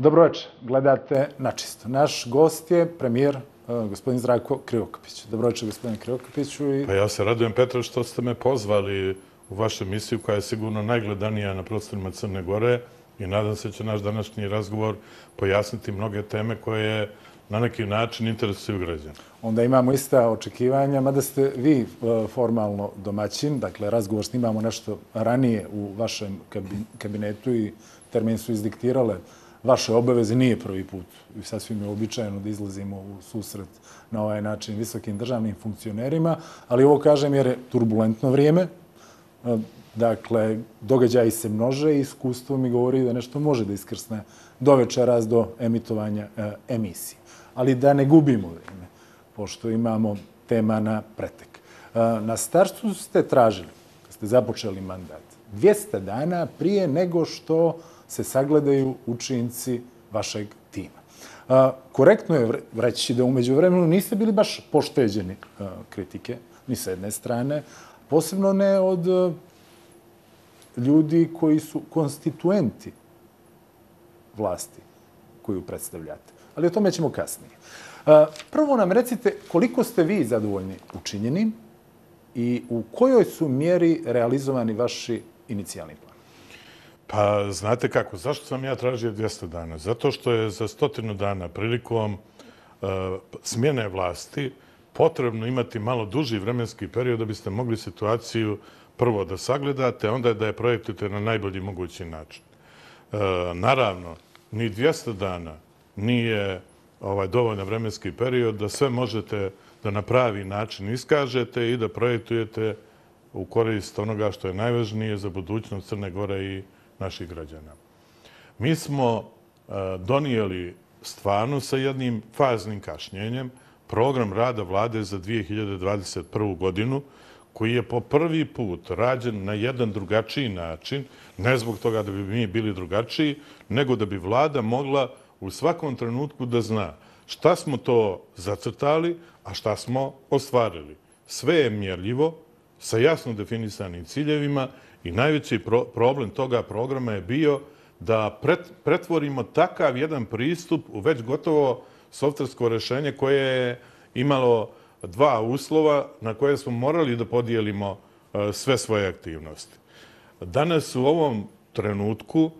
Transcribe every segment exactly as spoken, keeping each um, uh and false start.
Dobro večer, gledate Načisto. Naš gost je premijer gospodin Zdravko Krivokapić. Dobro večer, gospodine Krivokapiću. Pa ja se radujem, Petar, što ste me pozvali u vašu emisiju koja je sigurno najgledanija na prostorima Crne Gore i nadam se će naš današnji razgovor pojasniti mnoge teme koje na neki način interesuju građana. Onda imamo ista očekivanja, mada ste vi formalno domaćin, dakle razgovor snimamo nešto ranije u vašem kabinetu i termin su izdiktirale vaše obaveze, nije prvi put i sasvim je običajno da izlazimo u susret na ovaj način visokim državnim funkcionerima, ali ovo kažem jer je turbulentno vrijeme. Dakle, događaji se množe i iskustvo mi govori da nešto može da iskrsne do večeras, do emitovanja emisije. Ali da ne gubimo vrijeme, pošto imamo tema na pretek. Na startu ste tražili, kad ste započeli mandat, dvjesto dana prije nego što se sagledaju učinci vašeg tima. Korektno je reći da umeđu vremenu niste bili baš pošteđeni kritike, ni sa jedne strane, posebno ne od ljudi koji su konstituenti vlasti koju predstavljate. Ali o tome ćemo kasnije. Prvo nam recite koliko ste vi zadovoljni učinjenim i u kojoj su mjeri realizovani vaši inicijalni plan? Pa, znate kako, zašto sam ja tražio dvjesto dana? Zato što je za stotinu dana prilikom uh, smjene vlasti potrebno imati malo duži vremenski period da biste mogli situaciju prvo da sagledate, onda da je projektujete na najbolji mogući način. Uh, naravno, ni dvjesto dana nije ovaj, dovoljan vremenski period da sve možete da na pravi način iskažete i da projektujete u korist onoga što je najvažnije za budućnost Crne Gore i naših građana. Mi smo uh, donijeli stvarno sa jednim faznim kašnjenjem program rada vlade za dvije hiljade dvadeset prvu. godinu, koji je po prvi put rađen na jedan drugačiji način, ne zbog toga da bi mi bili drugačiji, nego da bi vlada mogla u svakom trenutku da zna šta smo to zacrtali, a šta smo ostvarili. Sve je mjerljivo, sa jasno definisanim ciljevima i najveći pro problem toga programa je bio da pret pretvorimo takav jedan pristup u već gotovo softversko rješenje koje je imalo dva uslova na koje smo morali da podijelimo uh, sve svoje aktivnosti. Danas u ovom trenutku uh,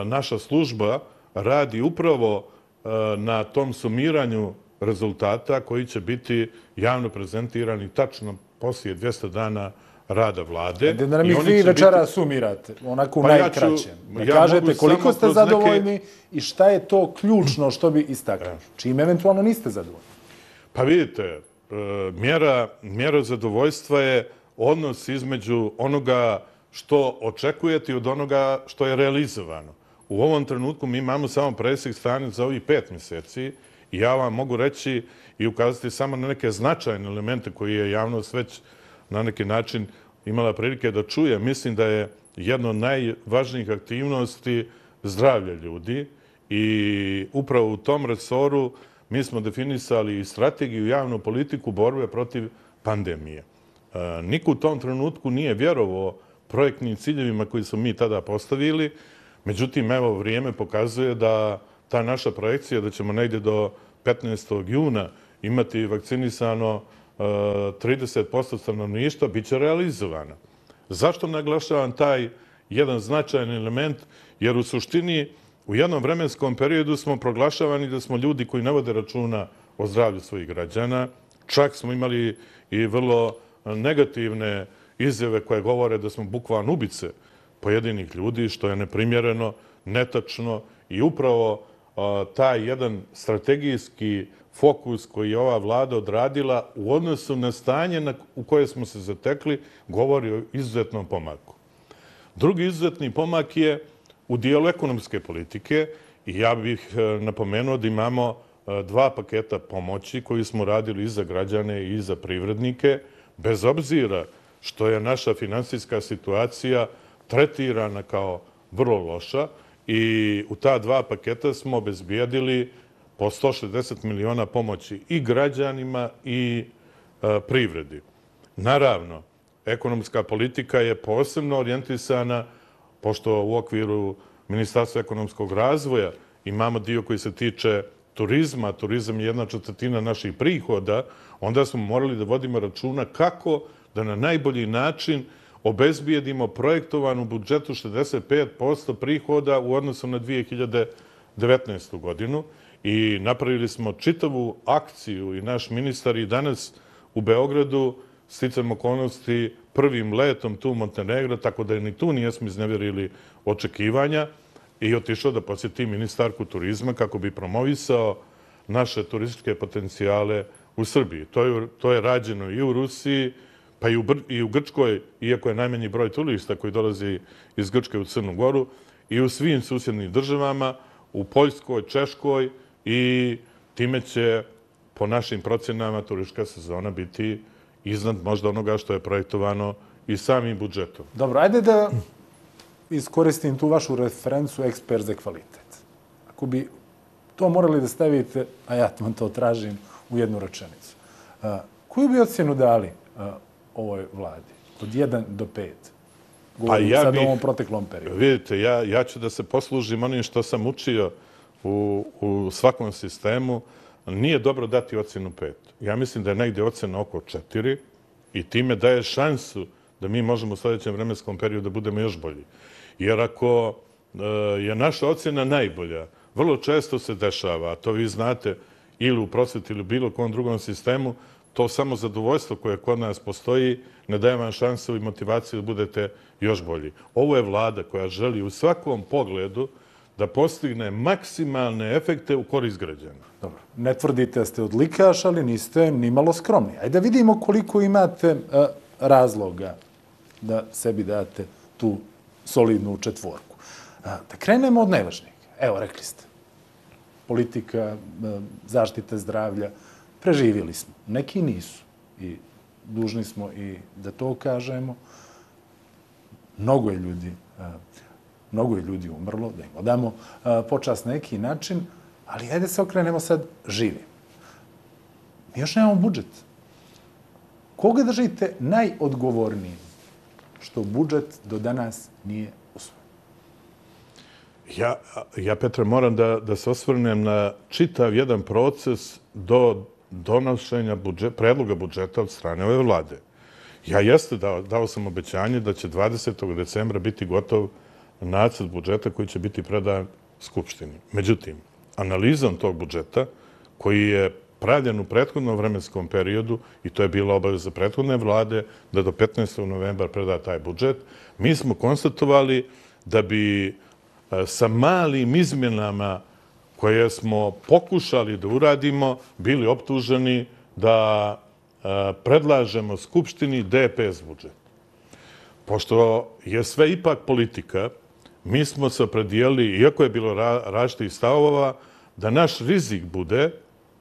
naša služba radi upravo uh, na tom sumiranju rezultata koji će biti javno prezentirani tačno poslije dvjesto dana rada vlade. Da nam ih vi večera sumirate, onako u najkraćem. Da kažete koliko ste zadovoljni i šta je to ključno što bi istakli. Čim eventualno niste zadovoljni. Pa vidite, mjera, mjera zadovoljstva je odnos između onoga što očekujete i od onoga što je realizovano. U ovom trenutku mi imamo samo presjek stanja za ovih pet mjeseci i ja vam mogu reći i ukazati samo na neke značajne elemente koje je javnost već na neki način imala prilike da čuje. Mislim da je jedna od najvažnijih aktivnosti zdravlje ljudi i upravo u tom resoru mi smo definisali i strategiju i javnu politiku borbe protiv pandemije. Niko u tom trenutku nije vjerovao projektnim ciljevima koji smo mi tada postavili, međutim, evo, vrijeme pokazuje da ta naša projekcija da ćemo negdje do petnaestog juna imati vakcinisano trideset posto stanovništva bit će realizovana. Zašto naglašavam taj jedan značajan element? Jer u suštini u jednom vremenskom periodu smo proglašavani da smo ljudi koji ne vode računa o zdravlju svojih građana. Čak smo imali i vrlo negativne izjave koje govore da smo bukvalno ubice pojedinih ljudi, što je neprimjereno, netačno i upravo taj jedan strategijski fokus koji je ova vlada odradila u odnosu na stanje na, u koje smo se zatekli, govori o izuzetnom pomaku. Drugi izuzetni pomak je u dijelu ekonomske politike i ja bih napomenuo da imamo dva paketa pomoći koji smo radili i za građane i za privrednike, bez obzira što je naša finansijska situacija tretirana kao vrlo loša i u ta dva paketa smo obezbijedili po sto šezdeset miliona pomoći i građanima i e, privredi. Naravno, ekonomska politika je posebno orijentisana, pošto u okviru Ministarstva ekonomskog razvoja imamo dio koji se tiče turizma, turizam je jedna četvrtina naših prihoda, onda smo morali da vodimo računa kako da na najbolji način obezbijedimo projektovan u budžetu šezdeset pet posto prihoda u odnosu na dve hiljade devetnaestu. godinu i napravili smo čitavu akciju i naš ministar i danas u Beogradu sticam okolnosti prvim letom tu u Montenegro, tako da ni tu nijesmo iznevjerili očekivanja i otišao da posjeti ministarku turizma kako bi promovisao naše turističke potencijale u Srbiji. To je, to je rađeno i u Rusiji, pa i u, i u Grčkoj, iako je najmanji broj turista koji dolazi iz Grčke u Crnu Goru, i u svim susjednim državama, u Poljskoj, Češkoj, i time će, po našim procjenama, turistička sezona biti iznad možda onoga što je projektovano i samim budžetom. Dobro, ajde da iskoristim tu vašu referencu ekspert za kvalitet. Ako bi to morali da stavite, a ja vam to tražim, u jednu rečenicu. Koju bi ocjenu dali ovoj vladi? Od jedan do pet? Govorim ja sad bih, o ovom proteklom periodu. Vidite, ja, ja ću da se poslužim onim što sam učio u, u svakom sistemu. Nije dobro dati ocjenu pet. Ja mislim da je negdje ocjena oko četiri i time daje šansu da mi možemo u sljedećem vremenskom periodu da budemo još bolji. Jer ako e, je naša ocjena najbolja, vrlo često se dešava, a to vi znate ili u prosveti ili bilo kom drugom sistemu, to samo zadovoljstvo koje kod nas postoji ne daje vam šansu i motivaciju da budete još bolji. Ovo je vlada koja želi u svakom pogledu da postigne maksimalne efekte u korist građana. Dobro, ne tvrdite da ste odlikaš, ali niste ni malo skromni. Ajde da vidimo koliko imate a, razloga da sebi date tu solidnu četvorku. A, da krenemo od najvažnijeg. Evo, rekli ste, politika, a, zaštita zdravlja, preživjeli smo. Neki nisu. I dužni smo i da to kažemo. Mnogo je ljudi, a, mnogo je ljudi umrlo, da im odamo a, počast na neki način, ali ajde se okrenemo sad živim. Mi još nemamo budžet. Koga držite najodgovornijim što budžet do danas nije usvojen? Ja, ja Petre, moram da, da se osvrnem na čitav jedan proces do donošenja budžet, predloga budžeta od strane ove vlade. Ja jeste dao, dao sam obećanje da će dvadesetog decembra biti gotov nacrt budžeta koji će biti predan Skupštini. Međutim, analizom tog budžeta, koji je pravljen u prethodnom vremenskom periodu, i to je bila obaveza prethodne vlade, da do petnaestog novembra preda taj budžet, mi smo konstatovali da bi sa malim izmjenama koje smo pokušali da uradimo, bili optuženi da predlažemo Skupštini D P S budžet. Pošto je sve ipak politika, mi smo se opredijeli, iako je bilo različitih stavova, da naš rizik bude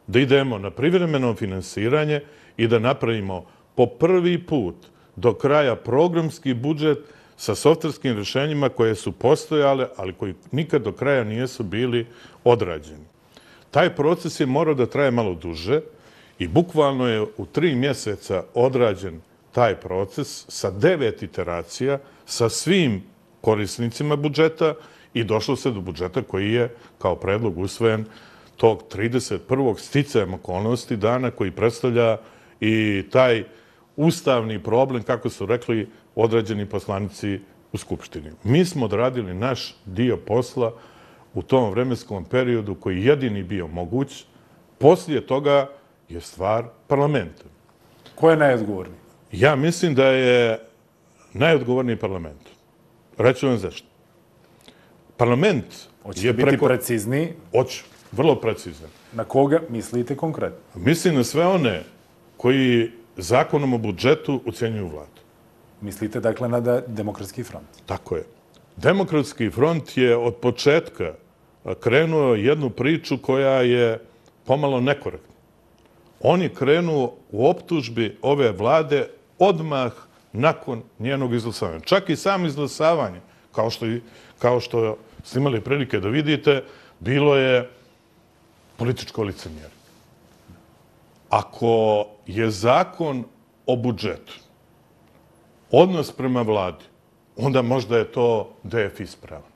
da idemo na privremeno finansiranje i da napravimo po prvi put do kraja programski budžet sa softverskim rješenjima koje su postojale, ali koji nikad do kraja nisu bili odrađeni. Taj proces je morao da traje malo duže i bukvalno je u tri mjeseca odrađen taj proces sa devet iteracija, sa svim korisnicima budžeta i došlo se do budžeta koji je kao predlog usvojen tog trideset prvog sticajem okolnosti dana, koji predstavlja i taj ustavni problem, kako su rekli određeni poslanici u Skupštini. Mi smo odradili naš dio posla u tom vremenskom periodu koji je jedini bio moguć. Poslije toga je stvar parlamenta. Ko je najodgovorniji? Ja mislim da je najodgovorniji parlament. Reću vam zašto. Parlament Hoćete je biti preko... precizniji? Hoću, vrlo precizan. Na koga mislite konkretno? Mislim na sve one koji zakonom o budžetu ucenjuju vladu. Mislite dakle na da Demokratski front? Tako je. Demokratski front je od početka krenuo jednu priču koja je pomalo nekorektna. On je krenuo u optužbi ove vlade odmah nakon njenog izglasavanja. Čak i sam izglasavanje, kao što, kao što ste imali prilike da vidite, bilo je političko licemjerje. Ako je zakon o budžetu odnos prema vladi, onda možda je to D F ispravan.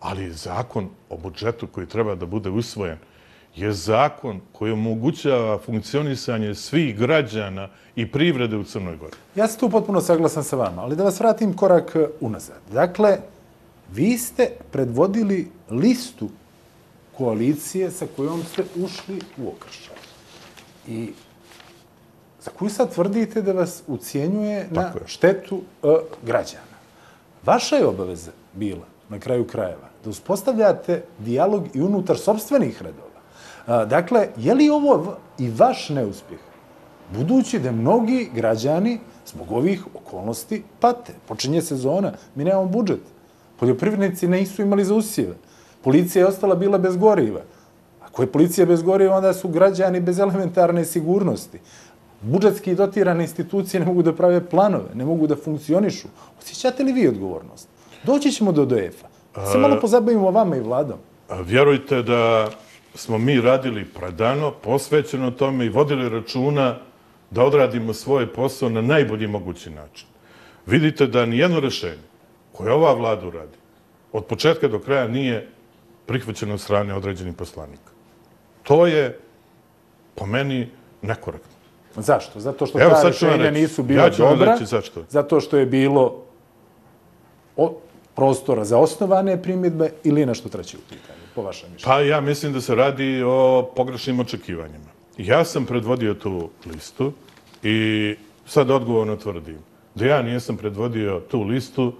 Ali zakon o budžetu koji treba da bude usvojen je zakon koji omogućava funkcionisanje svih građana i privrede u Crnoj Gori. Ja sam tu potpuno saglasan sa vama, ali da vas vratim korak unazad. Dakle, vi ste predvodili listu koalicije sa kojom ste ušli u okršaj. I za koju sad tvrdite da vas ucijenjuje na štetu građana. Vaša je obaveza bila, na kraju krajeva, da uspostavljate dijalog i unutar sopstvenih redova. Dakle, je li ovo i vaš neuspjeh? Budući da mnogi građani zbog ovih okolnosti pate. Počinje sezona, mi nemamo budžet. Poljoprivrednici nisu imali za usjeve. Policija je ostala bila bez goriva. Ako je policija bez goriva, onda su građani bez elementarne sigurnosti. Budžetski dotirane institucije ne mogu da prave planove, ne mogu da funkcionišu. Osjećate li vi odgovornost? Doći ćemo do D F-a. Se malo pozabavimo vama i vladom. Vjerujte da smo mi radili predano, posvećeno tome i vodili računa da odradimo svoj posao na najbolji mogući način. Vidite da nijedno rešenje koje ova vlada uradi od početka do kraja nije prihvaćeno od strane određenih poslanika. To je, po meni, nekorektno. Zašto? Zato što ta rešenja nisu bila dobra, zato što je bilo prostora za osnovane primjedbe ili nešto treće u pitanju, po vašem mišljenju? Pa ja mislim da se radi o pogrešnim očekivanjima. Ja sam predvodio tu listu i sad odgovorno tvrdim da ja nisam predvodio tu listu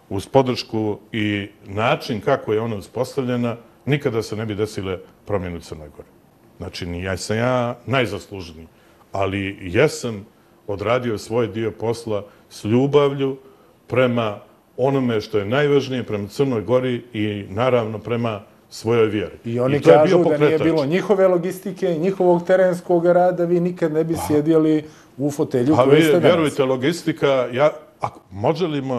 uz podršku i način kako je ona uspostavljena, nikada se ne bi desile promjene u Crnoj Gori. Znači, ja sam ja najzaslužniji, ali jesam odradio svoj dio posla s ljubavlju prema onome što je najvažnije, prema Crnoj Gori i naravno prema svojoj vjeri. I oni kažu da nije bilo njihove logistike i njihovog terenskog rada, vi nikad ne bi sjedjeli u fotelju koju ste danas. Vjerujte, logistika,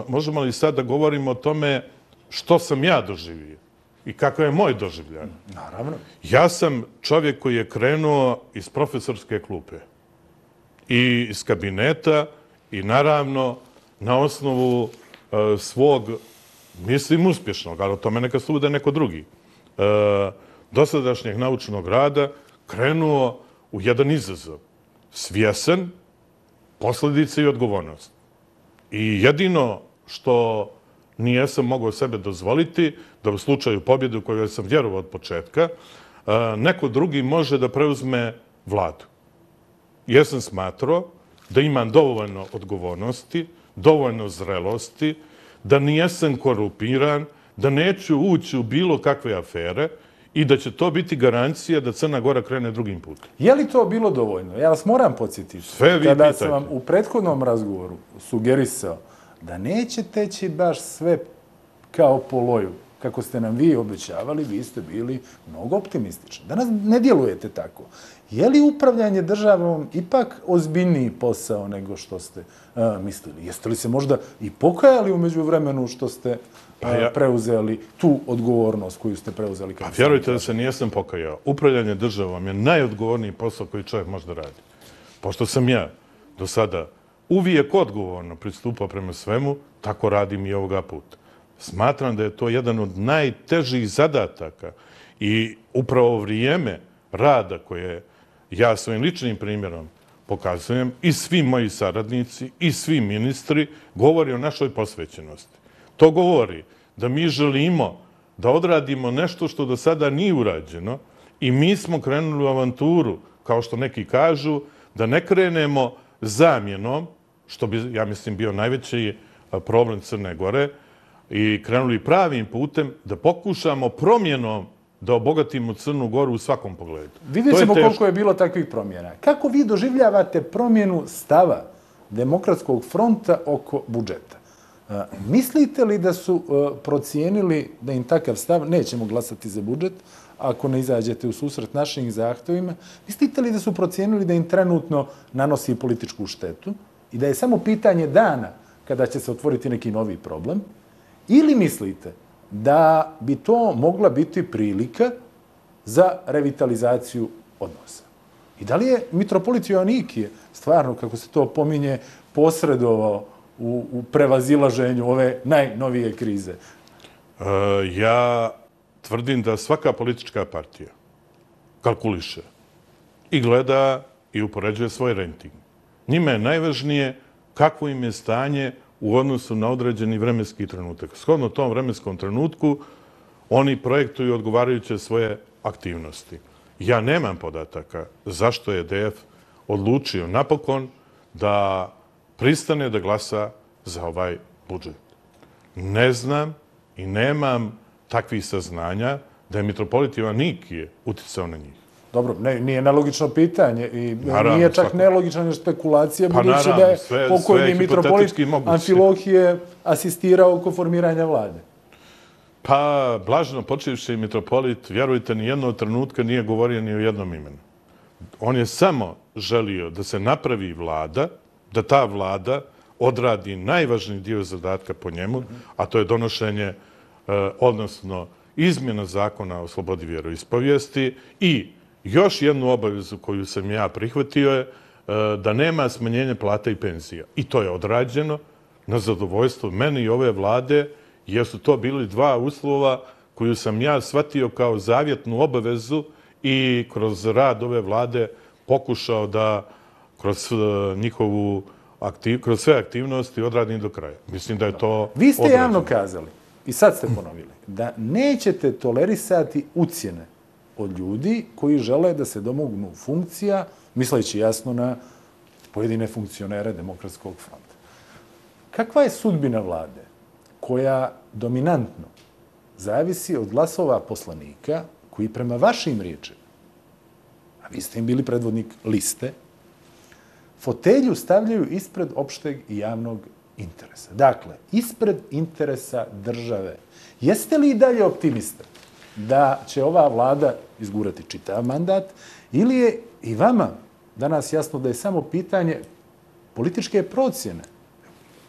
možemo li sad da govorimo o tome što sam ja doživio i kako je moj doživljaj? Naravno. Ja sam čovjek koji je krenuo iz profesorske klupe i iz kabineta i naravno na osnovu svog, mislim uspješnog, ali o tome neka sude neko drugi, dosadašnjeg naučnog rada, krenuo u jedan izazov. Svjesan, posljedice i odgovornost. I jedino što nijesam mogao sebe dozvoliti, da u slučaju pobjede u kojoj sam vjerovao od početka, neko drugi može da preuzme vladu. Jesam smatrao da imam dovoljno odgovornosti, dovoljno zrelosti, da nijesam korupiran, da neću ući u bilo kakve afere i da će to biti garancija da Crna Gora krene drugim putem. Je li to bilo dovoljno? Ja vas moram podsjetiti. Sve vi pitajte. Kada sam vam u prethodnom razgovoru sugerisao da neće teći baš sve kao po loju, kako ste nam vi obećavali, vi ste bili mnogo optimistični. Danas ne djelujete tako. Je li upravljanje državom ipak ozbiljniji posao nego što ste mislili? Jeste li se možda i pokajali umeđu vremenu što ste preuzeli tu odgovornost koju ste preuzeli? Pa vjerujte da se nijesam pokajao. Upravljanje državom je najodgovorniji posao koji čovjek može da radi. Pošto sam ja do sada uvijek odgovorno pristupao prema svemu, tako radim i ovoga puta. Smatram da je to jedan od najtežih zadataka i upravo vrijeme rada koje ja svojim ličnim primjerom pokazujem i svi moji saradnici i svi ministri govori o našoj posvećenosti. To govori da mi želimo da odradimo nešto što do sada nije urađeno i mi smo krenuli u avanturu, kao što neki kažu, da ne krenemo zamjenom, što bi, ja mislim, bio najveći problem Crne Gore, i krenuli pravim putem da pokušamo promjenom da obogatimo Crnu Goru u svakom pogledu. Vidjet ćemo koliko je bilo takvih promjena. Kako vi doživljavate promjenu stava Demokratskog fronta oko budžeta? Mislite li da su procijenili da im takav stav, nećemo glasati za budžet, ako ne izađete u susret našim zahtjevima, mislite li da su procijenili da im trenutno nanosi političku štetu i da je samo pitanje dana kada će se otvoriti neki novi problem? Ili mislite da bi to mogla biti prilika za revitalizaciju odnosa? I da li je mitropolit Joanikije stvarno, kako se to pominje, posredovao u, u prevazilaženju ove najnovije krize? Ja tvrdim da svaka politička partija kalkuliše i gleda i upoređuje svoj renting. Njima je najvažnije kakvo im je stanje u odnosu na određeni vremenski trenutak. Shodno tom vremenskom trenutku oni projektuju odgovarajuće svoje aktivnosti. Ja nemam podataka zašto je D F odlučio napokon da pristane da glasa za ovaj budžet. Ne znam i nemam takvih saznanja da je mitropolit Joannikije uticao na njih. Dobro, ne, nije nelogično pitanje i naravno, nije čak svako... nelogična špekulacija, pa, budući naravno, da je sve, pokojni mitropolit Amfilohije asistirao oko formiranja vlade. Pa, blažno počivši mitropolit, vjerujte, ni jednog trenutka nije govorio ni o jednom imenu. On je samo želio da se napravi vlada, da ta vlada odradi najvažniji dio zadatka po njemu, a to je donošenje, odnosno izmjena zakona o slobodi vjeroispovijesti i još jednu obavezu koju sam ja prihvatio je da nema smanjenja plata i penzija. I to je odrađeno na zadovoljstvo mene i ove vlade, jer su to bili dva uslova koju sam ja shvatio kao zavjetnu obavezu i kroz rad ove vlade pokušao da kroz njihovu aktiv, kroz sve aktivnosti odradim do kraja. Mislim da je to Vi ste odrađeno. Javno kazali, i sad ste ponovili, da nećete tolerisati ucjene od ljudi koji žele da se domognu funkcija, misleći jasno na pojedine funkcionere Demokratskog fronta. Kakva je sudbina vlade koja dominantno zavisi od glasova poslanika koji prema vašim riječima, a vi ste im bili predvodnik liste, fotelju stavljaju ispred opšteg i javnog interesa. Dakle, ispred interesa države. Jeste li i dalje optimista da će ova vlada izgurati čitav mandat ili je i vama danas jasno da je samo pitanje političke procjene?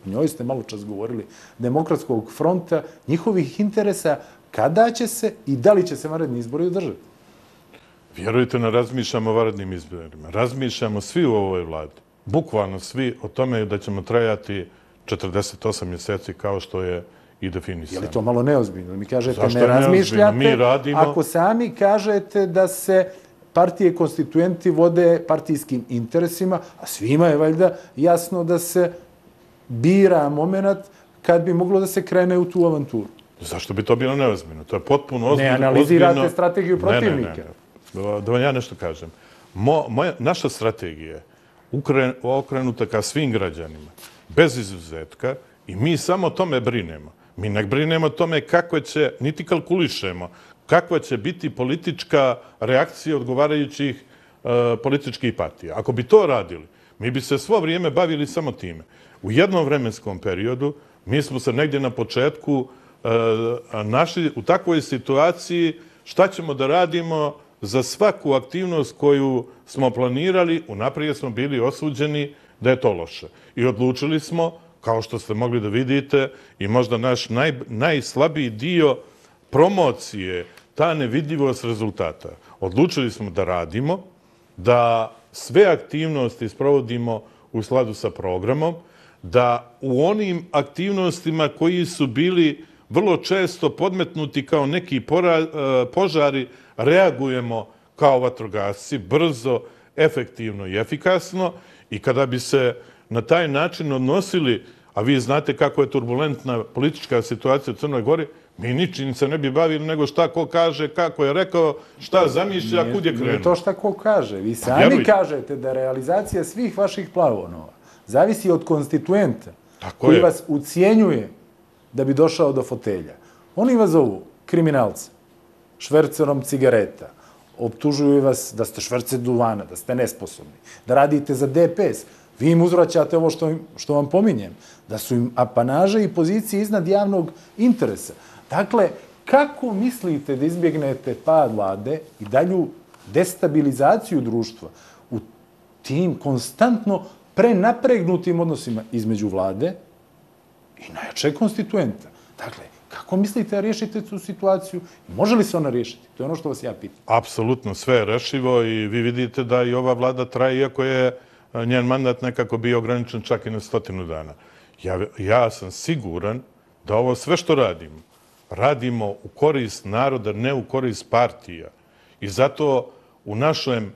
O njoj ste malo čas govorili, Demokratskog fronta, njihovih interesa, kada će se i da li će se vanredni izbori održati? Vjerujte, ne razmišljamo o vanrednim izborima. Razmišljamo svi u ovoj vladi. Bukvalno svi o tome da ćemo trajati četrdeset osam mjeseci kao što je i definisano. Je li to malo neozbiljno? Mi kažete Zašto ne razmišljate, Mi radimo... ako sami kažete da se partije konstituenti vode partijskim interesima, a svima je valjda jasno da se bira moment kad bi moglo da se krene u tu avanturu. Zašto bi to bilo neozbiljno? To je potpuno ozbiljno. Ne analizirate ozbiljno... strategiju protivnika. Ne, ne, ne. Da vam ja nešto kažem. Mo, moja, naša strategija je okrenuta ka svim građanima, bez izuzetka, i mi samo o tome brinemo. Mi ne brinemo o tome kako će, niti kalkulišemo, kakva će biti politička reakcija odgovarajućih uh, političkih partija. Ako bi to radili, mi bi se svo vrijeme bavili samo time. U jednom vremenskom periodu mi smo se negdje na početku uh, našli u takvoj situaciji šta ćemo da radimo za svaku aktivnost koju smo planirali, unaprijed smo bili osuđeni da je to loše. I odlučili smo, kao što ste mogli da vidite, i možda naš naj, najslabiji dio promocije, ta nevidljivost rezultata. Odlučili smo da radimo, da sve aktivnosti sprovodimo u skladu sa programom, da u onim aktivnostima koji su bili vrlo često podmetnuti kao neki pora, požari, reagujemo kao vatrogasci, brzo, efektivno i efikasno, i kada bi se na taj način odnosili, a vi znate kako je turbulentna politička situacija u Crnoj Gori, mi ničim se ne bi bavili nego šta ko kaže, kako je rekao, šta zamišlja, kud je krenuo. Nije to šta ko kaže. Vi sami kažete da realizacija svih vaših planova zavisi od konstituenta koji vas ucijenjuje da bi došao do fotelja. Oni vas zovu kriminalca, švercerom cigareta, optužuju vas da ste šverce duvana, da ste nesposobni, da radite za D P S. Vi im uzvraćate ovo što, što vam pominjem, da su im apanaže i pozicije iznad javnog interesa. Dakle, kako mislite da izbjegnete pad vlade i dalju destabilizaciju društva u tim konstantno prenapregnutim odnosima između vlade i najjačeg konstituenta? Dakle, kako mislite da riješite tu situaciju? Može li se ona riješiti? To je ono što vas ja pitam. Apsolutno, sve je rešivo i vi vidite da i ova vlada traje, iako je njen mandat nekako bio ograničen čak i na stotinu dana. Ja, ja sam siguran da ovo sve što radimo, radimo u korist naroda, ne u korist partija. I zato u našem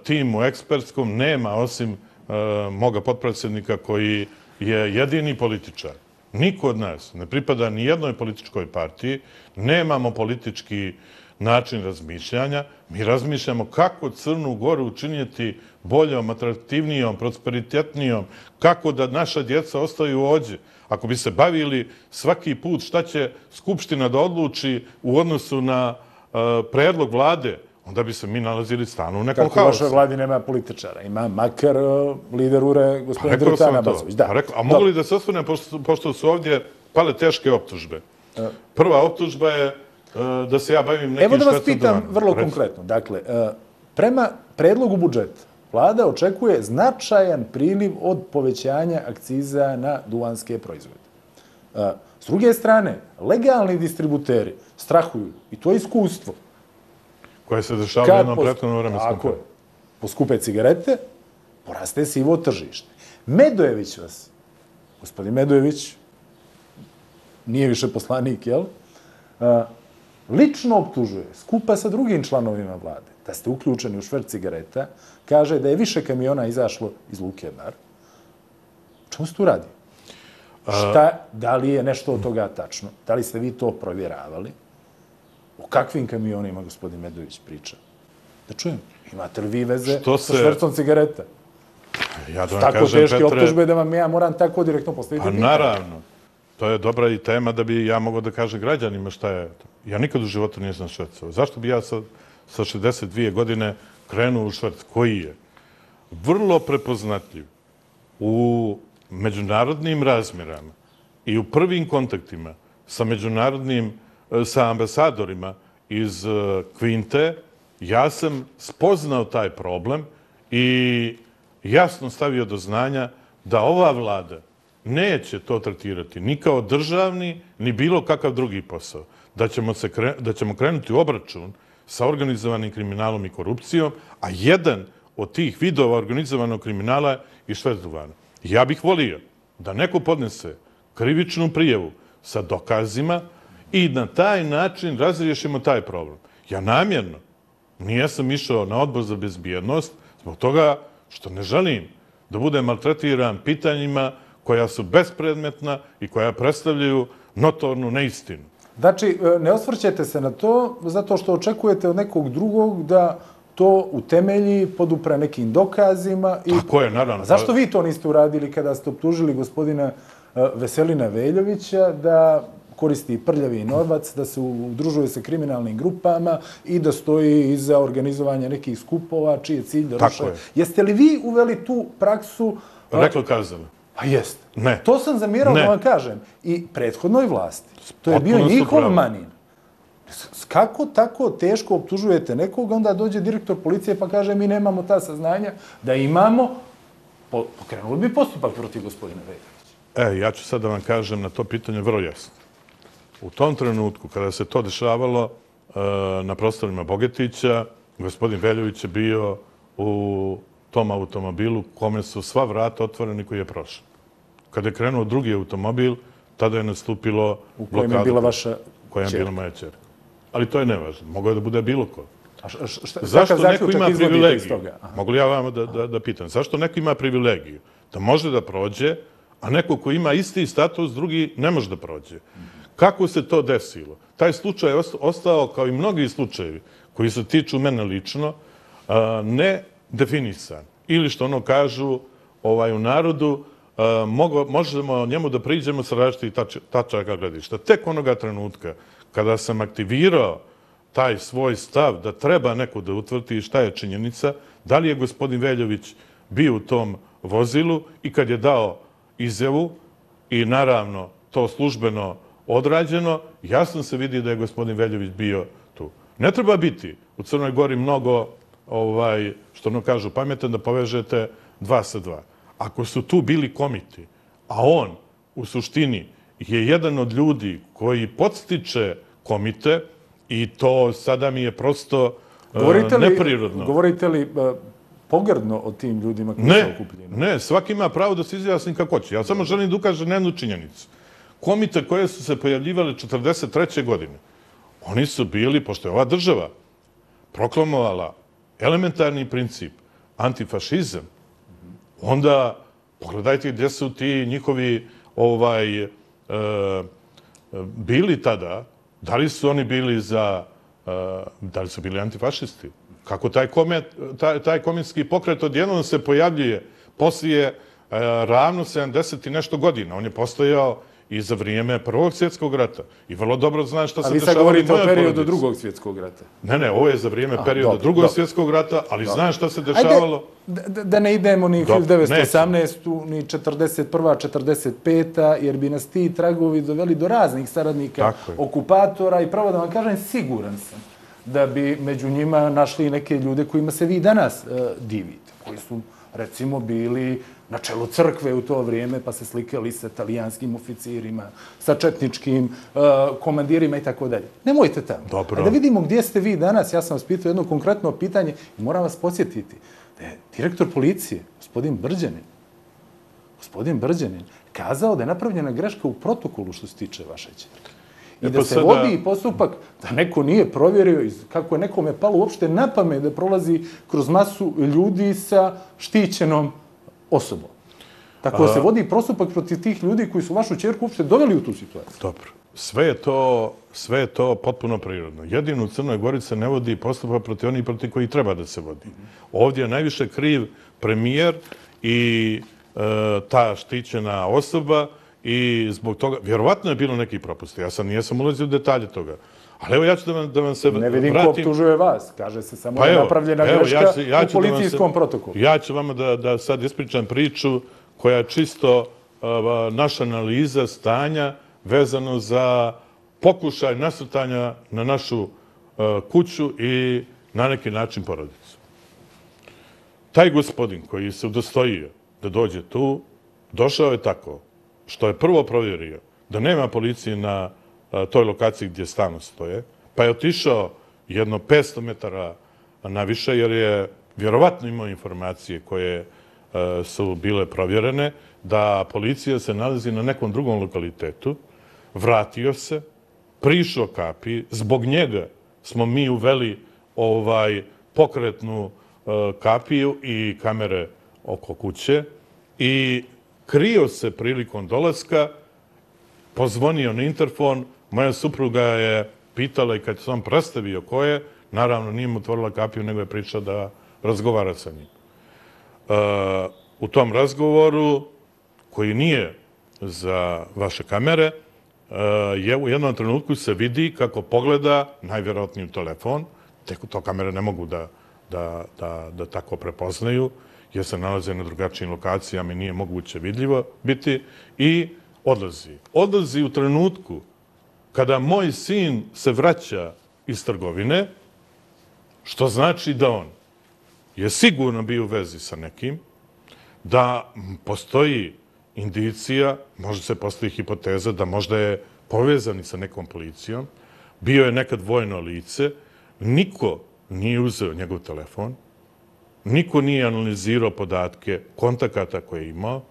timu ekspertskom nema, osim moga potpredsjednika koji je jedini političar. Niko od nas ne pripada ni jednoj političkoj partiji, nemamo politički način razmišljanja. Mi razmišljamo kako Crnu Goru učiniti boljom, atraktivnijom, prosperitetnijom, kako da naša djeca ostaju ovdje. Ako bi se bavili svaki put šta će Skupština da odluči u odnosu na predlog vlade, onda bi se mi nalazili stalno u nekom haosu. Kako u vašoj vladi nema političara? Ima makar lider U R E, gospodin Dritan Abazović. A mogu li da se osvrnem, pošto su ovdje pale teške optužbe? Prva optužba je da se ja bavim nekim švercom duvanom. Evo da vas pitam vrlo konkretno. Dakle, prema predlogu budžeta, vlada očekuje značajan priliv od povećanja akciza na duvanske proizvode. S druge strane, legalni distributeri strahuju, i to je iskustvo, koje se dešava u jednom prethodnom vremenskom periodu. Poskupe cigarete, poraste sivo tržište. Medojević vas, gospodin Medojević, nije više poslanik, jel? Lično optužuje, skupa sa drugim članovima vlade, da ste uključeni u šverc cigareta, kaže da je više kamiona izašlo iz Luke Bar. O čemu se tu radi? Šta, da li je nešto od toga tačno? Da li ste vi to provjeravali? O kakvim kamionima gospodin Medojević priča? Da čujem. Imate li vi veze sa švercom cigareta? Ja da vam tako kažem, teške Petre... optužbe da vam ja moram tako direktno postaviti Pa pitanje. naravno. To je dobra i tema da bi ja mogao da kažem građanima šta je to. Ja nikad u životu nisam švercao. Zašto bi ja sa, sa šezdeset dvije godine krenuo u šverc? Koji je vrlo prepoznatljiv u međunarodnim razmjerama i u prvim kontaktima sa međunarodnim, sa ambasadorima iz Kvinte, ja sam spoznao taj problem i jasno stavio do znanja da ova vlada neće to tretirati ni kao državni, ni bilo kakav drugi posao. Da ćemo, se kre, da ćemo krenuti u obračun sa organizovanim kriminalom i korupcijom, a jedan od tih vidova organizovanog kriminala je i šverc duvana. Ja bih volio da neko podnese krivičnu prijavu sa dokazima i na taj način razriješimo taj problem. Ja namjerno nijesam išao na odbor za bezbjednost zbog toga što ne želim da budem maltretiran pitanjima koja su bespredmetna i koja predstavljaju notornu neistinu. Znači, ne osvrćete se na to zato što očekujete od nekog drugog da to utemelji, podupre nekim dokazima. I... Tako je, naravno. A zašto vi to niste uradili kada ste optužili gospodina Veselina Veljovića da koristi prljavi novac, da se udružuje sa kriminalnim grupama i da stoji iza organizovanja nekih skupova, čiji je cilj da ruše? Jeste li vi uveli tu praksu? Reklo kazano. A jeste. Ne. To sam zamjerao da vam kažem. I prethodnoj vlasti. To je bio njihov manin. Kako tako teško optužujete nekoga, onda dođe direktor policije pa kaže mi nemamo ta saznanja da imamo, pokrenuli bi postupak protiv gospodina Veljovića. E, ja ću sad da vam kažem na to pitanje vrlo jasno. U tom trenutku, kada se to dešavalo na prostorima Bogetića, gospodin Veljović je bio u tom automobilu kome su sva vrata otvoreni koji je prošao. Kada je krenuo drugi automobil, tada je nastupilo blokadu. U kojem je bila vaša čerka. Koja je bila moja čerka. Ali to je nevažno. Moglo je da bude bilo ko. A šta, zašto neko ima privilegiju? Mogu li ja vama da, da, da pitam? Zašto neko ima privilegiju? Da može da prođe, a neko ko ima isti status, drugi ne može da prođe. Kako se to desilo? Taj slučaj je ostao, kao i mnogi slučajevi koji se tiču mene lično, ne definisan. Ili što ono kažu ovaj, u narodu, mogo, možemo njemu da priđemo sa različitih tač, tačaka gledišta. Tek onoga trenutka kada sam aktivirao taj svoj stav da treba neko da utvrdi šta je činjenica, da li je gospodin Veljović bio u tom vozilu i kad je dao izjavu i naravno to službeno odrađeno, jasno se vidi da je gospodin Veljović bio tu. Ne treba biti u Crnoj Gori mnogo, ovaj, što ono kažu, pametan da povežete dva sa dva. Ako su tu bili komiti, a on u suštini je jedan od ljudi koji podstiče komite i to sada mi je prosto govorite li, neprirodno. Govorite li uh, pogrdno o tim ljudima koji su okupljeni? Ne, svaki ima pravo da se izjasni kako hoće. Ja samo želim da ukažem na jednu činjenicu komite koje su se pojavljivale četrdeset treće godine, oni su bili, pošto je ova država proklamovala elementarni princip, antifašizam, onda pogledajte gdje su ti njihovi ovaj, e, bili tada, da li su oni bili za, e, da li su bili antifašisti? Kako taj, komet, taj, taj komitski pokret odjednom se pojavljuje poslije e, ravno sedamdeset i nešto godina. On je postojao i za vrijeme Prvog svjetskog rata. I vrlo dobro zna šta se dešavalo. A vi sad govorite o periodu Drugog svjetskog rata. Ne, ne, ovo je za vrijeme perioda Drugog svjetskog rata, ali zna šta se dešavalo. Ajde, da ne idemo ni hiljadu devetsto osamnaestu ni četrdeset prva četrdeset peta jer bi nas ti tragovi doveli do raznih saradnika, okupatora i pravo da vam kažem, siguran sam da bi među njima našli neke ljude kojima se vi danas divite, koji su, recimo, bili na čelu crkve u to vrijeme, pa se slikali sa talijanskim oficirima, sa četničkim komandirima i tako dalje. Nemojte tamo. Dobro. A da vidimo gdje ste vi danas. Ja sam vas pitao jedno konkretno pitanje i moram vas podsjetiti da je direktor policije, gospodin Brđanin, gospodin Brđanin, kazao da je napravljena greška u protokolu što se tiče vaše ćerke. I da se vodi postupak da neko nije provjerio kako je nekome palo uopšte na pamet da prolazi kroz masu ljudi sa štićenom osobom. Tako da se vodi postupak protiv tih ljudi koji su vašu ćerku uopšte doveli u tu situaciju. Dobro. Sve je to, sve je to potpuno prirodno. Jedino u Crnoj Gori se ne vodi postupak protiv onih protiv koji treba da se vodi. Ovdje je najviše kriv premijer i e, ta štićena osoba i zbog toga, vjerovatno je bilo neki propusti. Ja sam nijesam ulazio u detalje toga. Ali evo ja ću da vam, da vam se vratim. Ne vidim ko optužuje vas. Kaže se samo pa da je napravljena greška ja ću, ja ću u policijskom se, protokolu. Ja ću vama da, da sad ispričam priču koja je čisto uh, naša analiza stanja vezano za pokušaj nasrtanja na našu uh, kuću i na neki način porodicu. Taj gospodin koji se udostojio da dođe tu, došao je tako što je prvo provjerio da nema policije na toj lokaciji gdje stalno stoje, pa je otišao jedno petsto metara naviše, jer je vjerovatno imao informacije koje su bile provjerene, da policija se nalazi na nekom drugom lokalitetu, vratio se, prišao kapi, zbog njega smo mi uveli ovaj pokretnu kapiju i kamere oko kuće i krio se prilikom dolaska, pozvonio na interfon, moja supruga je pitala i kad se on predstavio ko je, naravno nije mu otvorila kapiju, nego je pričao da razgovara sa njim. E, u tom razgovoru, koji nije za vaše kamere, e, je u jednom trenutku se vidi kako pogleda najvjerojatniji u telefon, tek to kamere ne mogu da, da, da, da tako prepoznaju, jer se nalaze na drugačijim lokacijama i nije moguće vidljivo biti, i odlazi. Odlazi u trenutku kada moj sin se vraća iz trgovine, što znači da on je sigurno bio u vezi sa nekim, da postoji indicija, možda se postoji hipoteza da možda je povezan sa nekom policijom, bio je nekad vojno lice, niko nije uzeo njegov telefon, niko nije analizirao podatke kontakata koje je imao.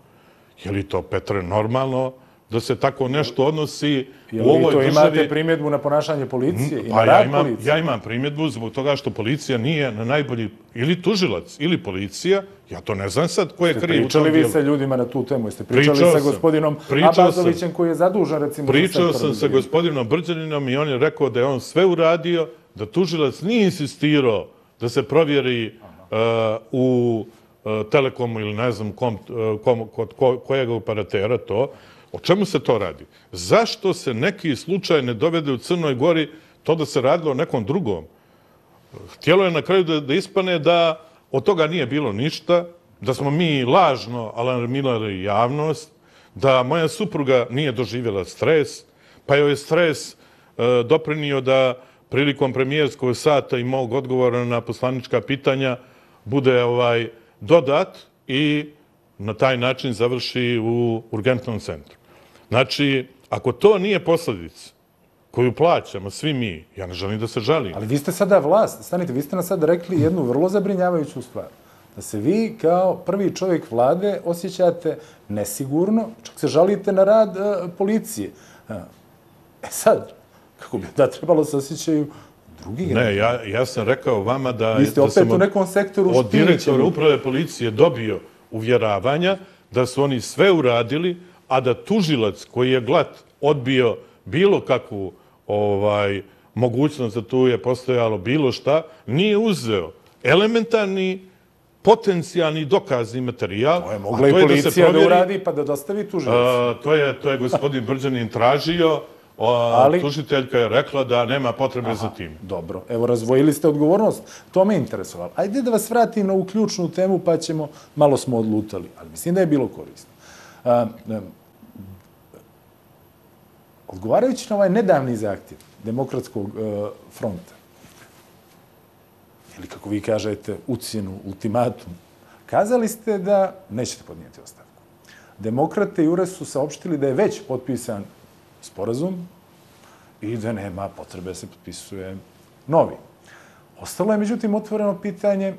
Je li to, Petre, normalno da se tako nešto odnosi u ovoj državi? Je li to imate primjedbu na ponašanje policije i na rad policije? Ja imam primjedbu zbog toga što policija nije na najbolji, ili tužilac, ili policija, ja to ne znam sad ko je kriv u tom dijelu. Pričali vi sa ljudima na tu temu? Jeste pričali sa gospodinom Abazovićem koji je zadužen, recimo? Pričao sam sa gospodinom Brđaninom i on je rekao da je on sve uradio, da tužilac nije insistirao da se provjeri u Telekomu ili ne znam kom, kom, kod kojeg operatera to. O čemu se to radi? Zašto se neki slučaj ne dovede u Crnoj Gori to da se radilo o nekom drugom? Htjelo je na kraju da, da ispane da od toga nije bilo ništa, da smo mi lažno alarmirali javnost, da moja supruga nije doživjela stres, pa joj je stres e, doprinio da prilikom premijerskog sata i mog odgovora na poslanička pitanja bude ovaj dodat i na taj način završi u urgentnom centru. Znači, ako to nije posljedica koju plaćamo svi mi, ja ne želim da se žalim. Ali vi ste sada vlast, stanite, vi ste nam sada rekli jednu vrlo zabrinjavajuću stvar. da se vi kao prvi čovjek vlade osjećate nesigurno, čak se žalite na rad uh, policije. Uh, e sad, kako bi da trebalo se osjećaju drugi građani? Ne, ja, ja sam rekao vama da... Vi ste da opet sam u nekom sektoru od direktora štićeni. uprave policije dobio uvjeravanja da su oni sve uradili, a da tužilac koji je glat odbio bilo kakvu ovaj, mogućnost da tu je postojalo bilo šta, nije uzeo elementarni potencijalni dokazni materijal. To je mogla i policija da uradi pa da dostavi tužilac. To je, to je gospodin Brđanin tražio, Ali... tužiteljka je rekla da nema potrebe Aha, za tim. Dobro, evo razvojili ste odgovornost, to me interesovalo. Ajde da vas vratim na ovu ključnu temu pa ćemo, malo smo odlutali, ali mislim da je bilo korisno. A, a, odgovarajući na ovaj nedavni zahtjev Demokratskog a, fronta, ili kako vi kažete, ucjenu, ultimatum, kazali ste da nećete podnijeti ostavku. Demokrate i U R E S su saopštili da je već potpisan sporazum i da nema potrebe se potpisuje novi. Ostalo je, međutim, otvoreno pitanje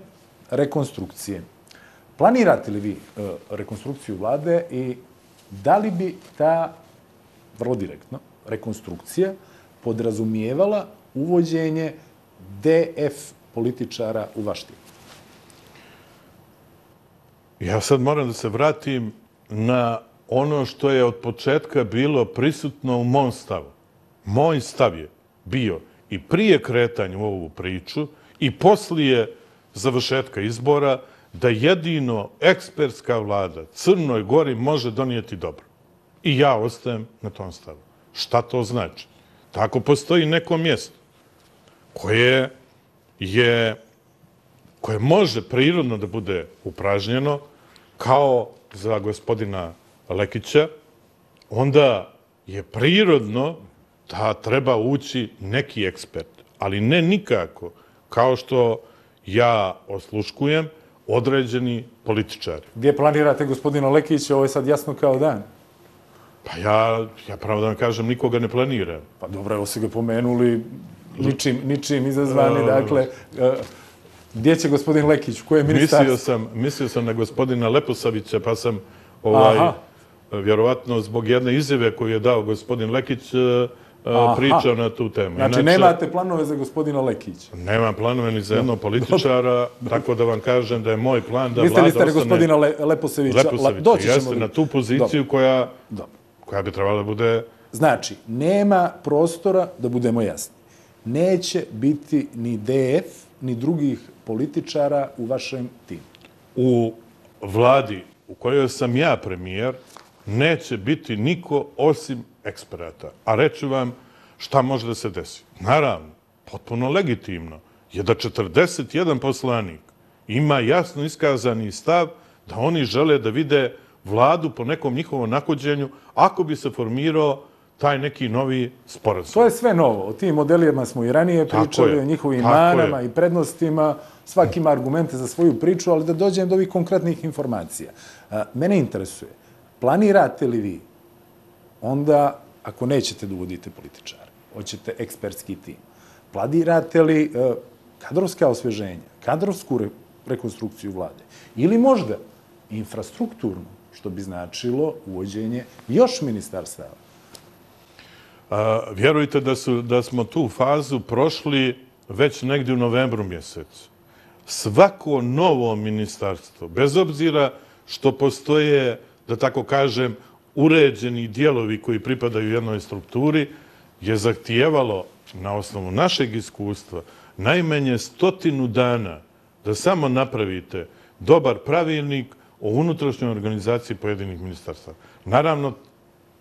rekonstrukcije. Planirate li vi e, rekonstrukciju vlade i da li bi ta, vrlo direktno, rekonstrukcija podrazumijevala uvođenje D F političara u vaš tim? Ja sad moram da se vratim na ono što je od početka bilo prisutno u mom stavu. Moj stav je bio i prije kretanja u ovu priču i poslije završetka izbora da jedino ekspertska vlada Crnoj Gori može donijeti dobro. I ja ostajem na tom stavu. Šta to znači? Tako postoji neko mjesto koje je, koje može prirodno da bude upražnjeno kao za gospodina Lekića, onda je prirodno da treba ući neki ekspert, ali ne nikako, kao što ja osluškujem, određeni političari. Gdje planirate gospodina Lekića? Ovo je sad jasno kao dan. Pa ja, ja pravo da vam kažem, nikoga ne planiram. Pa dobro, evo se ga pomenuli, ničim, ničim izazvani, dakle, gdje će gospodin Lekić, koje je ministarstvo? Mislio sam, mislio sam na gospodina Leposavića, pa sam ovaj, Aha. vjerovatno zbog jedne izjave koju je dao gospodin Lekić Aha. pričao na tu temu. Znači, Inače, nemate planove za gospodina Lekića? Nemam planove ni za jednog političara, tako da vam kažem da je moj plan da Mislili vlada ste na ostane... gospodina Le, Leposevića? Leposavića. Doći ćemo Jeste do- na tu poziciju Dobro. koja, Dobro. koja bi trebala da bude... Znači, nema prostora, da budemo jasni, neće biti ni D F, ni drugih političara u vašem timu. U vladi u kojoj sam ja premijer neće biti niko osim eksperata. A reću vam šta može da se desi. Naravno, potpuno legitimno je da četrdeset jedan poslanik ima jasno iskazani stav da oni žele da vide vladu po nekom njihovom nahođenju ako bi se formirao taj neki novi sporazum. To je sve novo. O tim modelima smo i ranije Tako pričali, je. o njihovim Tako manama je. i prednostima. Svaki ima argumente za svoju priču, ali da dođem do ovih konkretnih informacija. A, Mene interesuje, planirate li vi onda, ako nećete da uvodite političare, hoćete ekspertski tim, planirate li e, kadrovska osveženja, kadrovsku re, rekonstrukciju vlade ili možda infrastrukturnu, što bi značilo uvođenje još ministarstava? A, vjerujte da, su, da smo tu fazu prošli već negdje u novembru mjesecu. Svako novo ministarstvo, bez obzira što postoje, da tako kažem, uređeni dijelovi koji pripadaju jednoj strukturi, je zahtijevalo na osnovu našeg iskustva najmanje stotinu dana da samo napravite dobar pravilnik o unutrašnjoj organizaciji pojedinih ministarstava. Naravno,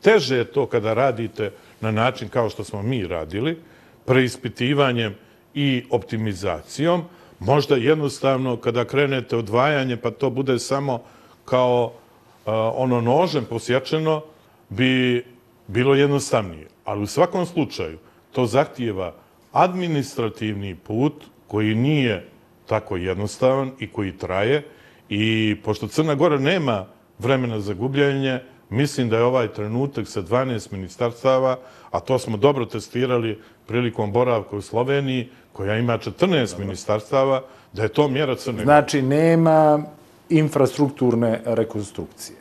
teže je to kada radite na način kao što smo mi radili, preispitivanjem i optimizacijom. Možda jednostavno kada krenete odvajanje pa to bude samo kao uh, ono nožem posječeno, bi bilo jednostavnije. Ali u svakom slučaju to zahtijeva administrativni put koji nije tako jednostavan i koji traje. I pošto Crna Gora nema vremena za gubljenje, mislim da je ovaj trenutak sa dvanaest ministarstava, a to smo dobro testirali prilikom boravka u Sloveniji, koja ima četrnaest ministarstava, da je to mjera Crne Gore. Znači, nema infrastrukturne rekonstrukcije.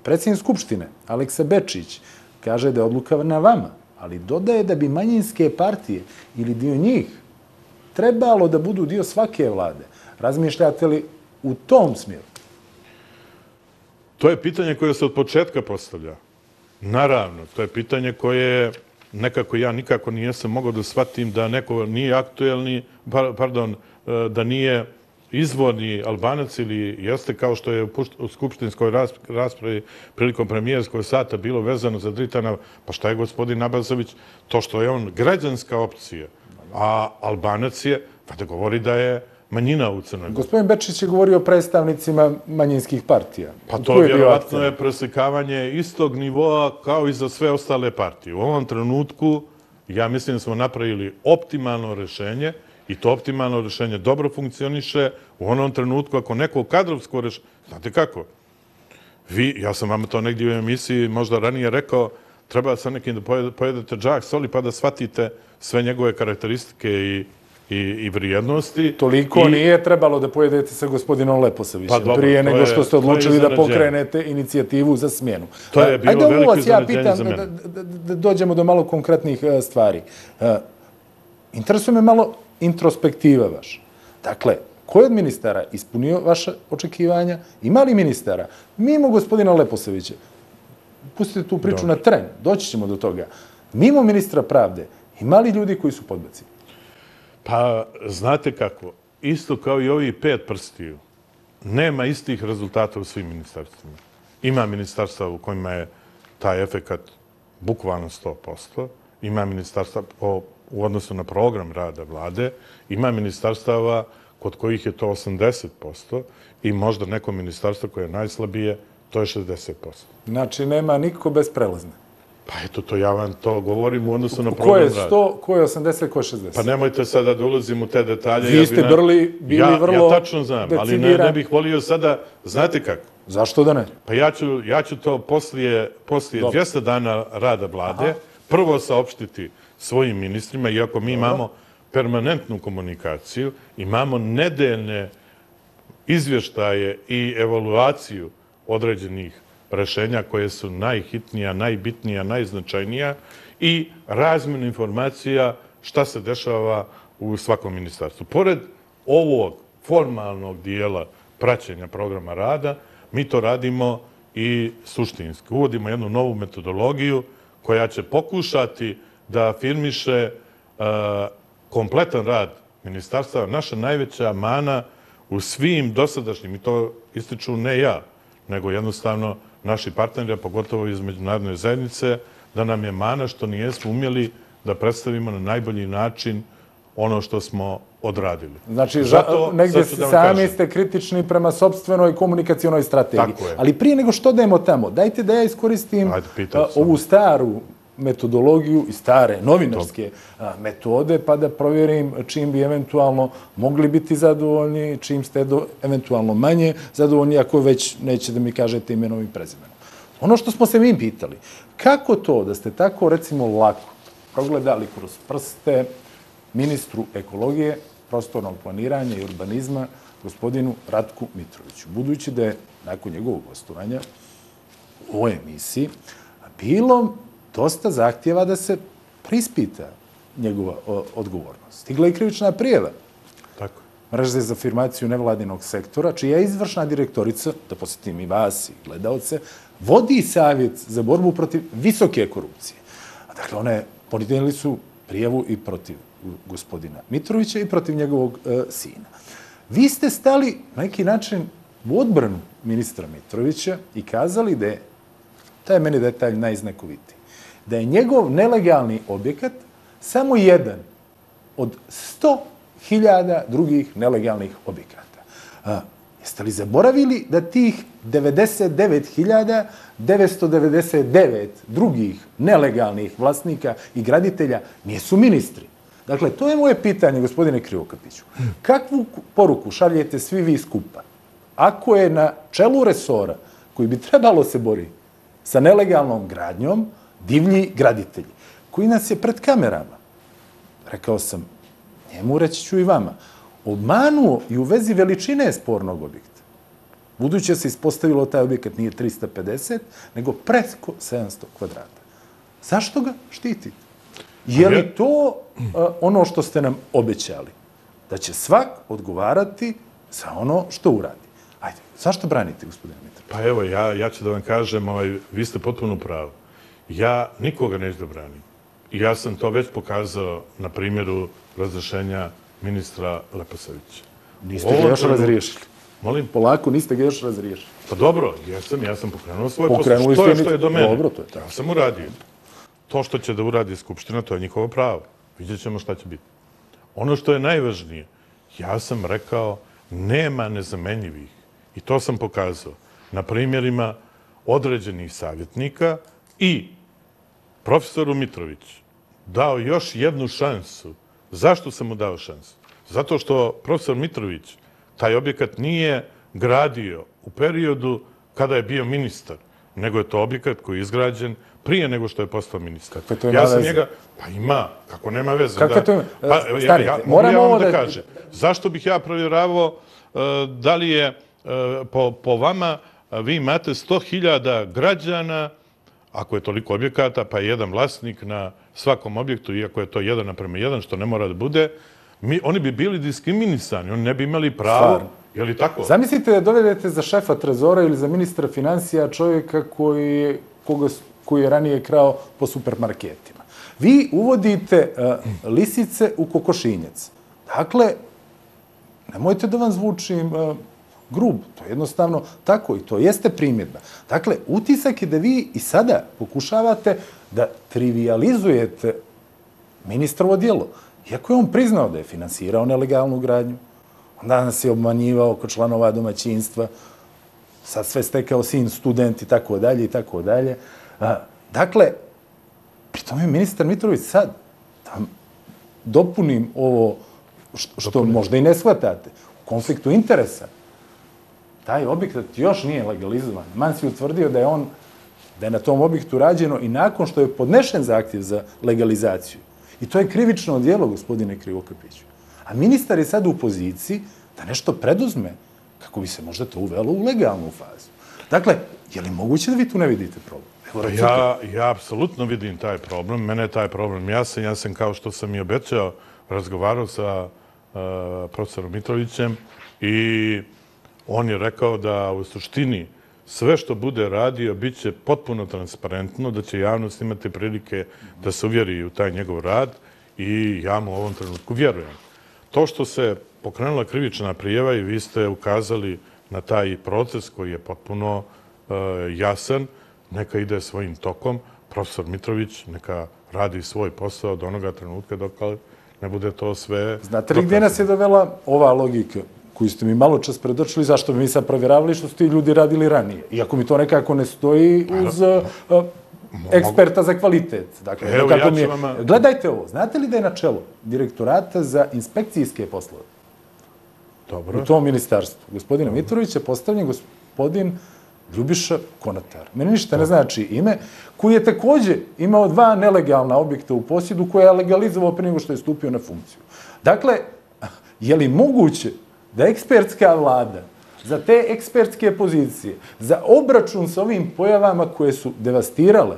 Predsjednik Skupštine, Aleksa Bečić, kaže da je odluka na vama, ali dodaje da bi manjinske partije ili dio njih trebalo da budu dio svake vlade. Razmišljate li u tom smjeru? To je pitanje koje se od početka postavlja. Naravno, to je pitanje koje nekako ja nikako nijesam mogao da shvatim da neko nije aktuelni, pardon, da nije izvorni Albanac ili jeste kao što je u skupštinskoj raspravi prilikom premijerskog sata bilo vezano za Dritana, pa šta je gospodin Abazović? To što je on građanska opcija, a Albanac je, pa da govori da je manjina u Crnoj Gori. Gospodin Bečić je govorio o predstavnicima manjinskih partija. Pa to vjerovatno je preslikavanje istog nivoa kao i za sve ostale partije. U ovom trenutku ja mislim da smo napravili optimalno rešenje i to optimalno rešenje dobro funkcioniše u onom trenutku ako neko kadrovsko rešenje... Znate kako? Vi, ja sam vam to negdje u emisiji možda ranije rekao, treba sa nekim da pojedete džak soli pa da shvatite sve njegove karakteristike i i vrijednosti. Toliko nije trebalo da pojedete sa gospodinom Leposavićem prije nego što ste odlučili da pokrenete inicijativu za smjenu. To je bilo veliko iznenađenje za mene. Da dođemo do malo konkretnih stvari. Interesuje me malo introspektiva vaša. Dakle, ko je od ministara ispunio vaše očekivanja? Ima li ministara? Mimo gospodina Leposavića, pustite tu priču na tren, doći ćemo do toga. Mimo ministra pravde, ima li ljudi koji su podbacili? Pa, znate kako, isto kao i ovih pet prstiju, nema istih rezultata u svim ministarstvima. Ima ministarstva u kojima je taj efekat bukvalno sto posto, ima ministarstva u odnosu na program rada vlade, ima ministarstava kod kojih je to osamdeset posto i možda neko ministarstvo koje je najslabije, to je šezdeset posto. Znači, nema niko bez prelazne. Pa eto, to ja vam to govorim u odnosu na program rada. Ko je sto, ko je osamdeset, ko je šezdeset? Pa nemojte sada da ulazim u te detalje. Vi ste bili vrlo Ja tačno znam, ali ne bih volio sada, znate kako? Zašto da ne? Pa ja ću to poslije dvjesto dana rada vlade prvo saopštiti svojim ministrima, iako mi imamo permanentnu komunikaciju, imamo nedeljne izvještaje i evaluaciju određenih rešenja koje su najhitnija, najbitnija, najznačajnija i razmjenu informacija šta se dešava u svakom ministarstvu. Pored ovog formalnog dijela praćenja programa rada, mi to radimo i suštinski. Uvodimo jednu novu metodologiju koja će pokušati da afirmiše kompletan rad ministarstva. Naša najveća mana u svim dosadašnjim, i to ističu ne ja, nego jednostavno naši partneri, a pogotovo iz međunarodne zajednice, da nam je mana što nijesmo umjeli da predstavimo na najbolji način ono što smo odradili. Znači, negdje sami ste kritični prema sopstvenoj komunikacionoj strategiji. Ali prije nego što dajemo tamo, dajte da ja iskoristim ovu staru metodologiju i stare novinarske metode, pa da provjerim čim bi eventualno mogli biti zadovoljni, čim ste eventualno manje zadovoljni, ako već neće da mi kažete imenom i prezimenom. Ono što smo se mi pitali, kako to da ste tako, recimo, lako progledali kroz prste ministru ekologije, prostornog planiranja i urbanizma, gospodinu Ratku Mitroviću, budući da je nakon njegovog gostovanja u ovoj emisiji bilo dosta zahtjeva da se prispita njegova odgovornost. Stigla je krivična prijava Mreže za afirmaciju nevladinog sektora, čija je izvršna direktorica, da posjetim i vas i gledalce, vodi savjet za borbu protiv visoke korupcije. Dakle, one podnijeli su prijavu i protiv gospodina Mitrovića i protiv njegovog sina. Vi ste stali na neki način u odbranu ministra Mitrovića i kazali da je, taj je meni detalj najznakovitiji, da je njegov nelegalni objekat samo jedan od sto hiljada drugih nelegalnih objekata. Jeste li zaboravili da tih devedeset devet hiljada devetsto devedeset devet drugih nelegalnih vlasnika i graditelja nisu ministri? Dakle, to je moje pitanje, gospodine Krivokapiću. Kakvu poruku šaljete svi vi skupa? Ako je na čelu resora koji bi trebalo se boriti sa nelegalnom gradnjom divlji graditelji, koji nas je pred kamerama, rekao sam, njemu reći ću i vama, obmanuo i u vezi veličine spornog objekta. Budući se ispostavilo taj objekat nije trista pedeset, nego preko sedamsto kvadrata. Zašto ga štitite? Je li to ono što ste nam obećali? Da će svak odgovarati za ono što uradi. Ajde, zašto branite, gospodine Mitrović? Pa evo, ja, ja ću da vam kažem, ovaj, vi ste potpuno pravo. Ja nikoga neću da branim. I ja sam to već pokazao na primjeru razrešenja ministra Leposavića. Niste ga još razriješili. Molim? Polako, niste ga još razriješili. Pa dobro, jesam, ja sam pokrenuo svoj posao. Što je što je do mene? Dobro, to je tako. Ja sam uradio. To što će da uradi Skupština, to je njihovo pravo. Vidjet ćemo šta će biti. Ono što je najvažnije, ja sam rekao, nema nezamenjivih. I to sam pokazao na primjerima određenih savjetnika i profesoru Mitroviću dao još jednu šansu. Zašto sam mu dao šansu? Zato što profesor Mitrović taj objekat nije gradio u periodu kada je bio ministar, nego je to objekat koji je izgrađen prije nego što je postao ministar. Kakve to ima veze? Njega... Pa ima, kako nema veze. Kakve to ima? Pa, ja, ja, moram ja vam da kažem. Zašto bih ja provjeravao uh, da li je uh, po, po vama uh, vi imate sto hiljada građana, ako je toliko objekata, pa je jedan vlasnik na svakom objektu, iako je to jedan naprema jedan, što ne mora da bude, mi, oni bi bili diskriminisani, oni ne bi imali pravo. Stvarno. Je li tako? Zamislite da dovedete za šefa trezora ili za ministra financija čovjeka koji, koga, koji je ranije krao po supermarketima. Vi uvodite uh, lisice u kokošinjac. Dakle, nemojte da vam zvučim uh, grub. To je jednostavno tako i to jeste primjedba. Dakle, utisak je da vi i sada pokušavate da trivializujete ministrovo djelo. Iako je on priznao da je finansirao nelegalnu gradnju, onda nas je obmanjivao oko članova domaćinstva, sad sve stekao sin, student i tako dalje i tako dalje. Dakle, pri tome je ministar Mitrović sad, da vam dopunim ovo što, što možda i ne shvatate, u konfliktu interesa, taj objekat još nije legalizovan. Man si utvrdio da je on, da je na tom objektu rađeno i nakon što je podnešen zahtjev za legalizaciju. I to je krivično djelo, gospodine Krivokapiću. A ministar je sad u poziciji da nešto preduzme kako bi se možda to uvelo u legalnu fazu. Dakle, je li moguće da vi tu ne vidite problem? Evo, ja, ja apsolutno vidim taj problem. Mene je taj problem jasan. Ja sam, kao što sam i obećao, razgovarao sa uh, profesorom Mitrovićem i on je rekao da u suštini sve što bude radio bit će potpuno transparentno, da će javnost imati prilike da se uvjeri u taj njegov rad i ja mu u ovom trenutku vjerujem. To što se pokrenula krivična prijava i vi ste ukazali na taj proces koji je potpuno uh, jasan, neka ide svojim tokom, profesor Mitrović neka radi svoj posao do onoga trenutka dok ne bude to sve... Znate li gdje nas je dovela ova logika koju ste mi malo čas predočili, zašto bi mi sad provjeravali što su ti ljudi radili ranije? Iako mi to nekako ne stoji uz uh, eksperta za kvalitet. Dakle, evo, ja mi je... vama... Gledajte ovo, znate li da je na čelo direktorata za inspekcijske poslove? Dobro. U tom ministarstvu. Gospodina Mitrovića postavljen gospodin Ljubiša Konatar. Meni ništa ne znači ime, koji je također imao dva nelegalna objekta u posjedu koje je legalizovao prije nego što je stupio na funkciju. Dakle, je li moguće da ekspertska vlada za te ekspertske pozicije, za obračun sa ovim pojavama koje su devastirale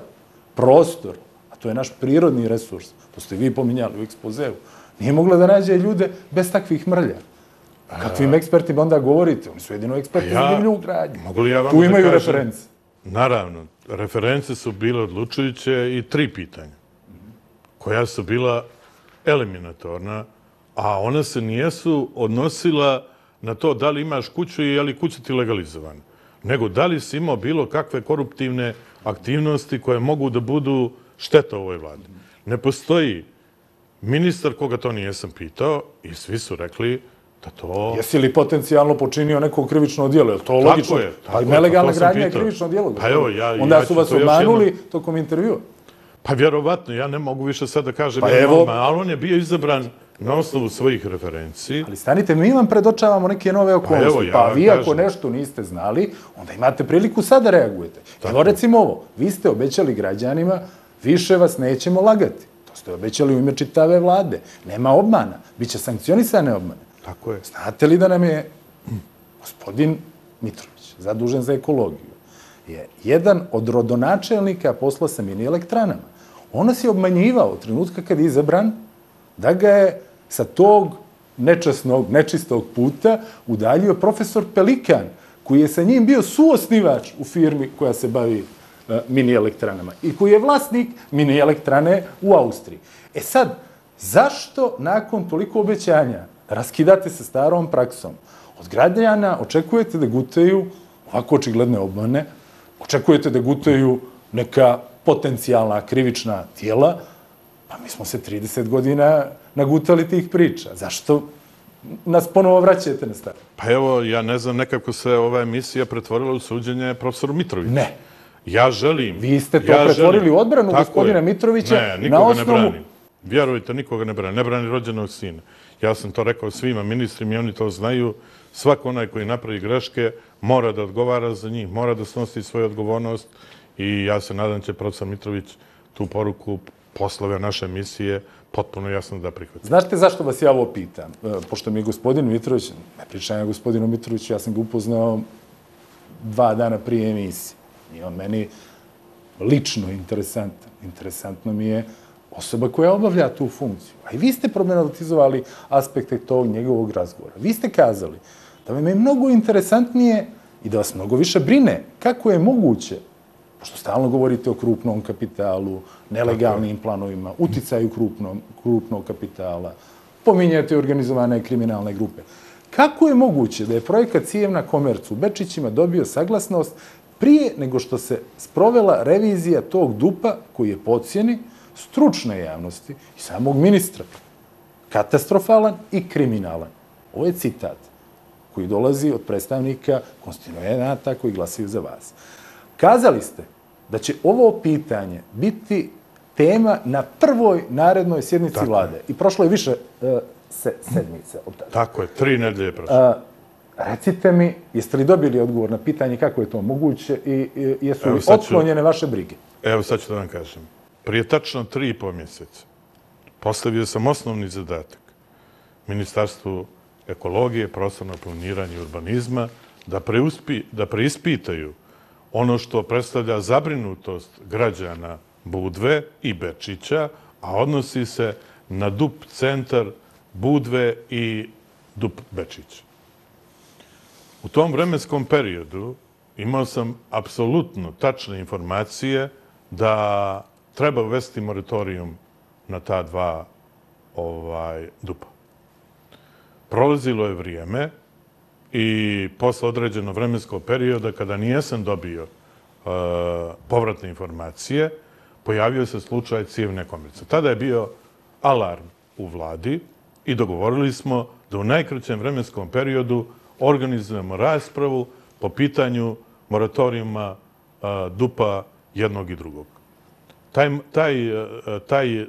prostor, a to je naš prirodni resurs, to ste vi pominjali u ekspozeu, nije mogla da nađe ljude bez takvih mrlja. Kakvim ekspertima onda govorite? Oni su jedino eksperti za divlju gradnju. Tu imaju reference. Naravno, reference su bile odlučujuće i tri pitanja, koja su bila eliminatorna, a ona se nijesu odnosila na to da li imaš kuću i je li kuća ti legalizovana, nego da li si imao bilo kakve koruptivne aktivnosti koje mogu da budu šteta ovoj vladi. Ne postoji ministar koga to nijesam pitao i svi su rekli da to... Jesi li potencijalno počinio neko krivično djelo? Je to logično? Tako je. Pa nelegalna gradnja je krivično djelo. Pa evo, ja, onda ja su vas obmanuli jedno... tokom intervjua. Pa vjerovatno, ja ne mogu više sad da kažem, pa evo... ali on je bio izabran na osnovu svojih referenciji. Ali stanite, mi vam predočavamo neke nove okolnosti. Pa, evo, ja pa vi kažem. Ako nešto niste znali, onda imate priliku sad da reagujete. Tako. Evo recimo ovo, vi ste obećali građanima, više vas nećemo lagati. To ste obećali u ime čitave vlade. Nema obmana, bit će sankcionisane obmane. Tako je. Znate li da nam je gospodin Mitrović, zadužen za ekologiju, je jedan od rodonačelnika posla sa mini elektranama. On nas je obmanjivao od trenutka kad je izabran da ga je sa tog nečasnog, nečistog puta udaljio profesor Pelikan, koji je sa njim bio suosnivač u firmi koja se bavi uh, mini elektranama i koji je vlasnik mini elektrane u Austriji. E sad, zašto nakon toliko obećanja raskidate sa starom praksom? Od građana očekujete da gutaju ovako očigledne obmane, očekujete da gutaju neka potencijalna krivična tijela, pa mi smo se trideset godina nagutali tih priča. Zašto nas ponovo vraćate na staro? Pa evo, ja ne znam, nekako se ova emisija pretvorila u suđenje profesoru Mitroviću. Ne. Ja želim... Vi ste to ja pretvorili želim, u odbranu gospodina je. Mitrovića ne, na nikoga osnovu... ne brani. Vjerujte, nikoga ne brani. Ne brani rođenog sina. Ja sam to rekao svima ministrima i oni to znaju. Svako onaj koji napravi greške mora da odgovara za njih, mora da snosi svoju odgovornost i ja se nadam će profesor Mitrović tu poruku poslove naše emisije potpuno jasno da prihvati. Znate zašto vas ja ovo pitam? Pošto mi je gospodin Mitrović, ne pričam ja gospodinu Mitroviću, ja sam ga upoznao dva dana prije emisije. I on meni lično interesantan. Interesantno mi je osoba koja obavlja tu funkciju. A i vi ste problematizovali aspekte tog njegovog razgovora. Vi ste kazali da vam je mnogo interesantnije i da vas mnogo više brine kako je moguće, pošto stalno govorite o krupnom kapitalu, nelegalnim planovima, uticaju krupnom, krupnog kapitala, pominjate organizovane kriminalne grupe. Kako je moguće da je projekat Cijev na Komercu u Bečićima dobio saglasnost prije nego što se sprovela revizija tog dupa koji je po ocjeni stručne javnosti i samog ministra katastrofalan i kriminalan? Ovo je citat koji dolazi od predstavnika konstituenata koji glasaju za vas. Kazali ste da će ovo pitanje biti tema na prvoj narednoj sjednici Tako vlade. je. I prošlo je više uh, se, sedmice od tada. Tako je, tri nedelje prošlo. Uh, recite mi, jeste li dobili odgovor na pitanje kako je to moguće i, i jesu Evo, li sad ću- otklonjene vaše brige? Evo sad ću da vam kažem. Prije tačno tri i po mjeseca postavio sam osnovni zadatak Ministarstvu ekologije, prostornog planiranja i urbanizma da, preuspi, da preispitaju ono što predstavlja zabrinutost građana Budve i Bečića, a odnosi se na D U P centar Budve i D U P Bečić. U tom vremenskom periodu imao sam apsolutno tačne informacije da treba uvesti moratorijum na ta dva ovaj, dupa. Prolazilo je vrijeme i posle određenog vremenskog perioda, kada nijesam dobio uh, povratne informacije, pojavio se slučaj Cijevne Komerce. Tada je bio alarm u vladi i dogovorili smo da u najkraćem vremenskom periodu organizujemo raspravu po pitanju moratorijuma uh, dupa jednog i drugog. Taj, taj, taj uh,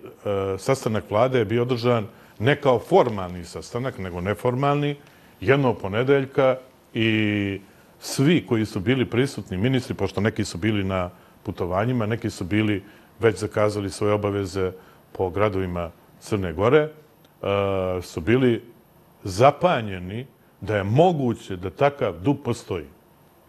sastanak vlade je bio održan ne kao formalni sastanak, nego neformalni, jednog ponedeljka i svi koji su bili prisutni, ministri, pošto neki su bili na putovanjima, neki su bili već zakazali svoje obaveze po gradovima Crne Gore, uh, su bili zapanjeni da je moguće da takav D U P postoji.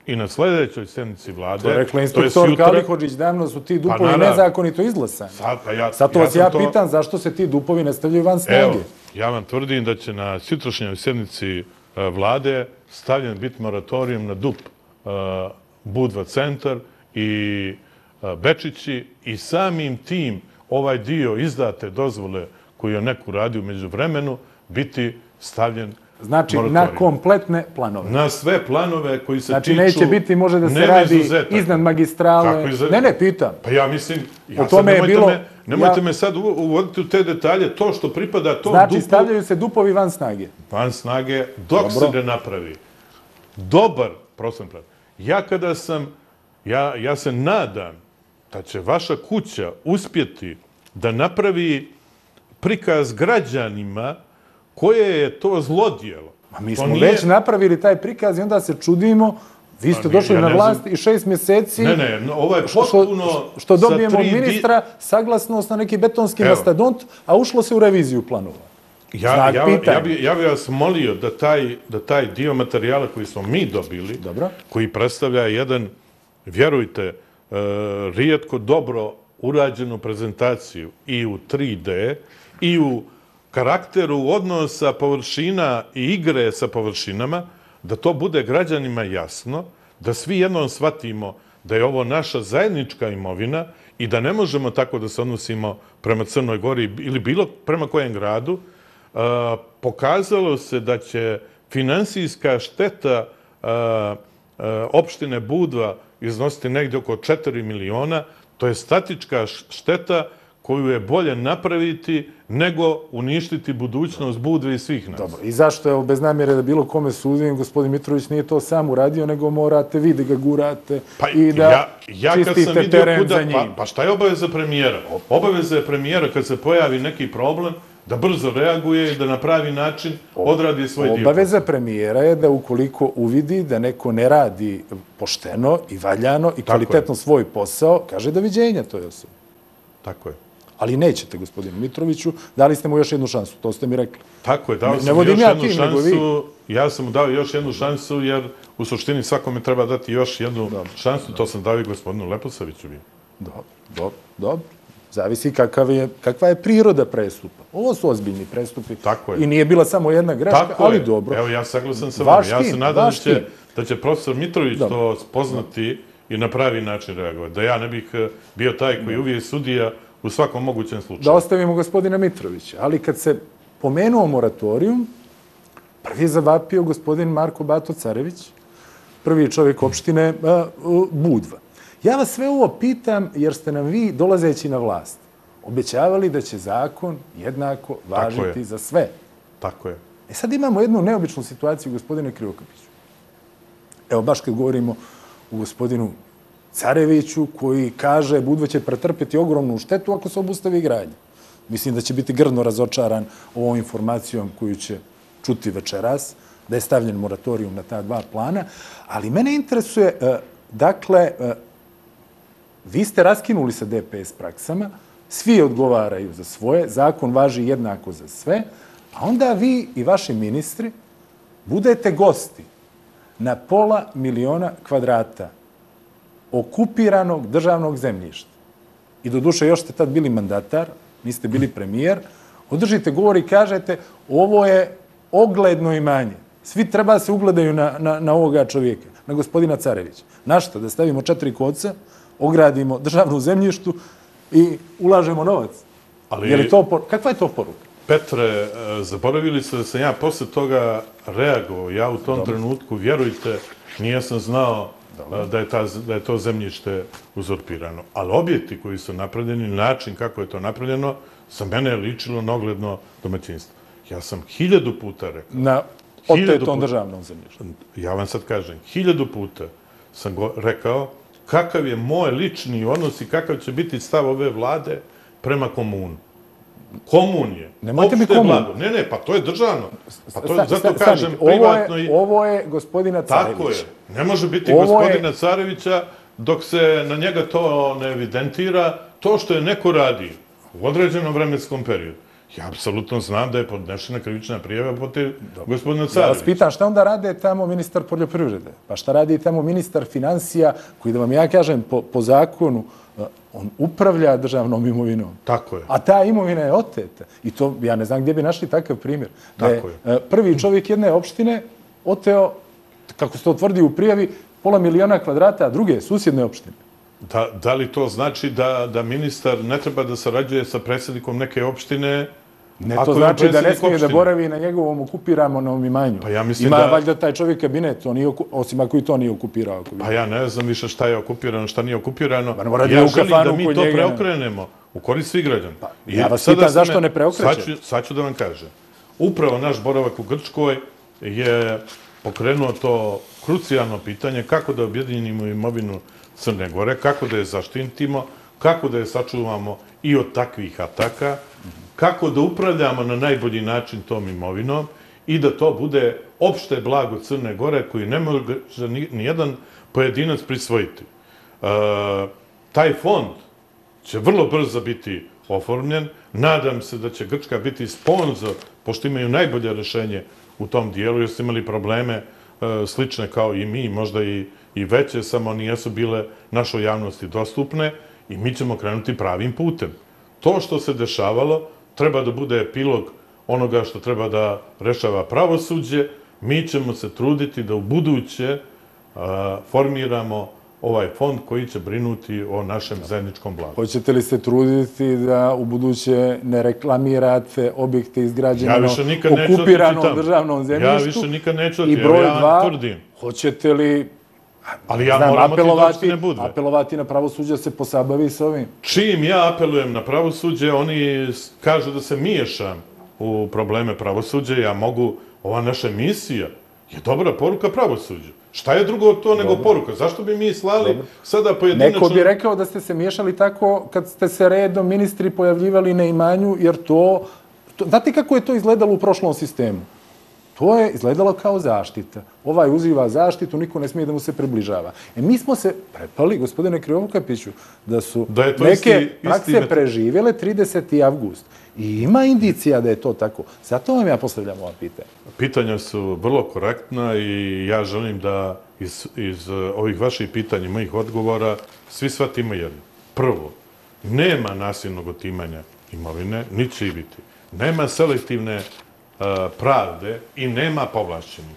I na sljedećoj sjednici vlade... To je rekla to je inspektor sutra- Kalihođić, davno su ti dupovi naravno. nezakonito izglasani. Sad, pa ja, Zato ja vas sam ja to- pitam zašto se ti dupovi ne stavljaju van snage. Evo, ja vam tvrdim da će na sutrašnjoj sjednici uh, vlade stavljen biti moratorijum na D U P uh, Budva centar i uh, Bečići i samim tim ovaj dio izdate dozvole koju je neko radio u međuvremenu biti stavljen Znači, na moratorijum. kompletne planove. Na sve planove koji se Znači, tiču... neće biti, može da se nema radi izuzetaka. iznad magistrale. Kako izuzet- Ne, ne, pitam. Pa ja mislim, ja O tome sad, je nemojte, bilo- me, nemojte ja- me sad u- uvoditi u te detalje, to što pripada tom Znači, dupu stavljaju se dupovi van snage. van snage dok Dobro. se ne napravi dobar prostorni plan. Ja kada sam, ja, ja se nadam da će vaša kuća uspjeti da napravi prikaz građanima koje je to zlodjelo. Ma mi To smo nije- već napravili taj prikaz i onda se čudimo. Vi ste mi- došli ja na ne vlast znam- i šest mjeseci... Ne, ne, no, ovo je Što, potpuno... što, što dobijemo sa od tri di- ministra saglasnost na neki betonski Evo. mastodont, a ušlo se u reviziju planova. Ja, Znak ja, pitanja. ja, bi, ja bi vas molio da taj, da taj dio materijala koji smo mi dobili, Dobro. koji predstavlja jedan, vjerujte, e, rijetko dobro urađenu prezentaciju i u tri D i u karakteru odnosa površina i igre sa površinama, da to bude građanima jasno, da svi jednom shvatimo da je ovo naša zajednička imovina i da ne možemo tako da se odnosimo prema Crnoj Gori ili bilo prema kojem gradu. Uh, pokazalo se da će finansijska šteta uh, uh, opštine Budva iznositi negdje oko četiri miliona. To je statička šteta koju je bolje napraviti nego uništiti budućnost Budve i svih nas. Dobro, i zašto je bez namjere da bilo kome sudim, gospodin Mitrović nije to sam uradio, nego morate vi da ga gurate pa, i da ja, ja čistite teren kuda, za njim. Pa, pa šta je obaveza premijera? Obaveza je premijera kad se pojavi neki problem, da brzo reaguje i da na pravi način odradi svoj dio. Obaveza premijera je da ukoliko uvidi da neko ne radi pošteno i valjano i kvalitetno svoj posao, kaže doviđenja toj osobi. Tako je. Ali nećete, gospodinu Mitroviću, dali ste mu još jednu šansu, to ste mi rekli. Tako je, dao sam još jednu šansu, ja sam mu dao još jednu šansu, jer u suštini svakome treba dati još jednu šansu, to sam dao i gospodinu Leposaviću. Dobro, dobro, dobro. Zavisi kakva je priroda prestupa. Ovo su ozbiljni prestupi i nije bila samo jedna greška, ali dobro. Evo, ja saglasan sa vama. Ja se nadam da će profesor Mitrović to spoznati i na pravi način reagovati. Da ja ne bih bio taj koji uvijek sudija u svakom mogućem slučaju. Da ostavimo gospodina Mitrovića. Ali kad se pomenuo moratorijum, prvi je zavapio gospodin Marko Bato Carević, prvi čovjek opštine Budva. Ja vas sve ovo pitam jer ste nam vi, dolazeći na vlast, obećavali da će zakon jednako važiti za sve. Tako je. E sad imamo jednu neobičnu situaciju, gospodine Krivokapiću. Evo, baš kad govorimo o gospodinu Careviću, koji kaže Budva će pretrpjeti ogromnu štetu ako se obustavi gradnja. Mislim da će biti grdno razočaran ovom informacijom koju će čuti večeras, da je stavljen moratorijum na ta dva plana. Ali mene interesuje, dakle, vi ste raskinuli sa D P S praksama, svi odgovaraju za svoje, zakon važi jednako za sve, a onda vi i vaši ministri budete gosti na pola miliona kvadrata okupiranog državnog zemljišta. I do duše još ste tad bili mandatar, niste bili premijer, održite govor i kažete ovo je ogledno imanje. Svi treba da se ugledaju na, na, na ovoga čovjeka, na gospodina Carevića. Na što? Da stavimo četiri koca, ogradimo državnu zemljištu i ulažemo novac. Ali, je li to, kakva je to poruka? Petre, zaboravili ste da sam ja posle toga reagovao. Ja u tom Dobre. trenutku, vjerujte, nije sam znao da je, ta, da je to zemljište uzurpirano. Ali objekti koji su napravljeni, način kako je to napravljeno, za mene je ličilo na ogledno domaćinstvo. Ja sam hiljadu puta rekao. Na otetom državnom zemljištu. Ja vam sad kažem, hiljadu puta sam go, rekao kakav je moj lični odnos i kakav će biti stav ove vlade prema komunu. Komun je. Nemojte mi komun. Ne, ne, pa to je državno. Pa to je, zato kažem, privatno i... Ovo je gospodina Carevića. Tako je. Ne može biti gospodina Carevića dok se na njega to ne evidentira. To što je neko radi u određenom vremenskom periodu. Ja apsolutno znam da je podnešena krivična prijava protiv gospodina Carevića. Ja vas pitam šta onda rade tamo ministar poljoprivrede? Pa šta radi tamo ministar financija koji, da vam ja kažem, po, po zakonu, on upravlja državnom imovinom. Tako je. A ta imovina je oteta. I to, ja ne znam gdje bi našli takav primjer. Tako je. Prvi čovjek jedne opštine oteo, kako se to tvrdi u prijavi, pola miliona kvadrata, a druge susjedne opštine. Da, da li to znači da, da ministar ne treba da sarađuje sa predsjednikom neke opštine? Ne, to znači da ne smije da boravi na njegovom okupiranom imanju. Pa ja mislim Ima da... valjda taj čovjek kabinet, on nije, osim ako i to nije okupirao. Pa ja ne znam više šta je okupirano, šta nije okupirano. Pa ja želim da mi to preokrenemo u korist svih građana. Pa, ja vas pitam zašto ne preokreće? Sad ću, sad ću da vam kažem. Upravo naš boravak u Grčkoj je pokrenuo to krucijalno pitanje kako da objedinimo imovinu Crne Gore, kako da je zaštitimo, kako da je sačuvamo i od takvih ataka, kako da upravljamo na najbolji način tom imovinom i da to bude opšte blago Crne Gore koji ne može nijedan pojedinac prisvojiti. E, taj fond će vrlo brzo biti oformljen. Nadam se da će Grčka biti sponzor pošto imaju najbolje rešenje u tom dijelu, jer su imali probleme slične kao i mi, možda i, i veće, samo nijesu bile našoj javnosti dostupne i mi ćemo krenuti pravim putem. To što se dešavalo treba da bude epilog onoga što treba da rešava pravosuđe. Mi ćemo se truditi da u buduće a, formiramo ovaj fond koji će brinuti o našem zajedničkom blagu. Hoćete li se truditi da u buduće ne reklamirate objekte izgrađene na okupiranom državnom zemljištu? Ja više nikad neću otići, evo ja vam tvrdim. Hoćete li Ali ja moram otići da ne bude. Apelovati na pravosuđe da se posabavi s ovim? Čim ja apelujem na pravosuđe, oni kažu da se miješam u probleme pravosuđa. Ja mogu, ova naša misija je dobra poruka pravosuđu. Šta je drugo od to nego poruka? Zašto bi mi slali sada pojedinačno... Neko bi rekao da ste se miješali tako kad ste se redom ministri pojavljivali na imanju, jer to... Znate kako je to izgledalo u prošlom sistemu? To je izgledalo kao zaštita. Ovaj uživa zaštitu, niko ne smije da mu se približava. E mi smo se prepali, gospodine Krivokapiću, da su neke prakse preživjele trideseti avgust. I ima indicija da je to tako. Zato vam ja postavljam ova pitanja. Pitanja su vrlo korektna i ja želim da iz, iz ovih vaših pitanja, mojih odgovora, svi shvatimo jedno. Prvo, nema nasilnog otimanja imovine, ni će i biti. Nema selektivne uh, pravde i nema povlašćenih.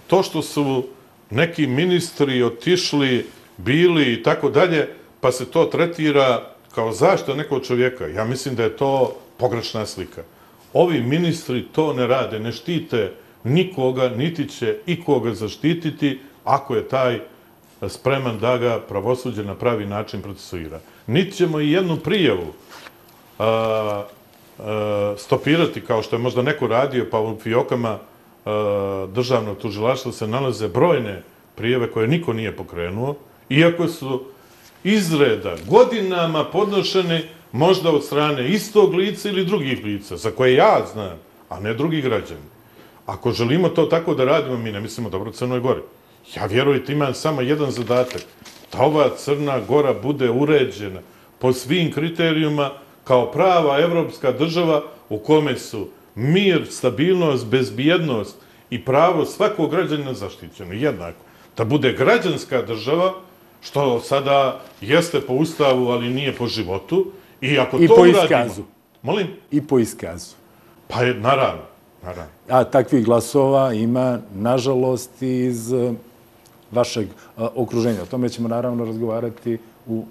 To što su neki ministri otišli, bili i tako dalje, pa se to tretira kao zaštita nekog čovjeka, ja mislim da je to pogrešna slika. Ovi ministri to ne rade, ne štite nikoga, niti će ikoga zaštititi ako je taj spreman da ga pravosuđe na pravi način procesuira. Niti ćemo i jednu prijavu a, a, stopirati, kao što je možda neko radio, pa u fiokama a, državnog tužilaštva se nalaze brojne prijave koje niko nije pokrenuo, iako su izreda godinama podnošene možda od strane istog lica ili drugih lica, za koje ja znam, a ne drugi građani. Ako želimo to tako da radimo, mi ne mislimo dobro Crnoj Gori. Ja, vjerujte, imam samo jedan zadatak, da ova Crna Gora bude uređena po svim kriterijuma kao prava evropska država u kome su mir, stabilnost, bezbjednost i pravo svakog građanina zaštićeno jednako. Da bude građanska država, što sada jeste po ustavu, ali nije po životu. I ako I to po uradimo, iskazu. Molim? I po iskazu. Pa je, naravno, naravno. A takvih glasova ima, nažalost, iz vašeg okruženja. O tome ćemo naravno razgovarati u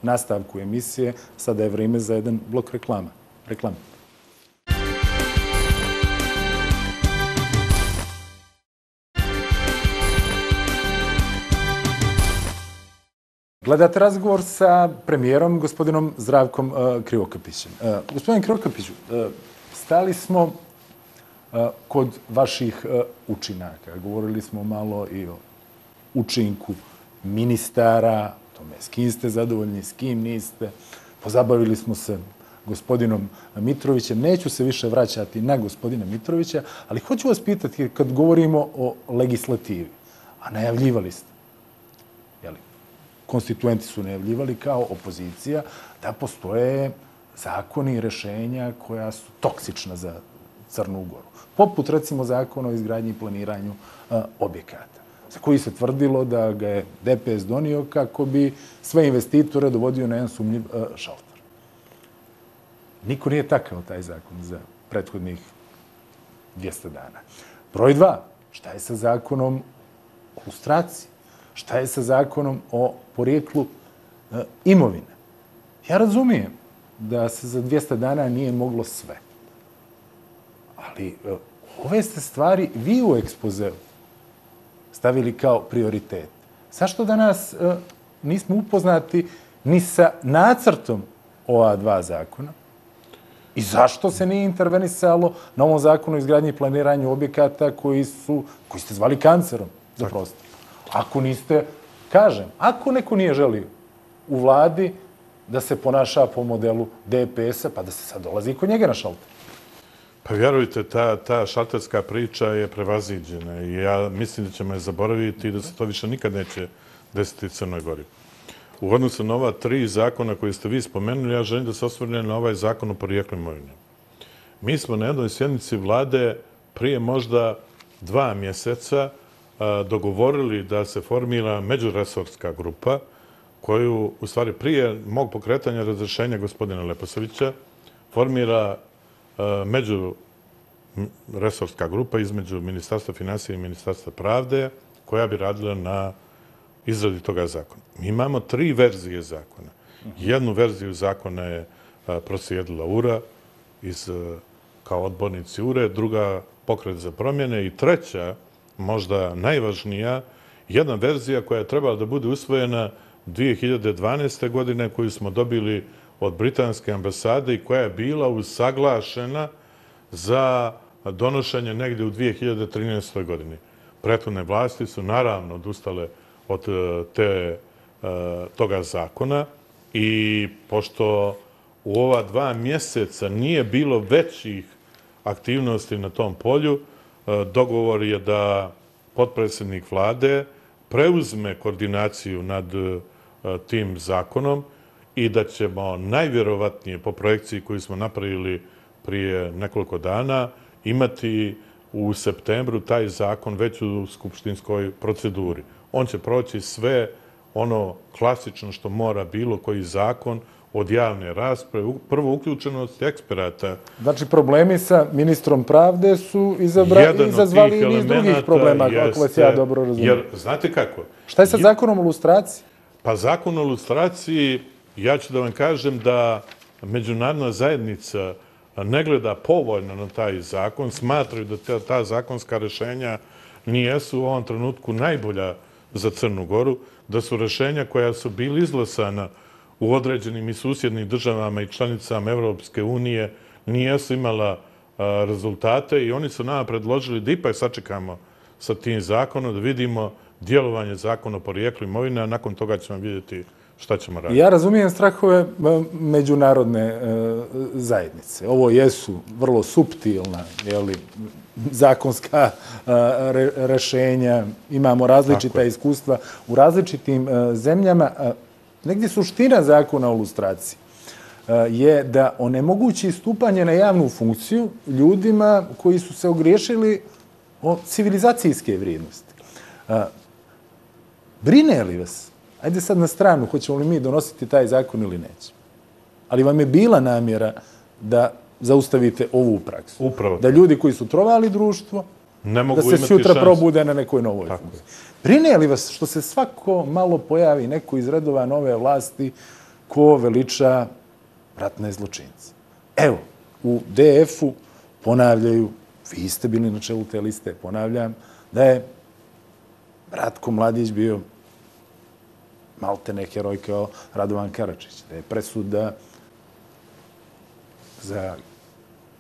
nastavku emisije. Sada je vrijeme za jedan blok reklama. Reklama. Gledate razgovor sa premijerom, gospodinom Zdravkom Krivokapićem. Gospodin Krivokapiću, stali smo kod vaših učinaka. Govorili smo malo i o učinku ministara, o tome s kim ste zadovoljni, s kim niste. Pozabavili smo se gospodinom Mitrovićem. Neću se više vraćati na gospodina Mitrovića, ali hoću vas pitati, kad govorimo o legislativi, a najavljivali ste, jeli, konstituenti su najavljivali kao opozicija da postoje zakoni i rešenja koja su toksična za Crnu Goru. Poput, recimo, zakona o izgradnji i planiranju a, objekata, za koji se tvrdilo da ga je D P S donio kako bi sve investitore dovodio na jedan sumnjiv a, šalter. Niko nije takao taj zakon za prethodnih dvjesto dana. Broj dva, šta je sa zakonom o lustraciji? Šta je sa zakonom o porijeklu e, imovine? Ja razumijem da se za dvjesto dana nije moglo sve. Ali e, ove ste stvari vi u ekspozeu stavili kao prioritet. Zašto danas e, nismo upoznati ni sa nacrtom ova dva zakona? I zašto se nije intervenisalo na ovom zakonu o izgradnji i planiranju objekata koji, su, koji ste zvali kancerom za prostor? Ako niste, kažem, ako neko nije želio u vladi da se ponaša po modelu D P S-a, pa da se sad dolazi kod njega na šalter. Pa vjerujte, ta, ta šalterska priča je prevaziđena i ja mislim da ćemo je zaboraviti i da se to više nikad neće desiti u Crnoj Gori. U odnosu na ova tri zakona koje ste vi spomenuli, ja želim da se osvrnem na ovaj zakon o porijeklu imovine. Mi smo na jednoj sjednici vlade prije možda dva mjeseca dogovorili da se formira međuresorska grupa koju, u stvari, prije mog pokretanja razrešenja gospodina Leposavića, formira međuresorska grupa između Ministarstva finansija i Ministarstva pravde koja bi radila na izradi toga zakona. Mi imamo tri verzije zakona. Jednu verziju zakona je proslijedila U R A iz, kao odbornici U R E, druga Pokret za promjene i treća, možda najvažnija, jedna verzija koja je trebala da bude usvojena dvije hiljade dvanaeste. godine, koju smo dobili od britanske ambasade i koja je bila usaglašena za donošenje negdje u dvije hiljade trinaestoj. godini. Prethodne vlasti su naravno odustale od te, toga zakona i pošto u ova dva mjeseca nije bilo većih aktivnosti na tom polju, dogovor je da potpredsjednik vlade preuzme koordinaciju nad tim zakonom i da ćemo najvjerovatnije po projekciji koju smo napravili prije nekoliko dana imati u septembru taj zakon već u skupštinskoj proceduri. On će proći sve ono klasično što mora bilo koji zakon od javne rasprave, prvo uključenost eksperata. Znači, problemi sa ministrom pravde su izazvali i niz drugih problema, ako vas ja dobro razumijem. Jer, znate kako? Šta je sa zakonom o lustraciji? Pa zakon o lustraciji, ja ću da vam kažem da međunarodna zajednica ne gleda povoljno na taj zakon, smatraju da ta zakonska rešenja nijesu u ovom trenutku najbolja za Crnu Goru, da su rešenja koja su bili izglasana u određenim i susjednim državama i članicama Evropske unije nijesu imala rezultate i oni su nama predložili da ipak sačekamo sa tim zakonom, da vidimo djelovanje zakona o porijeklu imovine, a nakon toga ćemo vidjeti šta ćemo raditi. Ja razumijem strahove međunarodne zajednice. Ovo jesu vrlo suptilna zakonska rešenja, imamo različita iskustva u različitim zemljama. Negdje suština zakona o lustraciji je da onemogući stupanje na javnu funkciju ljudima koji su se ogriješili o civilizacijske vrijednosti. Brine li vas? Ajde sad na stranu, hoćemo li mi donositi taj zakon ili neće. Ali vam je bila namjera da zaustavite ovu praksu. Upravo. Da ljudi koji su trovali društvo, da se sutra probude na nekoj novoj funkciji. Brine li vas što se svako malo pojavi neko iz redova nove vlasti ko veliča ratne zločince? Evo, u D F-u ponavljaju, vi ste bili na čelu te liste, ponavljam, da je Ratko Mladić bio maltene heroj kao Radovan Karadžić, da je presuda za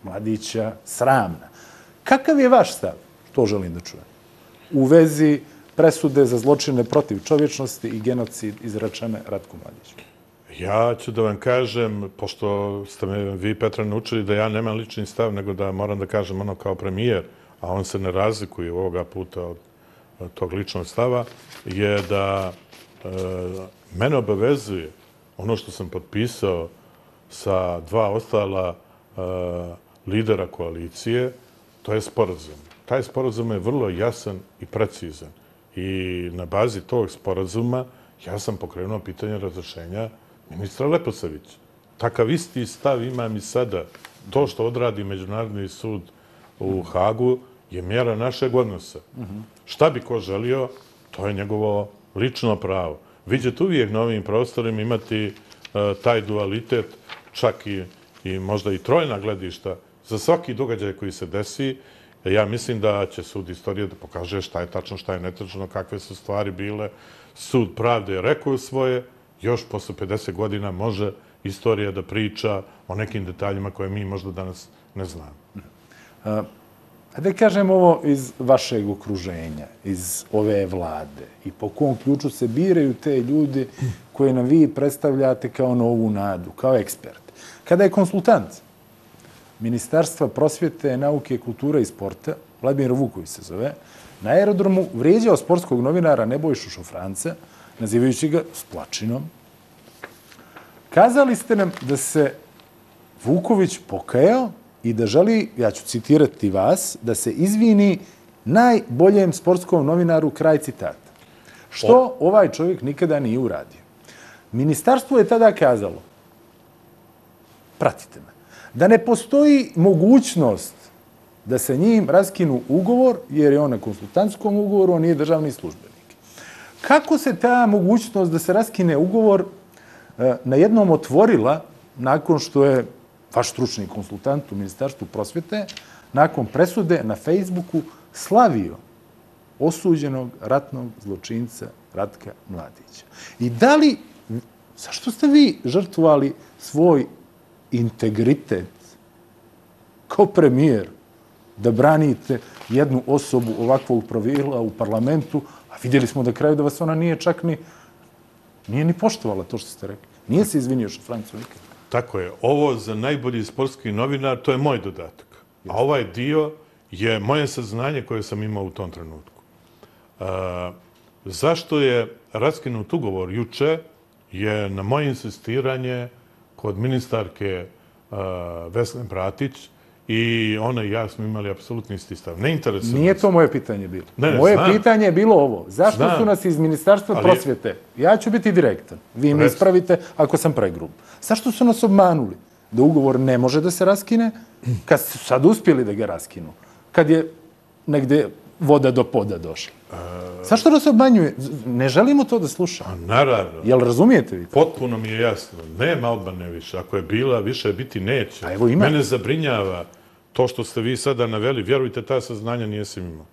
Mladića sramna. Kakav je vaš stav? To želim da čujem. U vezi presude za zločine protiv čovječnosti i genocid izrečene Ratku Mladiću. Ja ću da vam kažem, pošto ste me vi, Petra, naučili da ja nemam lični stav, nego da moram da kažem ono kao premijer, a on se ne razlikuje ovoga puta od tog ličnog stava, je da mene obavezuje ono što sam potpisao sa dva ostala lidera koalicije, to je sporazum. Taj sporazum je vrlo jasan i precizan. I na bazi tog sporazuma ja sam pokrenuo pitanje razrešenja ministra Leposavića. Takav isti stav imam i sada. To što odradi Međunarodni sud u Hagu je mjera našeg odnosa. Šta bi ko želio, to je njegovo lično pravo. Vi ćete uvijek na ovim prostorima imati taj dualitet, čak i možda i trojna gledišta za svaki događaj koji se desi. Ja mislim da će sud istorije da pokaže šta je tačno, šta je netačno, kakve su stvari bile. Sud pravde je rekao svoje, još posle pedeset godina može istorija da priča o nekim detaljima koje mi možda danas ne znamo. Da kažem ovo iz vašeg okruženja, iz ove vlade i po kom ključu se biraju te ljudi koje nam vi predstavljate kao novu nadu, kao eksperte. Kada je konsultant Ministarstva prosvjete, nauke, kulture i sporta, Vladimir Vuković se zove, na aerodromu vrijeđao sportskog novinara Nebojšu Šofranca, nazivajući ga splačinom, kazali ste nam da se Vuković pokajao i da želi, ja ću citirati vas, da se izvini najboljem sportskom novinaru, kraj citata. Što ovaj čovjek nikada nije uradio. Ministarstvo je tada kazalo, pratite me, da ne postoji mogućnost da se njim raskinu ugovor, jer je on na konsultantskom ugovoru, on nije državni službenik. Kako se ta mogućnost da se raskine ugovor na jednom otvorila nakon što je vaš stručni konsultant u Ministarstvu prosvjete nakon presude na Facebooku slavio osuđenog ratnog zločinca Ratka Mladića? I da li, zašto ste vi žrtvovali svoj integritet kao premijer da branite jednu osobu ovakvog profila u parlamentu, a vidjeli smo da kraju da vas ona nije čak ni, nije ni poštovala to što ste rekli. Nije se izvinio Šafrancu nikad. Tako je. Ovo za najbolji sportski novinar, to je moj dodatak. A ovaj dio je moje saznanje koje sam imao u tom trenutku. Zašto je raskinut ugovor juče je na moje insistiranje kod ministarke Vesne Bratić i ona i ja smo imali apsolutni isti stav. Ne interesuje. Nije to moje pitanje bilo. Ne, ne, moje znam. pitanje je bilo ovo. Zašto Znam. su nas iz Ministarstva Ali- prosvjete, ja ću biti direktan, vi me Reci. ispravite ako sam pregrub, zašto su nas obmanuli da ugovor ne može da se raskine, kad su sad uspjeli da ga raskinu, kad je negde voda do poda došla? Zašto nas obmanjuje? Ne želimo to da slušamo. Naravno. Jel razumijete vi to? Potpuno mi je jasno. Nema obmane više. Ako je bila, više biti neće. A evo ima. Mene zabrinjava to što ste vi sada naveli. Vjerujte, ta saznanja nijesam imao.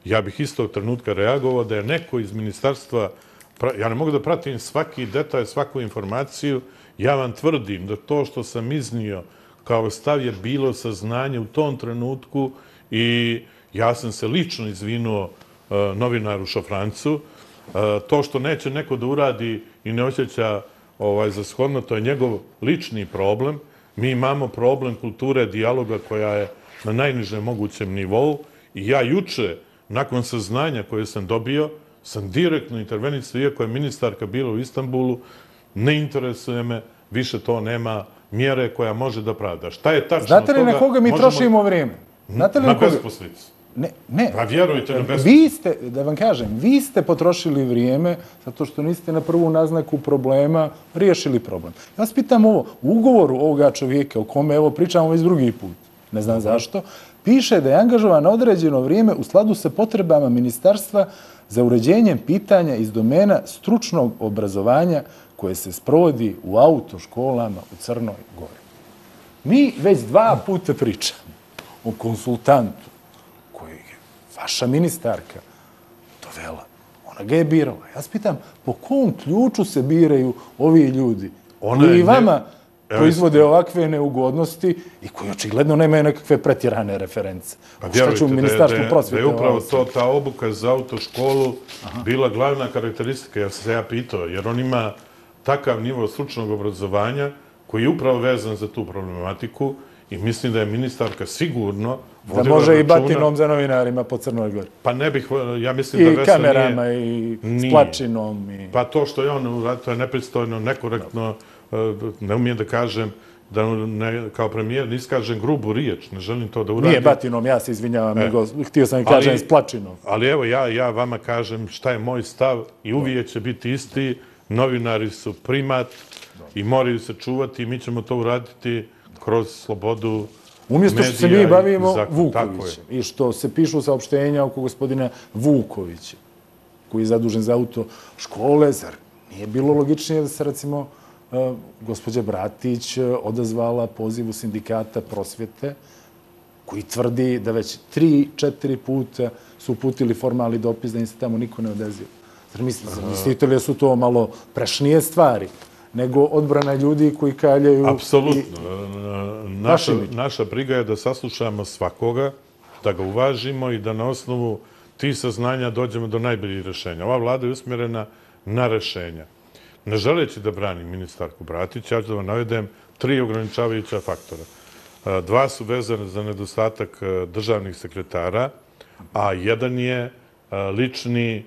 Ja bih istog trenutka reagovao da je neko iz ministarstva, pra- ja ne mogu da pratim svaki detalj, svaku informaciju. Ja vam tvrdim da to što sam iznio kao stav je bilo saznanje u tom trenutku i ja sam se lično izvinuo uh, novinaru Šafrancu. Uh, to što neće neko da uradi i ne osjeća ovaj, za shodno, to je njegov lični problem. Mi imamo problem kulture dijaloga koja je na najnižem mogućem nivou i ja juče, nakon saznanja koje sam dobio, sam direktno intervenisao, iako je ministarka bila u Istanbulu, ne interesuje me, više to nema mjere koja može da pravda. Šta je tačno Znate li toga? na koga mi možemo- trošimo vrijeme? Znate li Na na koga? besposlicu. Ne, ne. Pa vjerujte na besposlicu. Vi ste, da vam kažem, vi ste potrošili vrijeme zato što niste na prvu naznaku problema riješili problem. Ja vas pitam ovo, u ugovoru ovoga čovjeka o kome evo pričamo već drugi put, ne znam zašto, piše da je angažovan na određeno vrijeme u skladu sa potrebama ministarstva za uređenjem pitanja iz domena stručnog obrazovanja koje se sprovodi u autoškolama u Crnoj Gori. Mi već dva puta pričamo o konsultantu koji je vaša ministarka dovela. Ona ga je birala. Ja vas pitam, po kom ključu se biraju ovi ljudi Ona je koji ne- vama Evo proizvode ovakve neugodnosti i koji očigledno nemaju nekakve pretjerane reference. Pa Šta će u vjerujte da je, Ministarstvu da je, da prosvjete? je upravo ovo to, ta obuka za autoškolu bila glavna karakteristika, ja sam se ja pitao, jer on ima takav nivo stručnog obrazovanja koji je upravo vezan za tu problematiku i mislim da je ministarka sigurno Da vodila može i računa- batinom za novinarima po Crnoj Gori. Pa ne bih, ja mislim I da Vesna kamerama nije... i s Nije. plačinom. I... Pa to što je on uradio, to je nepristojno, nekorektno, e, ne umijem da kažem, da ne, kao premijer ne iskažem grubu riječ, ne želim to da uradim. Nije batinom, ja se izvinjavam, nego htio sam im Ali- kažem s plačinom. Ali evo, ja, ja vama kažem šta je moj stav i uvijek će biti isti. Novinari su primat i moraju se čuvati i mi ćemo to uraditi kroz slobodu Umjesto što se medija mi i bavimo zakon. Tako je. Vukovićem i što se pišu saopštenja oko gospodina Vukovića, koji je zadužen za auto škole, zar nije bilo logičnije da se, recimo, uh, gospođa Bratić uh, odazvala pozivu sindikata prosvjete, koji tvrdi da već tri, četiri puta su uputili formalni dopis da im se tamo niko ne odaziva. Zar mislite, zar mislite li da su to malo prešnije stvari nego odbrana ljudi koji kaljaju... Apsolutno. Naša, Vaš imidž. naša briga je da saslušamo svakoga, da ga uvažimo i da na osnovu tih saznanja dođemo do najboljih rješenja. Ova vlada je usmjerena na rješenja. Ne želeći da branim ministarku Bratić, ja ću da vam navedem tri ograničavajuća faktora. Dva su vezane za nedostatak državnih sekretara, a jedan je lični,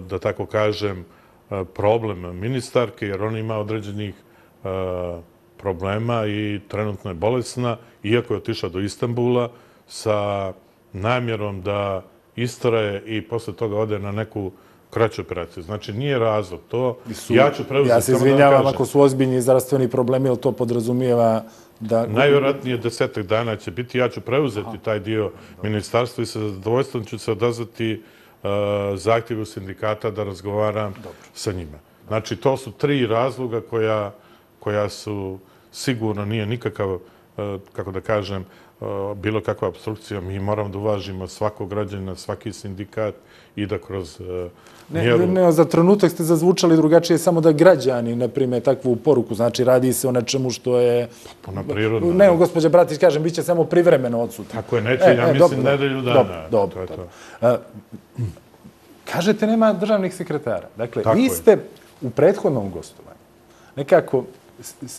da tako kažem, problem ministarke, jer ona ima određenih problema i trenutno je bolesna, iako je otišla do Istanbula sa namjerom da istraje i posle toga ode na neku kraću operaciju. Znači, nije razlog to. Ja ću preuzeti... Ja se izvinjavam ako su ozbiljni zdravstveni problemi, ali to podrazumijeva da... Najvjerojatnije desetak dana će biti. Ja ću preuzeti taj dio ministarstva i sa zadovoljstvom ću se odazvati zahtjevu sindikata da razgovaram sa njima. Znači, to su tri razloga koja, koja su sigurno nije nikakav, kako da kažem, bilo kakva obstrukcija. Mi moramo da uvažimo svakog građanina, svaki sindikat i da kroz mjeru... Ne, ne, za trenutak ste zazvučali drugačije, samo da građani ne prime takvu poruku. Znači, radi se o nečemu što je... Potpuno prirodno. Ne, gospođa Bratić, kažem, bit će samo privremeno odsutno. Tako je, neće, ja mislim nedelju dana. Dobro, dobro. Kažete, nema državnih sekretara. Dakle, vi ste u prethodnom gostovanju nekako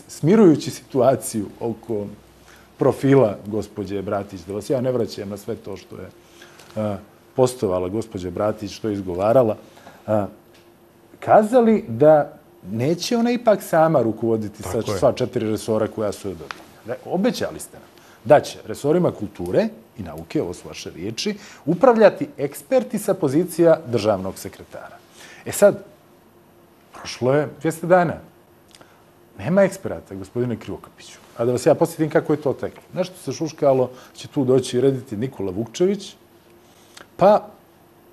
smirujući situaciju oko profila gospođe Bratić, da vas ja ne vraćam na sve to što je postovala gospođa Bratić, što je izgovarala, kazali da neće ona ipak sama rukovoditi sa sva četiri resora koja su joj dobila. Obećali ste nam da će resorima kulture i nauke, ovo su vaše riječi, upravljati eksperti sa pozicija državnog sekretara. E sad, prošlo je dvjesto dana. Nema eksperata, gospodine Krivokapiću. A da vas ja posjetim kako je to teklo. Nešto se šuškalo, će tu doći i rediti Nikola Vukčević, pa,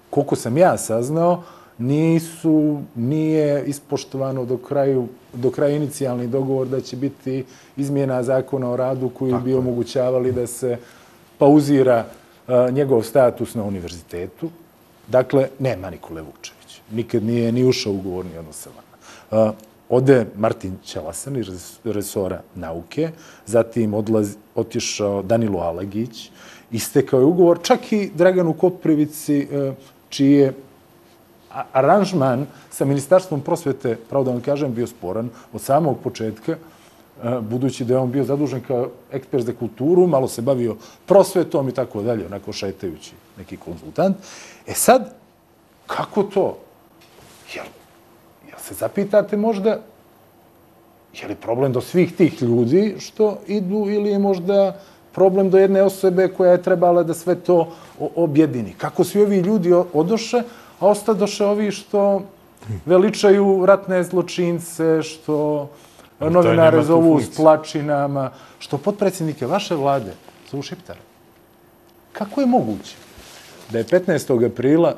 koliko sam ja saznao, nisu, nije ispoštovano do kraju, do kraja inicijalni dogovor da će biti izmjena zakona o radu koji bi omogućavali da se pauzira njegov status na univerzitetu. Dakle, nema Nikole Vukčevića. Nikad nije ni ušao u ugovorni odnos sa vama. Ode Martin Ćelasan iz resora nauke, zatim otišao Danilo Alagić, istekao je ugovor, čak i Draganu Koprivici, čiji je aranžman sa Ministarstvom prosvete, pravo da vam kažem, bio sporan od samog početka, budući da je on bio zadužen kao ekspert za kulturu, malo se bavio prosvetom i tako dalje, onako šetajući neki konzultant. E sad, kako to? Jel se zapitate možda, je li problem do svih tih ljudi što idu ili je možda problem do jedne osobe koja je trebala da sve to objedini? Kako svi ovi ljudi odoše, a ostadoše ovi što veličaju ratne zločince, što novinare zovu s plačinama, što potpredsjednike vaše vlade zovu šiptare? Kako je moguće da je petnaestog aprila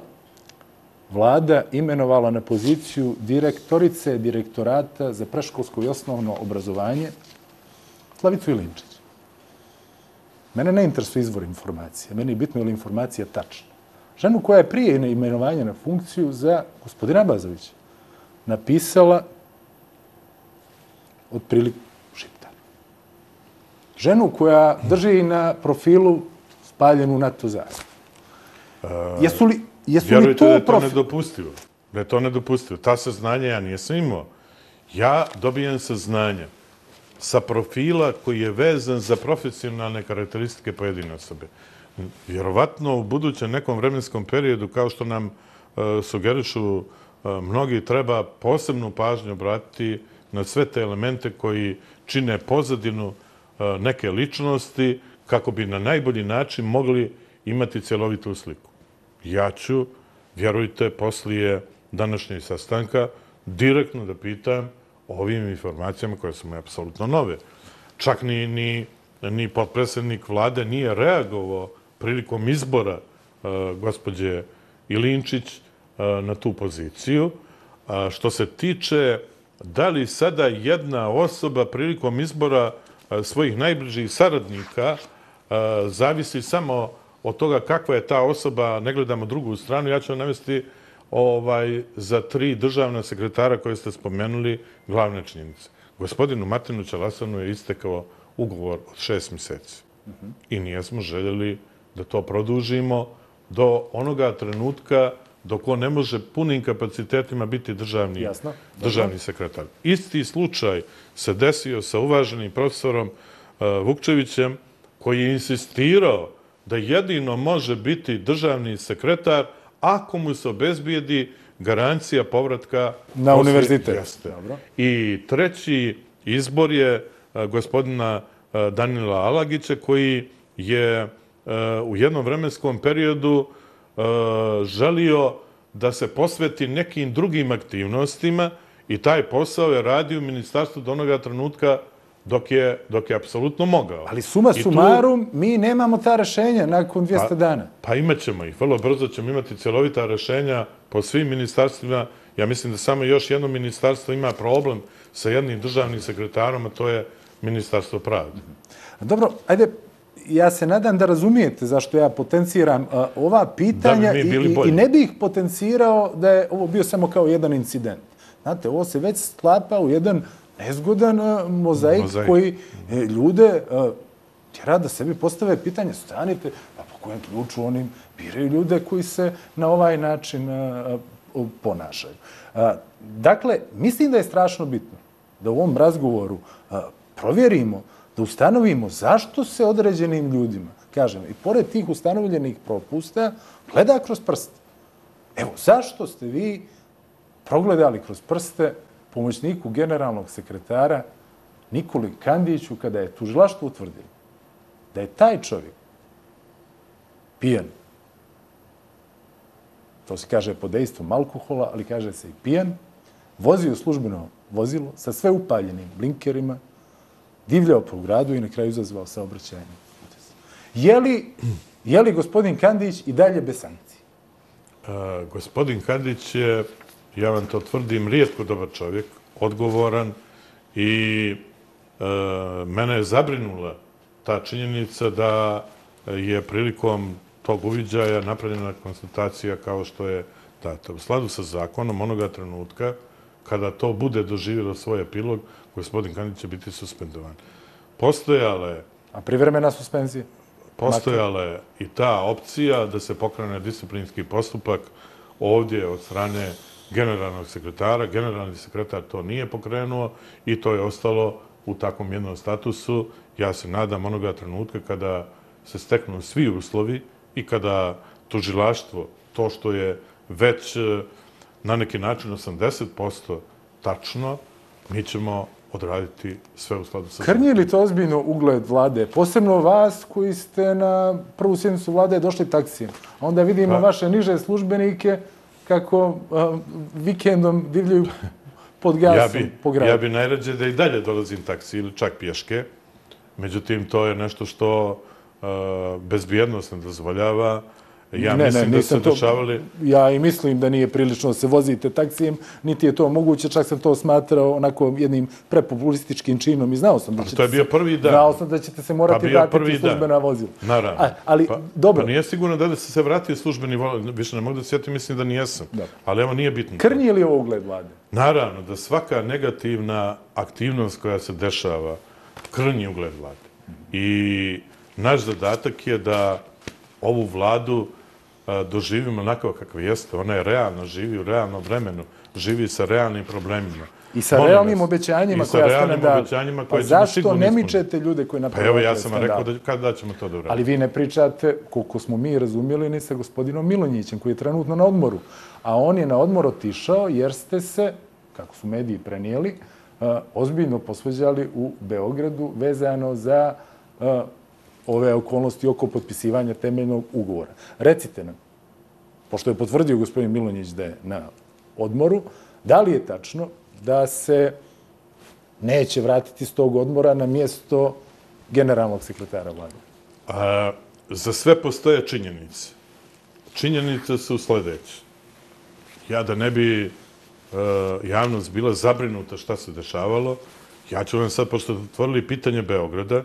vlada imenovala na poziciju direktorice direktorata za predškolsko i osnovno obrazovanje Slavicu Ilinčić? Mene ne interesuje izvor informacije. Meni je bitno je li informacija tačna. Ženu koja je prije imenovanja na funkciju za gospodina Abazovića napisala otprilike šiptar. Ženu koja drži na profilu spaljenu NATO zastavu. Jesu li Vjerujte da je to nedopustivo. Da je to nedopustivo. Ta saznanja ja nisam imao. Ja dobijem saznanja sa profila koji je vezan za profesionalne karakteristike pojedine osobe. Vjerovatno u budućem nekom vremenskom periodu, kao što nam sugerišu mnogi, treba posebnu pažnju obratiti na sve te elemente koji čine pozadinu neke ličnosti kako bi na najbolji način mogli imati cjelovitu sliku. Ja ću, vjerujte, poslije današnjeg sastanka direktno da pitam o ovim informacijama koje su mi apsolutno nove. Čak ni, ni, ni potpredsjednik vlade nije reagovao prilikom izbora uh, gospođe Ilinčić uh, na tu poziciju. A što se tiče da li sada jedna osoba prilikom izbora uh, svojih najbližih saradnika uh, zavisi samo od toga kakva je ta osoba, ne gledamo drugu stranu, ja ću vam navesti ovaj, za tri državna sekretara koje ste spomenuli glavne činjenice. Gospodinu Martinu Ćelasanu je istekao ugovor od šest mjeseci. I nijesmo željeli da to produžimo do onoga trenutka dok on ne može punim kapacitetima biti državni, Jasno. državni sekretar. Isti slučaj se desio sa uvaženim profesorom uh, Vukčevićem, koji je insistirao da jedino može biti državni sekretar ako mu se obezbijedi garancija povratka na univerzitet. Jeste. I treći izbor je gospodina Danila Alagića, koji je u jednom vremenskom periodu želio da se posveti nekim drugim aktivnostima i taj posao je radio u ministarstvu do onoga trenutka dok je, dok je apsolutno mogao. Ali suma sumarum, mi nemamo ta rešenja nakon dvjesto dana. Pa imat ćemo ih. Vrlo brzo ćemo imati cjelovita rešenja po svim ministarstvima. Ja mislim da samo još jedno ministarstvo ima problem sa jednim državnim sekretarom, a to je Ministarstvo pravde. Dobro, ajde, ja se nadam da razumijete zašto ja potenciram ova pitanja i ne bih potencirao da je ovo bio samo kao jedan incident. Znate, ovo se već sklapa u jedan nezgodan mozaik koji ljude tjera da sebi postave pitanje, stanite, a po kojem ključu oni biraju ljude koji se na ovaj način ponašaju. Dakle, mislim da je strašno bitno da u ovom razgovoru provjerimo, da ustanovimo zašto se određenim ljudima, kažem, i pored tih ustanovljenih propusta, gleda kroz prste. Evo, zašto ste vi progledali kroz prste pomoćniku generalnog sekretara Nikoli Kandiću kada je tužilaštvo utvrdilo da je taj čovjek pijan. To se kaže pod dejstvom alkohola, ali kaže se i pijan, vozio službeno vozilo sa sve upaljenim blinkerima, divljao po gradu i na kraju izazvao saobraćajni udes. Je li, je li gospodin Kandić i dalje bez sankcije? Uh, gospodin Kandić je, ja vam to tvrdim, rijetko dobar čovjek, odgovoran i uh, mene je zabrinula ta činjenica da je prilikom tog uviđaja napravljena konstatacija kao što je data. U skladu sa zakonom onoga trenutka kada to bude doživjelo svoj epilog, gospodin Kandić će biti suspendovan. Postojale... A privremena suspenzija? Postojala je i ta opcija da se pokrene disciplinski postupak ovdje od strane generalnog sekretara. Generalni sekretar to nije pokrenuo i to je ostalo u takvom jednom statusu. Ja se nadam onoga trenutka kada se steknu svi uslovi i kada tužilaštvo, to što je već na neki način osamdeset posto tačno, mi ćemo odraditi sve u skladu sa... Krnji li to ozbiljno ugled vlade? Posebno vas koji ste na prvu sjednicu vlade došli taksijem. A onda vidimo vaše niže službenike kako vikendom divljaju pod gasom po gradu. Ja bi najrađe da i dalje dolazim taksi ili čak pješke. Međutim, to je nešto što bezbjednost ne dozvoljava. Ja mislim da se dešavali... Ja i mislim da nije prilično da se vozite taksijem, niti je to moguće, čak sam to smatrao onako jednim prepopulističkim činom i znao sam da ćete... To je bio prvi dan. Znao sam da ćete se morati vratiti službena vozila. Naravno. Ali, dobro... Pa nije sigurno da se se vratio službeni vozila, više ne mogu da se sjetim, mislim da nijesam. Ali evo, nije bitno. Krnji li ovo ugled vlade? Naravno, da svaka negativna aktivnost koja se dešava krnji ugled vlade. I naš zadatak je da ovu vladu doživimo onako kakva jeste. Ona je realno, živi u realnom vremenu, živi sa realnim problemima. I sa realnim obećanjima koja ste nam dali. Pa zašto ne mičete ljude koji napravljaju skandal? Pa evo, ja sam vam rekao kada ćemo to da uraditi. Ali vi ne pričate, koliko smo mi razumjeli, ni sa gospodinom Milonjićem, koji je trenutno na odmoru. A on je na odmor otišao jer ste se, kako su mediji prenijeli, ozbiljno posveđali u Beogradu vezano za ove okolnosti oko potpisivanja temeljnog ugovora. Recite nam, pošto je potvrdio gospodin Milonjić da je na odmoru, da li je tačno da se neće vratiti s tog odmora na mjesto generalnog sekretara vlade? Za sve postoje činjenice. Činjenice su sljedeće. Ja da ne bi javnost bila zabrinuta šta se dešavalo, ja ću vam sad, pošto ste otvorili pitanje Beograda,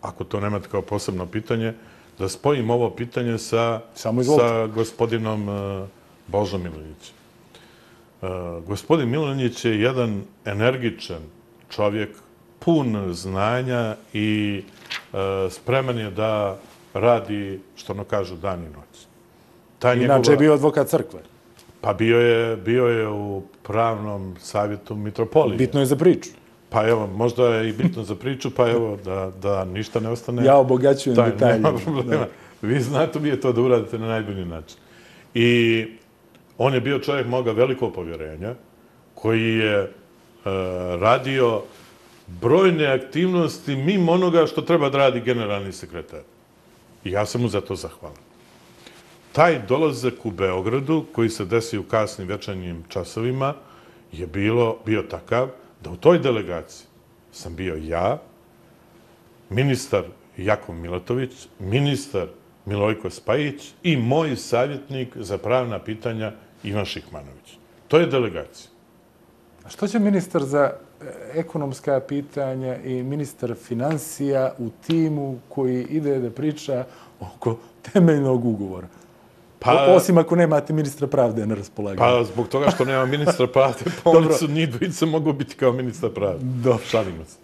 ako to nemate kao posebno pitanje, da spojim ovo pitanje sa gospodinom Božom Milonjićem. Gospodin Milonjić je jedan energičan čovjek, pun znanja i spreman je da radi, što ono kažu, dan i noć. Inače je bio advokat crkve. Pa bio je u pravnom savjetu mitropolije. Bitno je za priču. Pa evo, možda je i bitno za priču, pa evo, da ništa ne ostane... Ja obogaćujem detalje. Nema problema. Vi znate mi je to da uradite na najbolji način. I on je bio čovjek moga velikog povjerenja, koji je radio brojne aktivnosti mimo onoga što treba da radi generalni sekretar. I ja sam mu za to zahvalan. Taj dolazak u Beogradu, koji se desio u kasnim večernjim časovima, je bilo, bio takav da u toj delegaciji sam bio ja, ministar Jakov Milatović, ministar Milojko Spajić i moj savjetnik za pravna pitanja Ivan Šihmanović. To je delegacija. A što će ministar za ekonomska pitanja i ministar finansija u timu koji ide da priča oko temeljnog ugovora? Pa, osim ako nemate ministra pravde na raspolaganju. Pa zbog toga što nema ministra pravde, pa oni su njih dvojica mogu biti kao ministar pravde. Dobro. Šalimo se.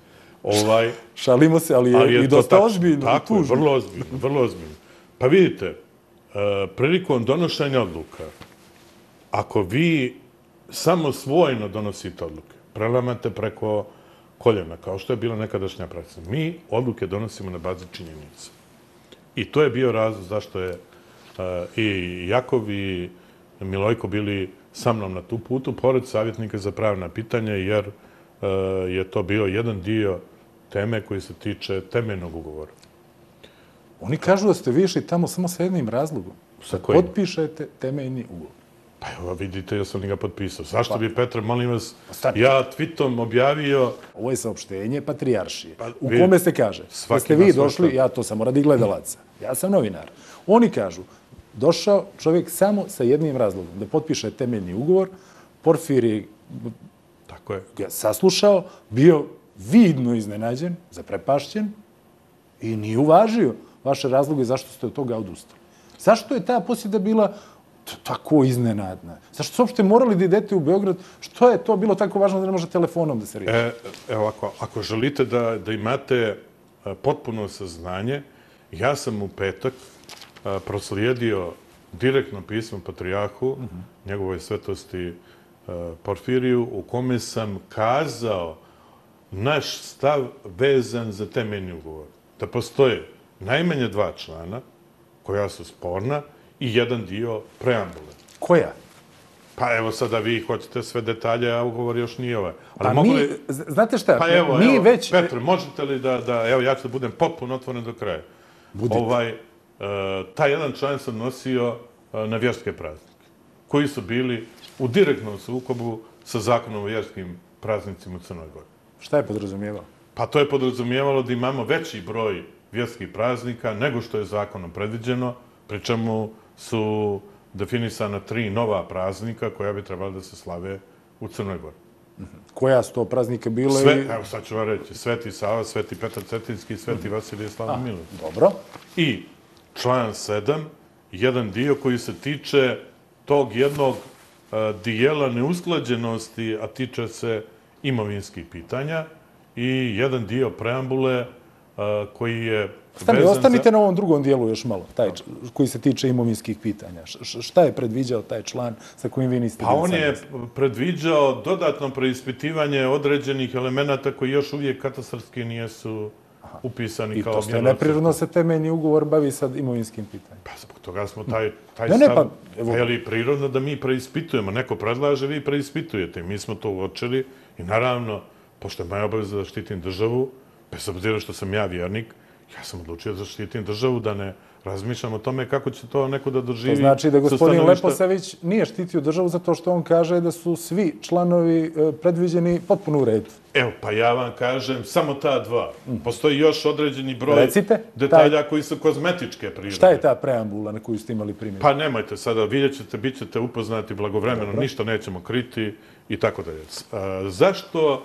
Ovaj, Šalimo se, ali je, ali je i dosta tako, ozbiljno. Tako je, vrlo ozbiljno, vrlo ozbiljno. Pa vidite, prilikom donošenja odluka, ako vi samo svojno donosite odluke, prelamate preko koljena, kao što je bila nekadašnja praksa, mi odluke donosimo na bazi činjenica. I to je bio razlog zašto je i Jakov i Milojko bili sa mnom na tu putu, pored savjetnika za pravna pitanja, jer je to bio jedan dio teme koji se tiče temeljnog ugovora. Oni kažu da ste vi išli tamo samo sa jednim razlogom. Sa kojim? Potpišete temeljni ugovor. Pa evo, vidite, ja sam ga potpisao. Zašto bi, Petar, molim vas, ja tweetom objavio... Ovo je saopštenje Patrijaršije, u kome se kaže da ste vi došli, ja to samo radi gledalaca, ja sam novinar. Oni kažu, došao čovjek samo sa jednim razlogom, da potpiše temeljni ugovor, Porfirij ga saslušao, bio vidno iznenađen, zaprepašćen i nije uvažio vaše razloge zašto ste od toga odustali. Zašto je ta posjeda bila tako iznenadna? Zašto ste uopšte morali da idete u Beograd? Što je to bilo tako važno da ne može telefonom da se riješi? E, evo, ako, ako želite da, da imate potpuno saznanje, ja sam u petak a, proslijedio direktno pismo Patrijarhu, uh -huh. njegovoj svetosti a, Porfiriju, u kome sam kazao naš stav vezan za temeljni ugovor. Da postoje najmanje dva člana koja su sporna i jedan dio preambule. Koja? Pa evo sada vi hoćete sve detalje, a ugovor još nije ovaj. Ali pa mi, li... znate šta, pa evo, mi evo, već... Petre, možete li da, da, evo ja ću da budem potpuno otvoren do kraja. Budite. Ovaj, uh, taj jedan član sam nosio uh, na vjerske praznike, koji su bili u direktnom sukobu sa zakonom o vjerskim praznicima u Crnoj Gori. Šta je podrazumijevalo? Pa to je podrazumijevalo da imamo veći broj vjerskih praznika nego što je zakonom predviđeno, pri čemu su definisana tri nova praznika koja bi trebala da se slave u Crnoj Gori. Koja su to praznika bile? Sve, evo sad ću vam reći, Sveti Sava, Sveti Petar Cetinski i Sveti Vasilije Slavni Miloš. Dobro. I član sedam, jedan dio koji se tiče tog jednog uh, dijela neusklađenosti, a tiče se imovinskih pitanja, i jedan dio preambule uh, koji je Stani, ostanite za... na ovom drugom dijelu još malo, taj koji se tiče imovinskih pitanja. Š, šta je predviđao taj član sa kojim vi niste... Pa on je predviđao dodatno preispitivanje određenih elemenata koji još uvijek katastarski nijesu Aha. upisani I kao... I to ste neprirodno se temeljni ugovor bavi sad imovinskim pitanjem. Pa zbog toga smo taj, taj ne, stav... Ne, pa, evo... Je li prirodno da mi preispitujemo? Neko predlaže, vi preispitujete. Mi smo to uočili i naravno, pošto je moja obaveza da štitim državu, bez obzira što sam ja vjernik, ja sam odlučio da štitim državu, da ne razmišljam o tome kako će to neko da doživi. To znači da gospodin Leposavić nije štitio državu zato što on kaže da su svi članovi predviđeni potpuno u redu. Evo, pa ja vam kažem, samo ta dva. Postoji još određeni broj Recite, detalja taj... koji su kozmetičke prirode. Šta je ta preambula na koju ste imali primjer? Pa nemojte sada, vidjet ćete, bit ćete upoznati blagovremeno, Dobro. ništa nećemo kriti i tako dalje. Zašto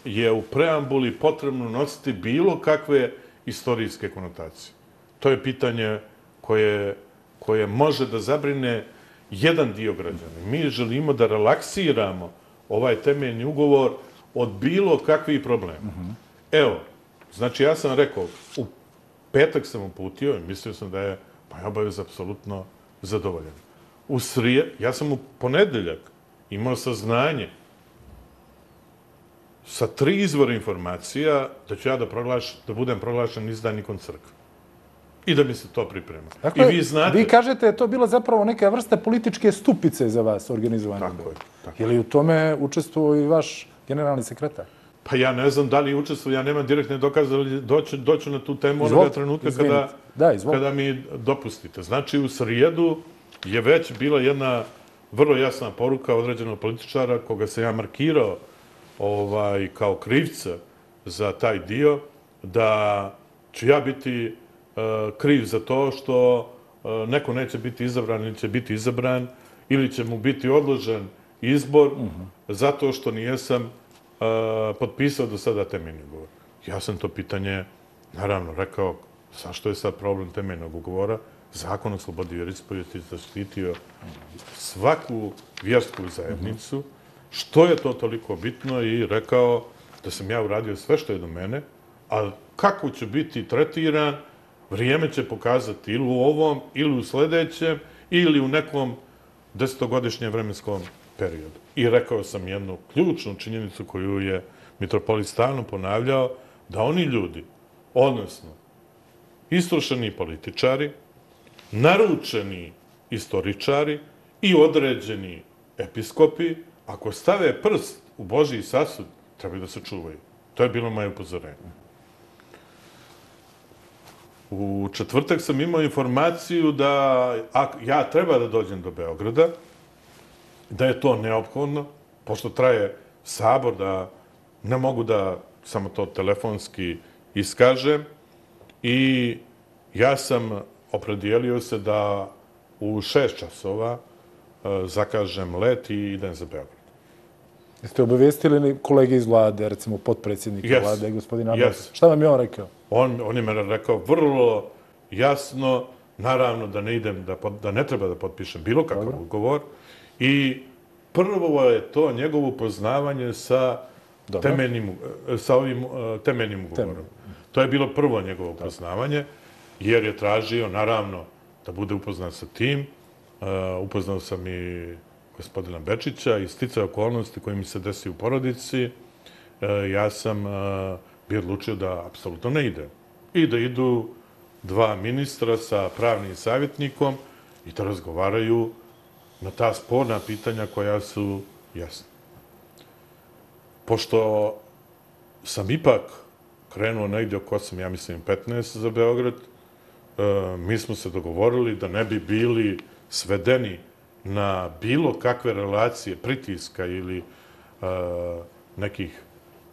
je u preambuli potrebno nositi bilo kakve istorijske konotacije? To je pitanje koje, koje može da zabrine jedan dio građana. Mi želimo da relaksiramo ovaj temeljni ugovor od bilo kakvih problema. Uh-huh. Evo, znači ja sam rekao, u petak sam uputio i mislio sam da je moja obaveza apsolutno zadovoljena. U srije, ja sam u ponedeljak imao saznanje sa tri izvora informacija da ću ja da, proglaš, da budem proglašen izdajnikom crkve. I da mi se to priprema. Dakle, I vi znate... Vi kažete da je to bila zapravo neka vrsta političke stupice za vas organizovanje. Tako je. Tako je li u tome učestvovao i vaš generalni sekretar? Pa ja ne znam da li učestvujem, ja nemam direktne dokaze, ali doću, doću na tu temu onoga trenutka kada, da, kada mi dopustite. Znači, u srijedu je već bila jedna vrlo jasna poruka određenog političara koga se ja markirao ovaj, kao krivca za taj dio, da ću ja biti uh, kriv za to što uh, neko neće biti izabran ili će biti izabran ili će mu biti odložen izbor uh -huh. zato što nijesam uh, potpisao do sada temeljni ugovor. Ja sam to pitanje, naravno, rekao, zašto je sad problem temeljnog ugovora? Zakon o slobodi vjeroispovijesti je zaštitio svaku vjersku zajednicu. Što je to toliko bitno? I rekao da sam ja uradio sve što je do mene, ali kako ću biti tretiran, vrijeme će pokazati ili u ovom, ili u sljedećem, ili u nekom desetogodišnjem vremenskom periodu. I rekao sam jednu ključnu činjenicu koju je mitropolit stalno ponavljao, da oni ljudi, odnosno istrošeni političari, naručeni istoričari i određeni episkopi, ako stave prst u Božji sasud, trebaju da se čuvaju. To je bilo moje upozorenje. U četvrtak sam imao informaciju da ja treba da dođem do Beograda, da je to neophodno, pošto traje sabor, da ne mogu da samo to telefonski iskažem. I ja sam opredijelio se da u šest časova zakažem let i idem za Beograd. Jeste obavijestili kolege iz vlade, recimo potpredsjednika yes. vlade, gospodina Abasa? Yes. Šta vam je on rekao? On, on je me rekao vrlo jasno, naravno da ne idem, da, da ne treba da potpišem bilo kakav Dobro. ugovor. I prvo je to njegovo upoznavanje sa, temeljnim, sa ovim uh, temeljnim ugovorom. Temelj. To je bilo prvo njegovo upoznavanje, jer je tražio, naravno, da bude upoznat sa tim. Uh, upoznao sam i gospodina Bečića i sticaj okolnosti koje mi se desi u porodici. Uh, ja sam uh, bio odlučio da apsolutno ne ide. I da idu dva ministra sa pravnim savjetnikom i da razgovaraju na ta sporna pitanja koja su jasna. Pošto sam ipak krenuo negdje oko osam, ja mislim petnaest za Beograd, mi smo se dogovorili da ne bi bili svedeni na bilo kakve relacije pritiska ili nekih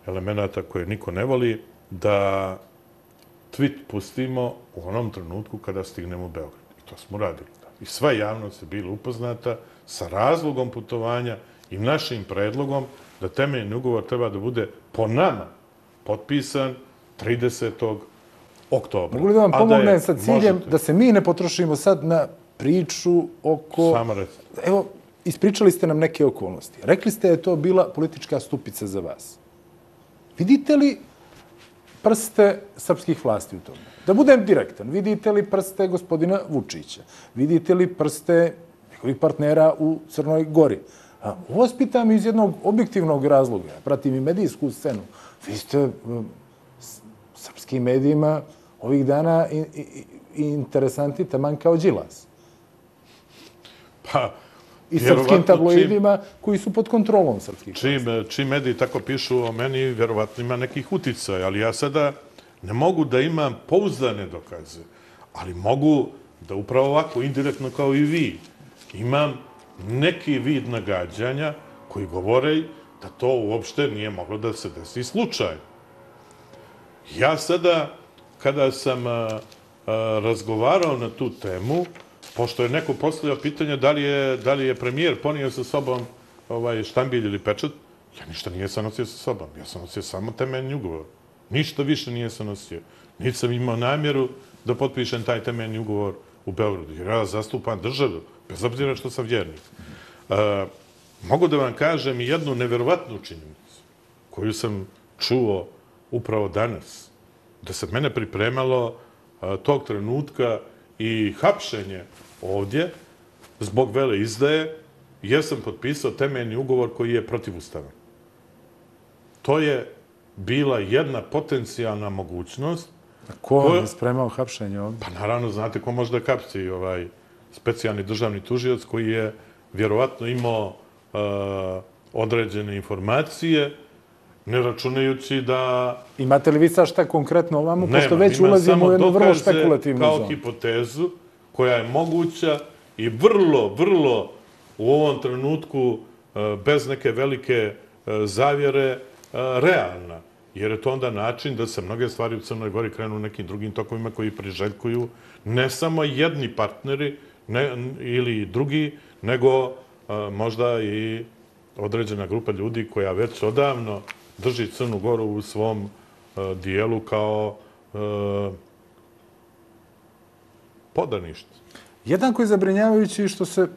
elemenata koje niko ne voli, da tweet pustimo u onom trenutku kada stignemo u Beograd. I to smo radili. I sva javnost je bila upoznata sa razlogom putovanja i našim predlogom da temeljni ugovor treba da bude po nama potpisan tridesetog oktobra. Mogu li da vam pomognem sa ciljem da se mi ne potrošimo sad na priču oko... Samo recite. Evo, ispričali ste nam neke okolnosti. Rekli ste da je to bila politička stupica za vas. Vidite li prste srpskih vlasti u tome? Da budem direktan, vidite li prste gospodina Vučića? Vidite li prste njegovih partnera u Crnoj Gori? Ovo vas pitam iz jednog objektivnog razloga. Pratim i medijsku scenu. Vi ste srpskim medijima ovih dana i, i, i interesanti taman kao Đilas. Pa, i srpskim tabloidima koji su pod kontrolom srpskih. Čim, čim mediji tako pišu o meni, vjerovatno ima nekih uticaja, ali ja sada ne mogu da imam pouzdane dokaze, ali mogu da upravo ovako, indirektno kao i vi, imam neki vid nagađanja koji govore da to uopšte nije moglo da se desi slučajno. Ja sada, kada sam a, a, razgovarao na tu temu, pošto je neko postavljao pitanje da li je, da li je premijer ponio sa sobom ovaj, štambilj ili pečat, ja ništa nije sam nosio sa sobom. Ja sam nosio samo temeljni ugovor. Ništa više nije sam nosio. Niti sam imao namjeru da potpišem taj temeljni ugovor u Beogradu. Jer ja zastupam državu, bez obzira što sam vjernik. E, mogu da vam kažem i jednu nevjerovatnu činjenicu koju sam čuo upravo danas. Da se mene pripremalo a, tog trenutka i hapšenje ovdje zbog vele izdaje, jer sam potpisao temeljni ugovor koji je protivustavan. To je bila jedna potencijalna mogućnost. A ko vam je spremao hapšenje ovdje? Pa naravno, znate ko može da kapci ovaj specijalni državni tužioc koji je vjerovatno imao uh, određene informacije ne računajući da... Imate li vi sad šta konkretno ovamo, pošto Nema, već ima ulazimo samo u jednu vrlo dokaze špekulativnu kao zonu? hipotezu koja je moguća i vrlo, vrlo u ovom trenutku e, bez neke velike e, zavjere e, realna. Jer je to onda način da se mnoge stvari u Crnoj Gori krenu nekim drugim tokovima koji priželjkuju ne samo jedni partneri ne, ili drugi, nego e, možda i određena grupa ljudi koja već odavno drži Crnu Goru u svom e, dijelu kao e, podanište. Jednako je zabrinjavajući što se,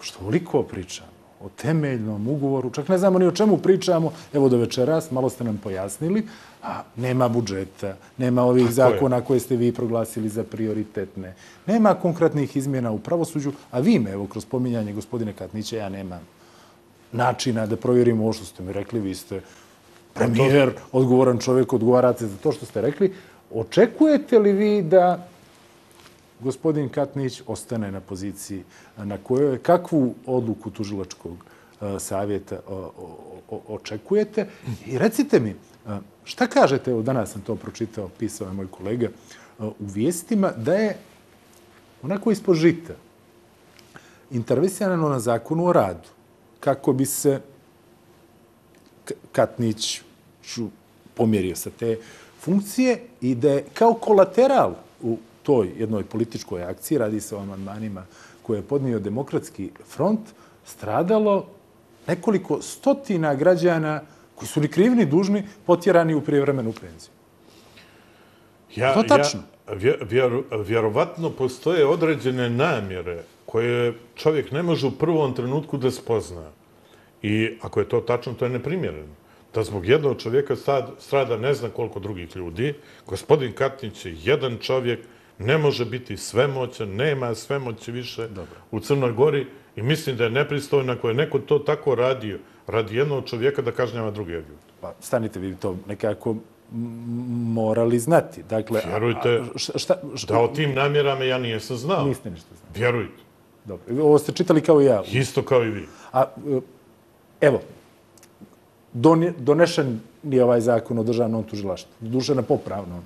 što ovoliko pričamo o temeljnom ugovoru, čak ne znamo ni o čemu pričamo, evo do večeras, malo ste nam pojasnili, a nema budžeta, nema ovih Tako zakona je. koje ste vi proglasili za prioritetne, nema konkretnih izmjena u pravosuđu, a vi me, evo, kroz pominjanje gospodine Katnića, ja nemam načina da provjerimo ovo što ste mi rekli, vi ste premijer, odgovoran čovjek, odgovarate za to što ste rekli. Očekujete li vi da gospodin Katnić ostane na poziciji na kojoj, kakvu odluku tužilačkog savjeta očekujete? I recite mi, šta kažete, evo danas sam to pročitao, pisao je moj kolega u vijestima, da je onako ispod žita intervesirano na zakonu o radu, kako bi se Katnić pomjerio sa te funkcije i da je kao kolateral u toj jednoj političkoj akciji, radi se o amandmanima koje je podnio Demokratski front, stradalo nekoliko stotina građana koji su ni krivi ni dužni potjerani u prijevremenu penziju. Ja, to tačno? Ja, vjer, vjerovatno postoje određene namjere koje čovjek ne može u prvom trenutku da spozna. I ako je to tačno, to je neprimjereno. Da zbog jednog čovjeka strada ne zna koliko drugih ljudi. Gospodin Katnić je jedan čovjek, ne može biti svemoćan, nema svemoći više Dobro. u Crnoj Gori i mislim da je nepristojno ako je neko to tako radio, radi jednog čovjeka da kažnjava druge ljude. Pa stanite, vi to nekako morali znati. Dakle, Vjerujte, a, šta, šta, da o tim namjerama ja nijesam znao. Niste ništa znali. Vjerujte. Dobro. Ovo ste čitali kao i ja. Isto kao i vi. A, evo, donešen je ovaj zakon o državnom tužilaštvu. Doduše na popravnom.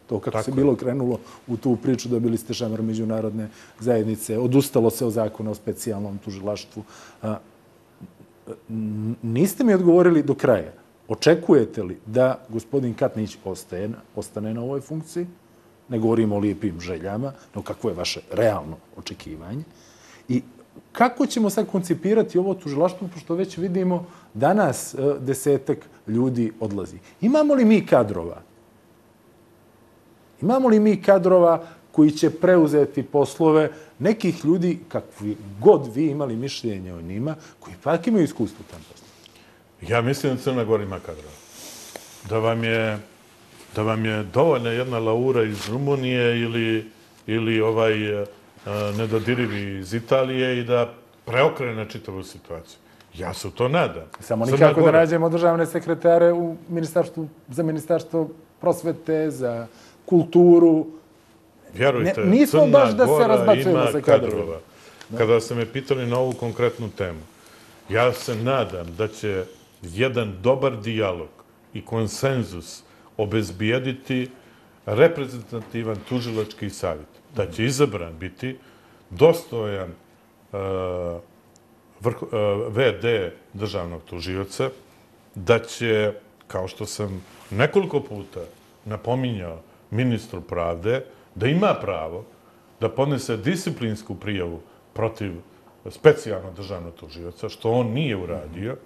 To kako se bilo krenulo u tu priču, dobili ste šamar međunarodne zajednice, odustalo se o zakonu o specijalnom tužilaštvu. Niste mi odgovorili do kraja. Očekujete li da gospodin Katnić ostaje, ostane na ovoj funkciji? Ne govorimo o lijepim željama, no kakvo je vaše realno očekivanje? I kako ćemo sad koncipirati ovo tužilaštvo, pošto već vidimo danas desetak ljudi odlazi. Imamo li mi kadrova? Imamo li mi kadrova koji će preuzeti poslove nekih ljudi, kakvi god vi imali mišljenje o njima, koji pak imaju iskustvo u tom poslu? Ja mislim da Crna Gora ima kadrova. Da vam je, da vam je dovoljna jedna Laura iz Rumunije ili, ili ovaj nedodirivi iz Italije i da preokrene čitavu situaciju. Ja se u to nadam. Samo nikako da nađemo državne sekretare u ministarstvu, za ministarstvo prosvete, za kulturu. Vjerujte, ne, nismo Crna baš da se Gora ima sa kadrova. Kada ste me pitali na ovu konkretnu temu, ja se nadam da će jedan dobar dijalog i konsenzus obezbijediti reprezentativan tužilački savjet. Da će izabran biti dostojan uh, vrh, uh, ve de državnog tužioca, da će, kao što sam nekoliko puta napominjao ministru pravde, da ima pravo da podnese disciplinsku prijavu protiv specijalnog državnog tužioca, što on nije uradio.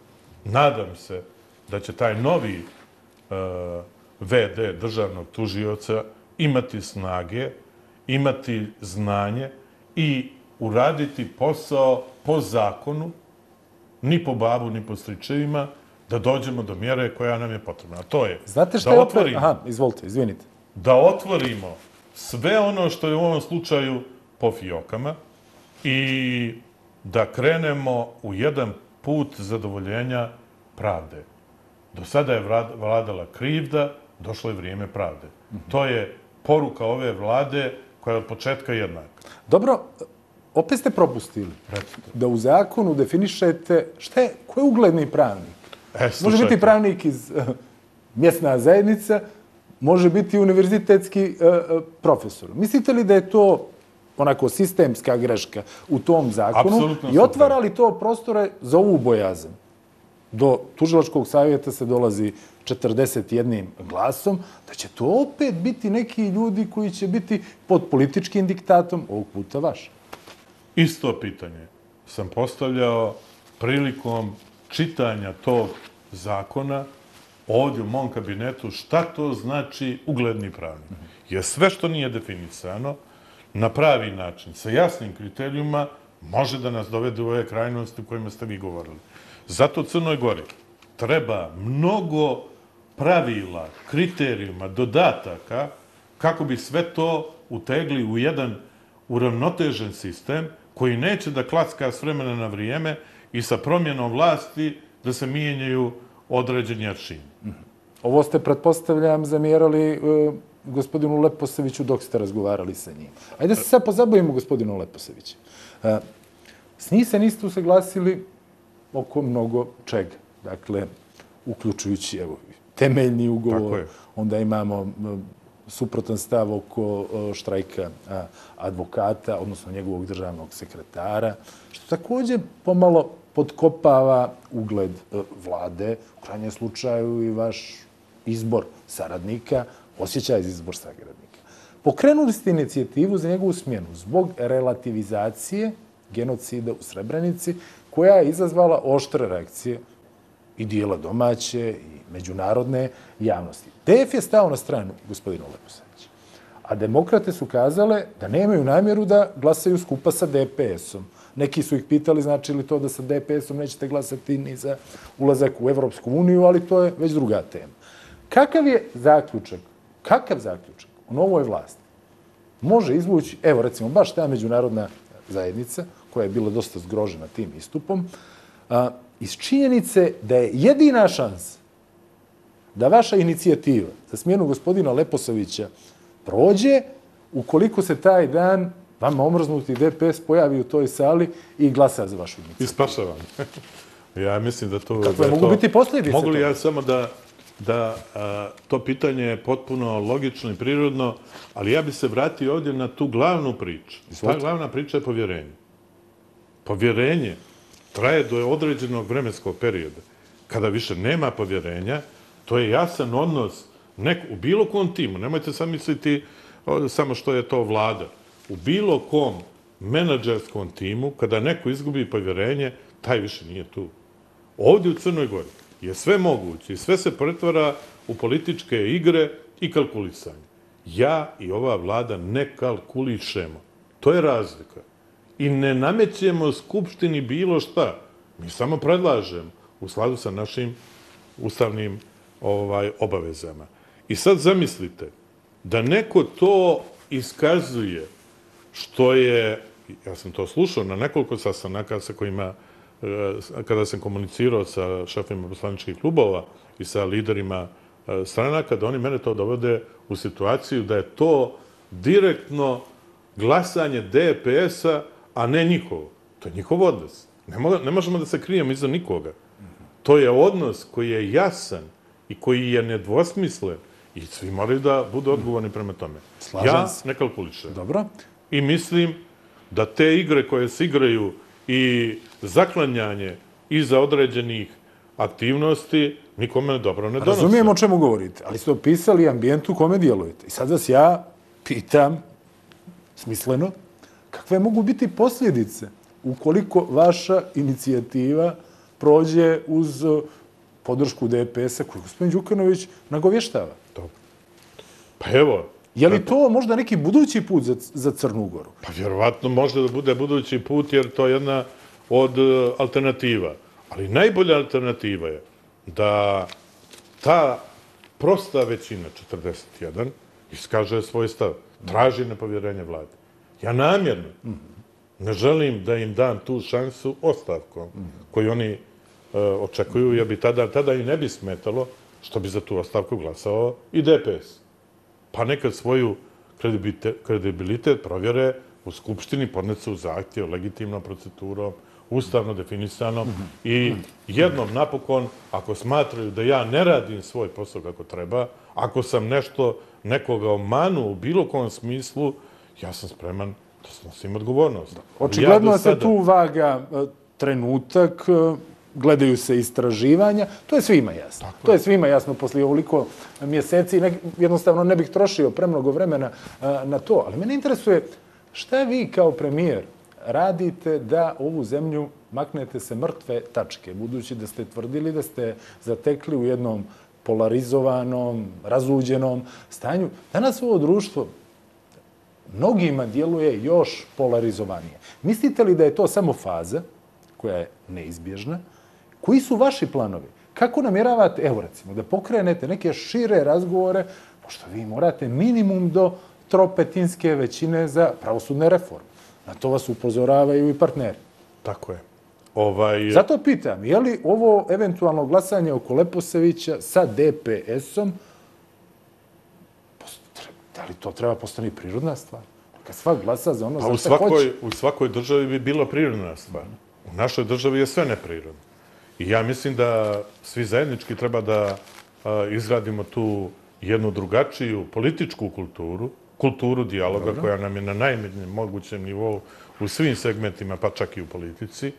Nadam se da će taj novi uh, ve de državnog tužioca imati snage, imati znanje i uraditi posao po zakonu, ni po babu, ni po stričevima, da dođemo do mjere koja nam je potrebna. A to je Znate šta da je otvorimo, Aha, izvolite, izvinite. Da otvorimo sve ono što je u ovom slučaju po fijokama i da krenemo u jedan put zadovoljenja pravde. Do sada je vladala krivda, došlo je vrijeme pravde. To je poruka ove vlade koja je od početka jednaka. Dobro, opet ste propustili da u zakonu definišete šta je, ko je ugledni pravnik. E, Može biti pravnik iz mjesna zajednica može biti univerzitetski profesor. Mislite li da je to onako sistemska greška u tom zakonu i otvara li to prostore za ovu bojazan? Do tužilačkog savjeta se dolazi četrdeset jednim glasom, da će to opet biti neki ljudi koji će biti pod političkim diktatom, ovog puta vaš. Isto pitanje sam postavljao prilikom čitanja tog zakona ovdje u mom kabinetu, šta to znači ugledni pravnik. Jer sve što nije definisano na pravi način, sa jasnim kriterijuma, može da nas dovede u ove krajnosti u kojima ste vi govorili. Zato Crnoj Gori treba mnogo pravila, kriterijuma, dodataka kako bi sve to utegli u jedan uravnotežen sistem koji neće da klacka s vremena na vrijeme i sa promjenom vlasti da se mijenjaju određeni aršini. Ovo ste, pretpostavljam, zamjerali gospodinu Leposeviću dok ste razgovarali sa njim. Ajde se sad pozabavimo gospodinu Leposeviću. S njih se niste usaglasili oko mnogo čega. Dakle, uključujući evo, temeljni ugovor, onda imamo suprotan stav oko štrajka advokata, odnosno njegovog državnog sekretara, što također pomalo potkopava ugled vlade, u krajnjem slučaju i vaš izbor saradnika, osjećaj za izbor saradnika. Pokrenuli ste inicijativu za njegovu smjenu zbog relativizacije genocida u Srebrenici, koja je izazvala oštre reakcije i dijela domaće i međunarodne javnosti. D F je stao na stranu gospodina Leposevića, a demokrate su kazale da nemaju namjeru da glasaju skupa sa D P S-om. Neki su ih pitali znači li to da sa D P S-om nećete glasati ni za ulazak u Evropsku uniju, ali to je već druga tema. Kakav je zaključak, kakav zaključak u novoj vlasti može izvući, evo recimo, baš ta međunarodna zajednica, koja je bila dosta zgrožena tim istupom, iz činjenice da je jedina šansa da vaša inicijativa za smjenu gospodina Leposevića prođe ukoliko se taj dan vama omrznuti D P S pojavi u toj sali i glasa za vašu inicijativu. Ispašavam. Ja mislim da to... Kakve mogu biti posljedice? Mogu li ja samo da da to pitanje je potpuno logično i prirodno, ali ja bi se vratio ovdje na tu glavnu priču. Ta glavna priča je povjerenje. Povjerenje traje do određenog vremenskog perioda. Kada više nema povjerenja, to je jasan odnos u bilo kom timu. Nemojte sad misliti samo što je to vlada. U bilo kom menadžerskom timu, kada neko izgubi povjerenje, taj više nije tu. Ovdje u Crnoj Gori je sve moguće i sve se pretvara u političke igre i kalkulisanje. Ja i ova vlada ne kalkulišemo. To je razlika. I ne namećemo Skupštini bilo šta. Mi samo predlažemo u skladu sa našim ustavnim obavezama. I sad zamislite da neko to iskazuje što je, ja sam to slušao na nekoliko sastanaka sa kojima kada sam komunicirao sa šefima poslaničkih klubova i sa liderima stranaka, da oni mene to dovode u situaciju da je to direktno glasanje D P S-a, a ne njihovo. To je njihov odnos. Ne možemo da se krijemo iza nikoga. To je odnos koji je jasan i koji je nedvosmislen i svi moraju da budu odgovorni prema tome. Ja ne kalkulišem. Dobro. I mislim da te igre koje se igraju i zaklanjanje iza određenih aktivnosti nikome dobro ne donose. Razumijem o čemu govorite, ali ste opisali ambijent u kome djelujete. I sad vas ja pitam, smisleno, kakve mogu biti posljedice ukoliko vaša inicijativa prođe uz podršku D P S-a koju gospodin Đukanović nagovještava? Dobro. Pa evo... Je li to možda neki budući put za Crnu Goru? Pa vjerovatno može da bude budući put jer to je jedna od alternativa. Ali najbolja alternativa je da ta prosta većina, četrdeset jedan, iskaže svoj stav, traži nepovjerenje vlade. Ja namjerno ne želim da im dam tu šansu ostavkom koju oni očekuju, jer bi tada i ne bi smetalo što bi za tu ostavku glasao i D P S. Pa nekad svoju kredibilitet provjere u Skupštini, podnesu zahtjev legitimnom procedurom ustavno definisano i jednom napokon, ako smatraju da ja ne radim svoj posao kako treba, ako sam nešto nekoga omanuo u bilo kom smislu, ja sam spreman da snosim odgovornost. Očigledno se tu vaga trenutak, gledaju se istraživanja, to je svima jasno. To je svima jasno poslije ovoliko mjeseci. Jednostavno ne bih trošio premnogo vremena na to, ali mene interesuje šta vi kao premijer radite da ovu zemlju maknete se mrtve tačke, budući da ste tvrdili da ste zatekli u jednom polarizovanom, razuđenom stanju. Danas ovo društvo mnogima djeluje još polarizovanije. Mislite li da je to samo faza koja je neizbježna? Koji su vaši planovi? Kako namjeravate, evo recimo, da pokrenete neke šire razgovore, pošto vi morate minimum do tropetinske većine za pravosudne reforme. Na to vas upozoravaju i partneri. Tako je. Ovaj... Zato pitam, je li ovo eventualno glasanje oko Leposevića sa D P S-om, da li to treba postati prirodna stvar? Kad svak glasa za ono pa za šta hoće. U svakoj državi bi bila prirodna stvar. U našoj državi je sve neprirodno. I ja mislim da svi zajednički treba da izradimo tu jednu drugačiju političku kulturu, kulturu dijaloga koja nam je na najmanjem mogućem nivou u svim segmentima, pa čak i u politici,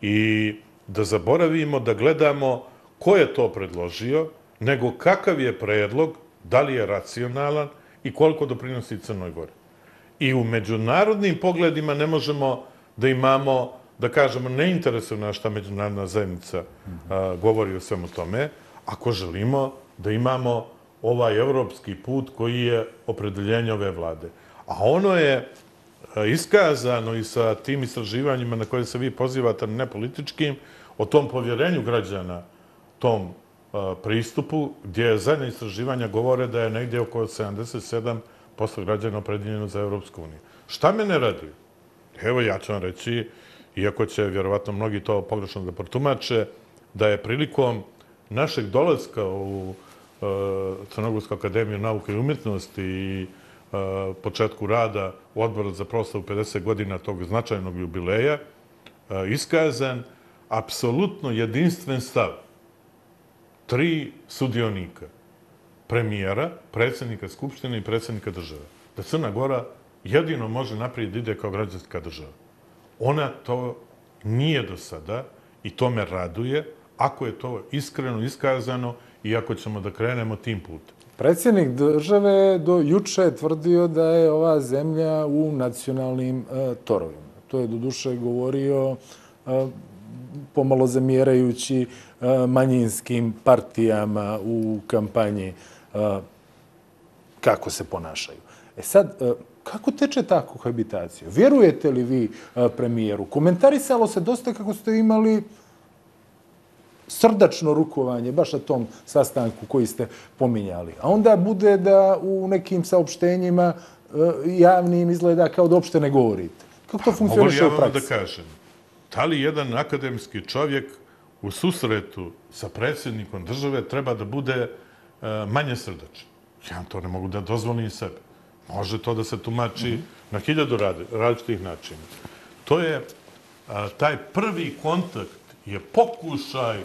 i da zaboravimo da gledamo ko je to predložio, nego kakav je predlog, da li je racionalan i koliko doprinosi Crnoj Gori. I u međunarodnim pogledima ne možemo da imamo, da kažemo, ne interesuje nas šta međunarodna zajednica govori o svemu tome, ako želimo da imamo ovaj evropski put koji je opredeljenje ove vlade. A ono je iskazano i sa tim istraživanjima na koje se vi pozivate, ne političkim, o tom povjerenju građana, tom pristupu, gdje zadnje istraživanja govore da je negdje oko sedamdeset sedam posto građana opredeljeno za Evropsku uniju. Šta me ne raduje? Evo, ja ću vam reći, iako će vjerovatno mnogi to pogrešno da protumače, da je prilikom našeg dolaska u Crnogorsku akademiju nauke i umjetnosti i početku rada u Odboru za proslavu pedeset godina tog značajnog jubileja, iskazan apsolutno jedinstven stav tri sudionika, premijera, predsjednika Skupštine i predsjednika države, da Crna Gora jedino može naprijed da ide kao građanska država. Ona to nije do sada i to me raduje ako je to iskreno iskazano i ako ćemo da krenemo tim putem. Predsjednik države do juče je tvrdio da je ova zemlja u nacionalnim torovima. To je do duše govorio pomalo zamjerajući manjinskim partijama u kampanji kako se ponašaju. E sad, kako teče ta kohabitacija? Vjerujete li vi premijeru? Komentarisalo se dosta kako ste imali srdačno rukovanje, baš na tom sastanku koji ste pominjali. A onda bude da u nekim saopštenjima javnim izgleda kao da uopšte ne govorite. Kako to funkcioniše u praksi? Mogu ja vam da kažem, da li jedan akademski čovjek u susretu sa predsjednikom države treba da bude manje srdačan? Ja to ne mogu da dozvolim sebe. Može to da se tumači na hiljadu različitih načina. To je, taj prvi kontakt je pokušaj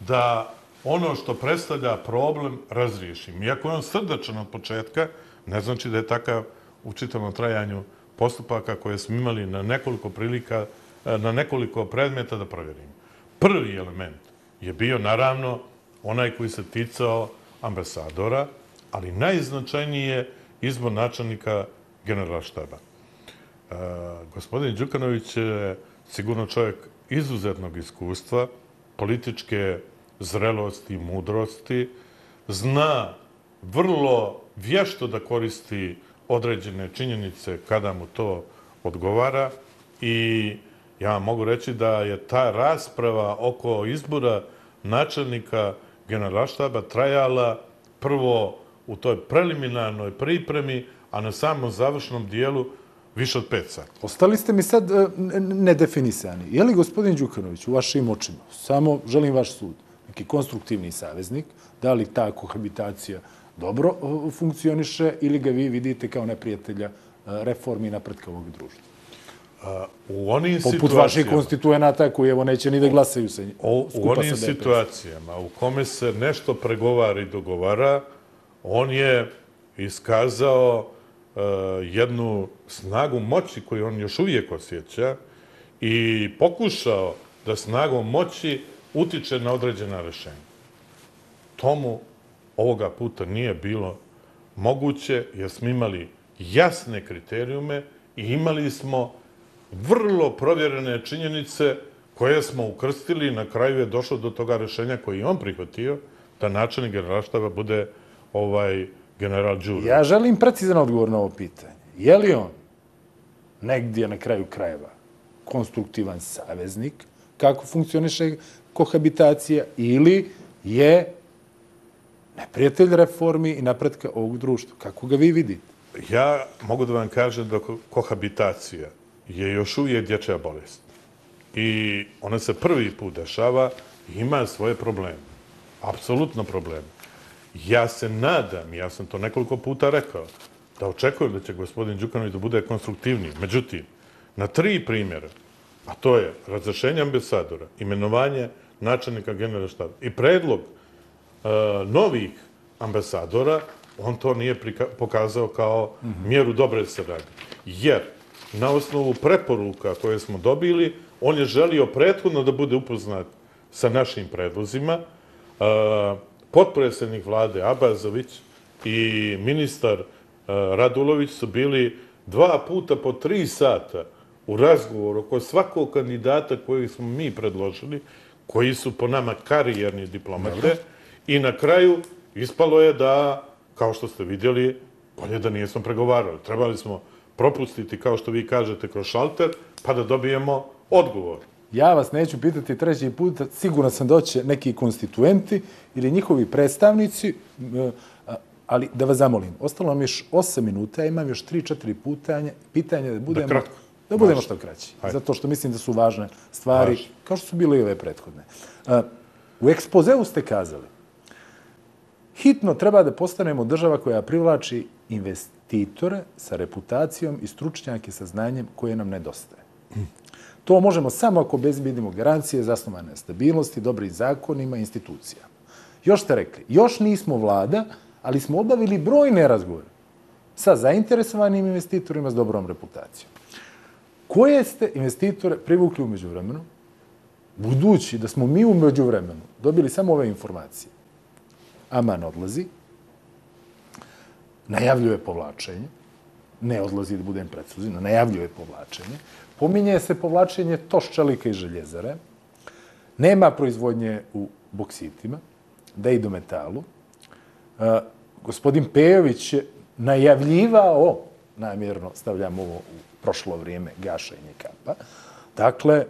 da ono što predstavlja problem razriješim. Iako je on srdačan od početka, ne znači da je takav u čitavom trajanju postupaka koje smo imali na nekoliko prilika, na nekoliko predmeta da provjerimo. Prvi element je bio, naravno, onaj koji se ticao ambasadora, ali najznačajniji je izbor načelnika Generalštaba. Gospodin Đukanović je sigurno čovjek izuzetnog iskustva, političke zrelosti i mudrosti, zna vrlo vješto da koristi određene činjenice kada mu to odgovara i ja vam mogu reći da je ta rasprava oko izbora načelnika Generalštaba trajala prvo u toj preliminarnoj pripremi, a na samom završnom dijelu više od pet sati. Ostali ste mi sad nedefinisani. Je li gospodin Đukanović u vašim očima, samo želim vaš sud, neki konstruktivni saveznik, da li ta kohabitacija dobro funkcioniše ili ga vi vidite kao neprijatelja reformi i napretka ovog društva? U onim Poput situacijama... vaših konstituenata koji evo neće ni da glasaju se U skupa onim sa D P S. situacijama u kome se nešto pregovara i dogovara, on je iskazao jednu snagu moći koju on još uvijek osjeća i pokušao da snagom moći utiče na određena rešenja. Tomu ovoga puta nije bilo moguće jer smo imali jasne kriterijume i imali smo vrlo provjerene činjenice koje smo ukrstili i na kraju je došlo do toga rešenja koji je on prihvatio da načelnik generalštaba bude ovaj general Đurović. Ja želim precizan odgovor na ovo pitanje. Je li on negdje na kraju krajeva konstruktivan saveznik, kako funkcioniše kohabitacija, ili je neprijatelj reformi i napretka ovog društva? Kako ga vi vidite? Ja mogu da vam kažem da kohabitacija je još uvijek dječja bolest. I ona se prvi put dešava i ima svoje probleme. Apsolutno probleme. Ja se nadam, ja sam to nekoliko puta rekao, da očekujem da će gospodin Đukanović da bude konstruktivniji. Međutim, na tri primjera, a to je razrešenje ambasadora, imenovanje načelnika generalštaba i predlog novih ambasadora, on to nije pokazao kao mjeru dobre saradnje. Jer na osnovu preporuka koje smo dobili, on je želio prethodno da bude upoznat sa našim predlozima. Potpredsjednik vlade Abazović i ministar Radulović su bili dva puta po tri sata u razgovoru oko svakog kandidata koji smo mi predložili, koji su po nama karijerni diplomate, i na kraju ispalo je da, kao što ste vidjeli, bolje da nijesmo pregovarali. Trebali smo propustiti, kao što vi kažete, kroz šalter, pa da dobijemo odgovor. Ja vas neću pitati treći put, sigurno sam da će neki konstituenti ili njihovi predstavnici, ali da vas zamolim, ostalo nam još osam minuta, imam još tri četiri pitanja da budemo, da budemo što kraći. Zato što mislim da su važne stvari, kao što su bile i ove prethodne. U ekspozeu ste kazali, hitno treba da postanemo država koja privlači investitore sa reputacijom i stručnjake sa znanjem koje nam nedostaje. To možemo samo ako obezbedimo garancije zasnovane na stabilnosti, dobrim zakonima i institucijama. Još ste rekli, još nismo vlada, ali smo obavili brojne razgovore sa zainteresovanim investitorima s dobrom reputacijom. Koje ste investitore privukli u međuvremenu, budući da smo mi u međuvremenu dobili samo ove informacije? Aman odlazi, najavljuje povlačenje, ne odlazi da budem precizan, najavljuje povlačenje, pominje se povlačenje Toš čelika i željezare, nema proizvodnje u boksitima, da i do metalu. Gospodin Pejović je najavljivao, namjerno stavljam ovo u prošlo vrijeme, gašenje kapa. Dakle,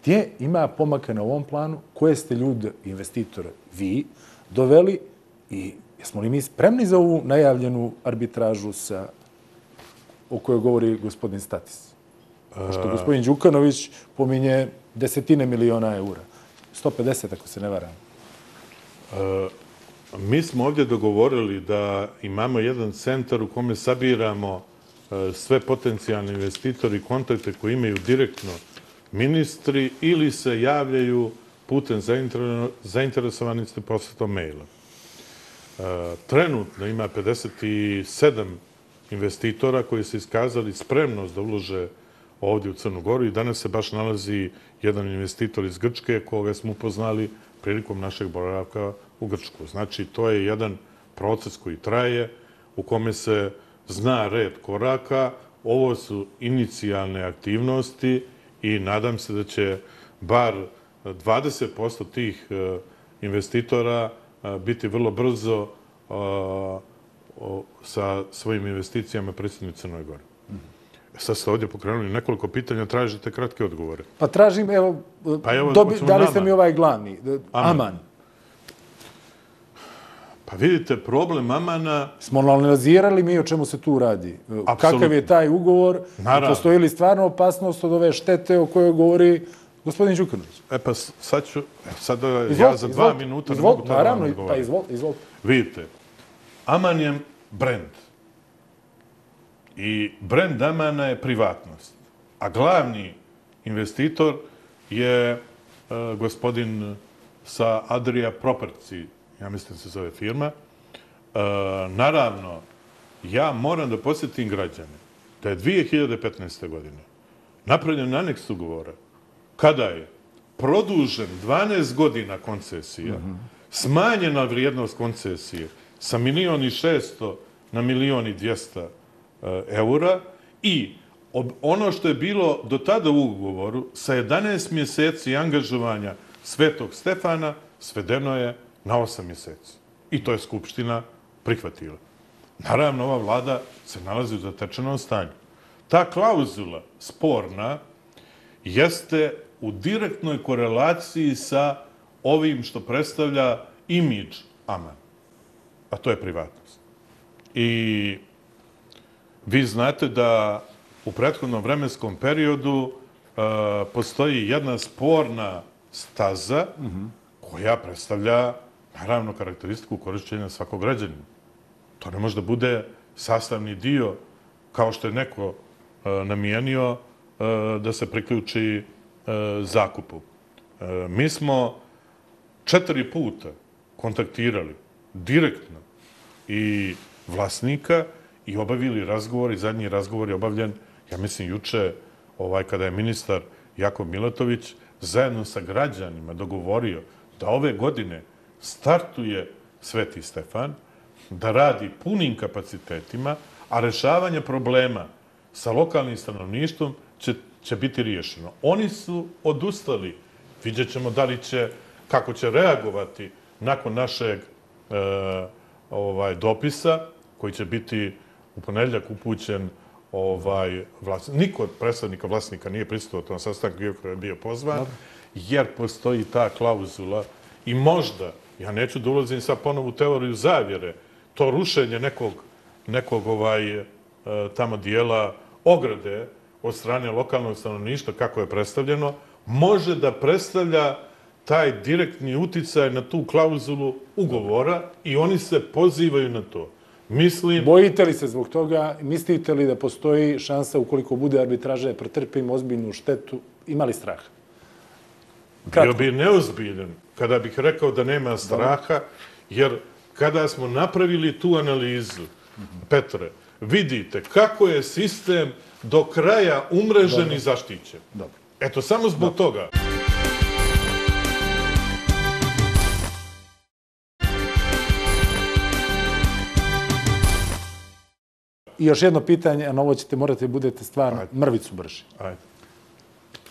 gdje ima pomaka na ovom planu, koje ste ljude, investitore, vi doveli i jesmo li mi spremni za ovu najavljenu arbitražu sa, o kojoj govori gospodin Statis? Pošto gospodin Đukanović pominje desetine miliona eura. sto pedeset, ako se ne varam. Mi smo ovdje dogovorili da imamo jedan centar u kome sabiramo sve potencijalne investitori i kontakte koji imaju direktno ministri ili se javljaju putem zainteresovanih posletom maila. Trenutno ima pedeset sedam investitora koji su iskazali spremnost da ulože ovdje u Crnu Goru i danas se baš nalazi jedan investitor iz Grčke koga smo upoznali prilikom našeg boravka u Grčku. Znači, to je jedan proces koji traje, u kome se zna red koraka. Ovo su inicijalne aktivnosti i nadam se da će bar dvadeset posto tih investitora biti vrlo brzo sa svojim investicijama prisutni u Crnoj Gori. Sad ste ovdje pokrenuli nekoliko pitanja, tražite kratke odgovore. Pa tražim, evo, dali ste mi ovaj glavni, Aman. Pa vidite, problem Amana... Smo analizirali mi o čemu se tu radi. Kakav je taj ugovor? Postoji li stvarno opasnost od ove štete o kojoj govori gospodin Đukanović? E pa sad ću, sad ja za dva minuta ne mogu to da vam odgovorim. Pa izvolite. Vidite, Aman je brend. I brend Amana je privatnost. A glavni investitor je gospodin sa Adria Property, ja mislim se zove firma. Naravno, ja moram da podsjetim građane da je dvije hiljade petnaeste. godine napravljen aneks ugovora kada je produžen dvanaest godina koncesija, smanjena vrijednost koncesije sa milion i šesto na milion i dvjesto eura i ono što je bilo do tada u ugovoru sa jedanaest mjeseci angažovanja Svetog Stefana svedeno je na osam mjeseci. I to je Skupština prihvatila. Naravno, ova vlada se nalazi u zatečenom stanju. Ta klauzula sporna jeste u direktnoj korelaciji sa ovim što predstavlja imidž Amana, a to je privatnost. I vi znate da u prethodnom vremenskom periodu postoji jedna sporna staza koja predstavlja, naravno, karakteristiku korišćenja svakog građanina. To ne može da bude sastavni dio, kao što je neko namijenio da se priključi zakupu. Mi smo četiri puta kontaktirali direktno i vlasnika i obavili razgovor i zadnji razgovor je obavljen, ja mislim, juče, kada je ministar Jakov Milatović zajedno sa građanima dogovorio da ove godine startuje Sveti Stefan, da radi punim kapacitetima, a rešavanje problema sa lokalnim stanovništvom će biti riješeno. Oni su odustali. Vidjet ćemo da li će, kako će reagovati nakon našeg dopisa, koji će biti u ponedjeljak upućen vlasnik. Niko od predstavnika vlasnika nije prisustvovao tom sastanku, iako je bio pozvan, jer postoji ta klauzula i možda, ja neću da ulazim sad ponovo u teoriju zavjere, to rušenje nekog tamo dijela ograde od strane lokalnog stanovništva, kako je predstavljeno, može da predstavlja taj direktni uticaj na tu klauzulu ugovora i oni se pozivaju na to. Mislim... Bojite li se zbog toga? Mislite li da postoji šansa, ukoliko bude arbitraže, pretrpimo ozbiljnu štetu? Ima li straha? Bio bi neozbiljan kada bih rekao da nema straha, jer kada smo napravili tu analizu, Petre, vidite kako je sistem do kraja umrežen i zaštićen. Eto, samo zbog toga. I još jedno pitanje, a na ovo ćete morati budete stvarno mrvicu brži.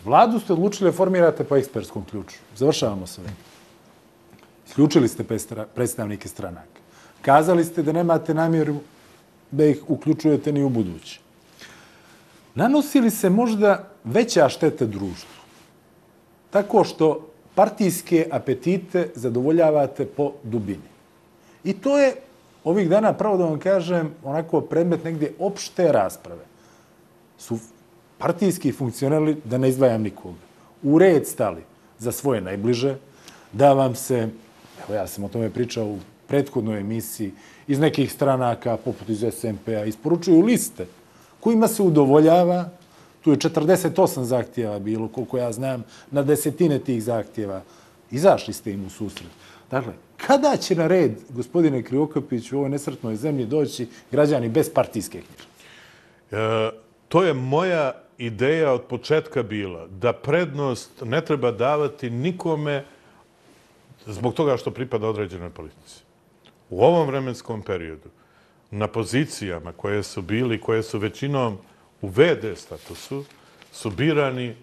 Vladu ste odlučili da formirate po ekspertskom ključu. Završavamo sve. Isključili ste predstavnike stranaka. Kazali ste da nemate namjeru da ih uključujete ni u budući. Nanosi li se možda veća šteta društvu? Tako što partijske apetite zadovoljavate po dubini. I to je ovih dana, pravo da vam kažem, onako predmet negdje opšte rasprave. Su partijski funkcionali, da ne izdvajam nikoga, u red stali za svoje najbliže, da vam se, evo ja sam o tome pričao u prethodnoj emisiji, iz nekih stranaka, poput iz es en pe a, isporučuju liste kojima se udovoljava, tu je četrdeset osam zahtjeva bilo, koliko ja znam, na desetine tih zahtjeva. Izašli ste im u susret. Dakle, kada će na red, gospodine Krivokapić, u ovoj nesretnoj zemlji doći građani bez partijske knjižice? To je moja ideja od početka bila, da prednost ne treba davati nikome zbog toga što pripada određenoj politici. U ovom vremenskom periodu, na pozicijama koje su bili, koje su većinom u ve de statusu, su birani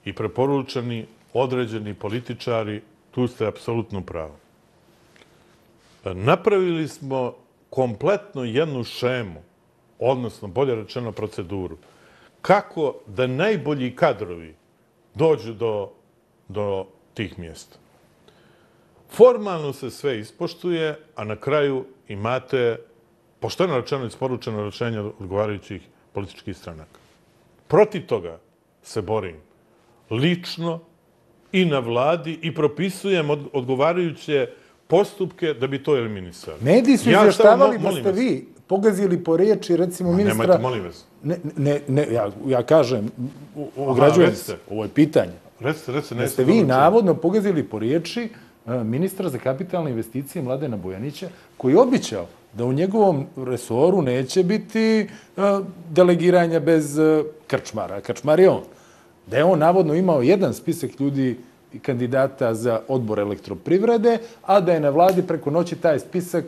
i preporučeni određeni političari, tu ste apsolutno pravo. Napravili smo kompletno jednu šemu, odnosno, bolje rečeno, proceduru, kako da najbolji kadrovi dođu do tih mjesta. Formalno se sve ispoštuje, a na kraju imate pošteno rečeno isporučeno rješenje odgovarajućih političkih stranaka. Protiv toga se borim lično i na vladi i propisujem odgovarajuće postupke da bi to eliminisali. Mediji su izvještavali da ste vi pogazili po riječi, recimo, ministra... Nemojte, molim vas. Ne, ne, ne, ja, ja kažem, ograđujem se, ovo je pitanje. Recite, recite, da ste vi navodno pogazili po riječi ministra za kapitalne investicije Mladena Bojanića, koji je običao da u njegovom resoru neće biti delegiranja bez krčmara. Krčmar je on. Da je on navodno imao jedan spisak ljudi i kandidata za odbor elektroprivrede, a da je na vladi preko noći taj spisak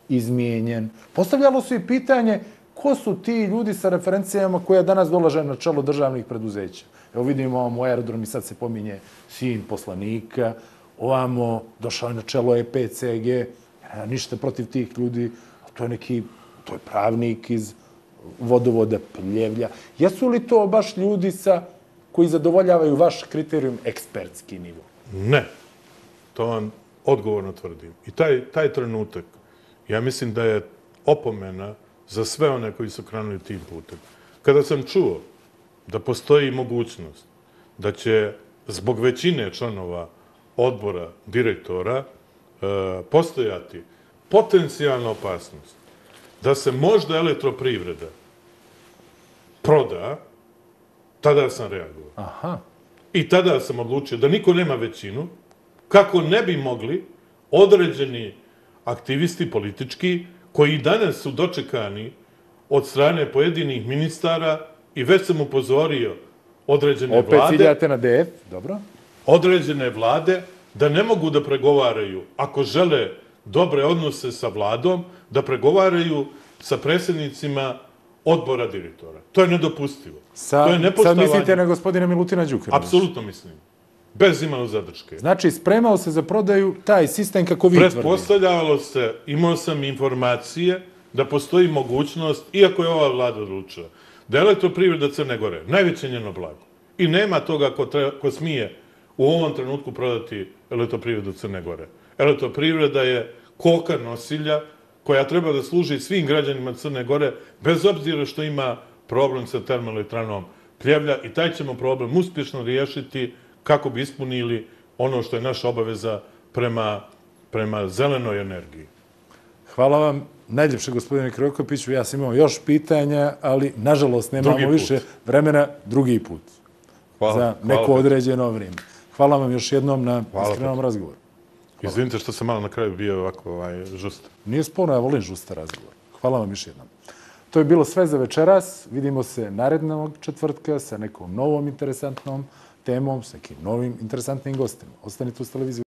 izmijenjen. Postavljalo se i pitanje ko su ti ljudi sa referencijama koja danas dolaže na čelo državnih preduzeća. Evo vidimo ovamo aerodrom i sad se pominje sin poslanika, ovamo došao je na čelo E P C G, ništa protiv tih ljudi, to je neki, to je pravnik iz vodovoda Pljevlja. Jesu li to baš ljudi sa koji zadovoljavaju vaš kriterijum ekspertski nivo? Ne. To vam odgovorno tvrdim. I taj, taj trenutak, ja mislim da je opomena za sve one koji su krenuli tim putem. Kada sam čuo da postoji mogućnost da će zbog većine članova odbora direktora e, postojati potencijalna opasnost da se možda elektroprivreda proda, tada sam reagovao. Aha. I tada sam odlučio da niko nema većinu, kako ne bi mogli određeni aktivisti politički, koji danas su dočekani od strane pojedinih ministara i već sam upozorio određene Opet vlade... Opet ciljate na D F, dobro. Određene vlade da ne mogu da pregovaraju, ako žele dobre odnose sa vladom, da pregovaraju sa predsjednicima odbora direktora. To je nedopustivo. Sa, to je nepoštovanje. Sad mislite na gospodina Milutina Đukanovića? Apsolutno mislim. Bez imalo zadrške. Znači, spremao se za prodaju taj sistem kako vi tvrdite. Pretpostavljalo se, imao sam informacije da postoji mogućnost, iako je ova vlada odlučila, da je elektroprivreda Crne Gore najveće njeno blago. I nema toga ko, treba, ko smije u ovom trenutku prodati elektroprivredu Crne Gore. Elektroprivreda je koka nosilja koja treba da služi svim građanima Crne Gore, bez obzira što ima problem sa termoelektranom Pljevlja, i taj ćemo problem uspješno riješiti kako bi ispunili ono što je naša obaveza prema, prema zelenoj energiji. Hvala vam najljepše, gospodine Krivokapiću. Ja sam imao još pitanja, ali nažalost nemamo više vremena drugi put. Hvala, za neko hvala određeno vrijeme. Hvala vam još jednom na iskrenom razgovoru. Hvala. Izvinite što sam malo na kraju bio ovako ovaj, žust. Nije sporno, ja volim žusta razgovor. Hvala vam još jednom. To je bilo sve za večeras. Vidimo se narednog četvrtka sa nekom novom interesantnom temom, s nekim novim interesantnim gostima. Ostanite uz televiziju.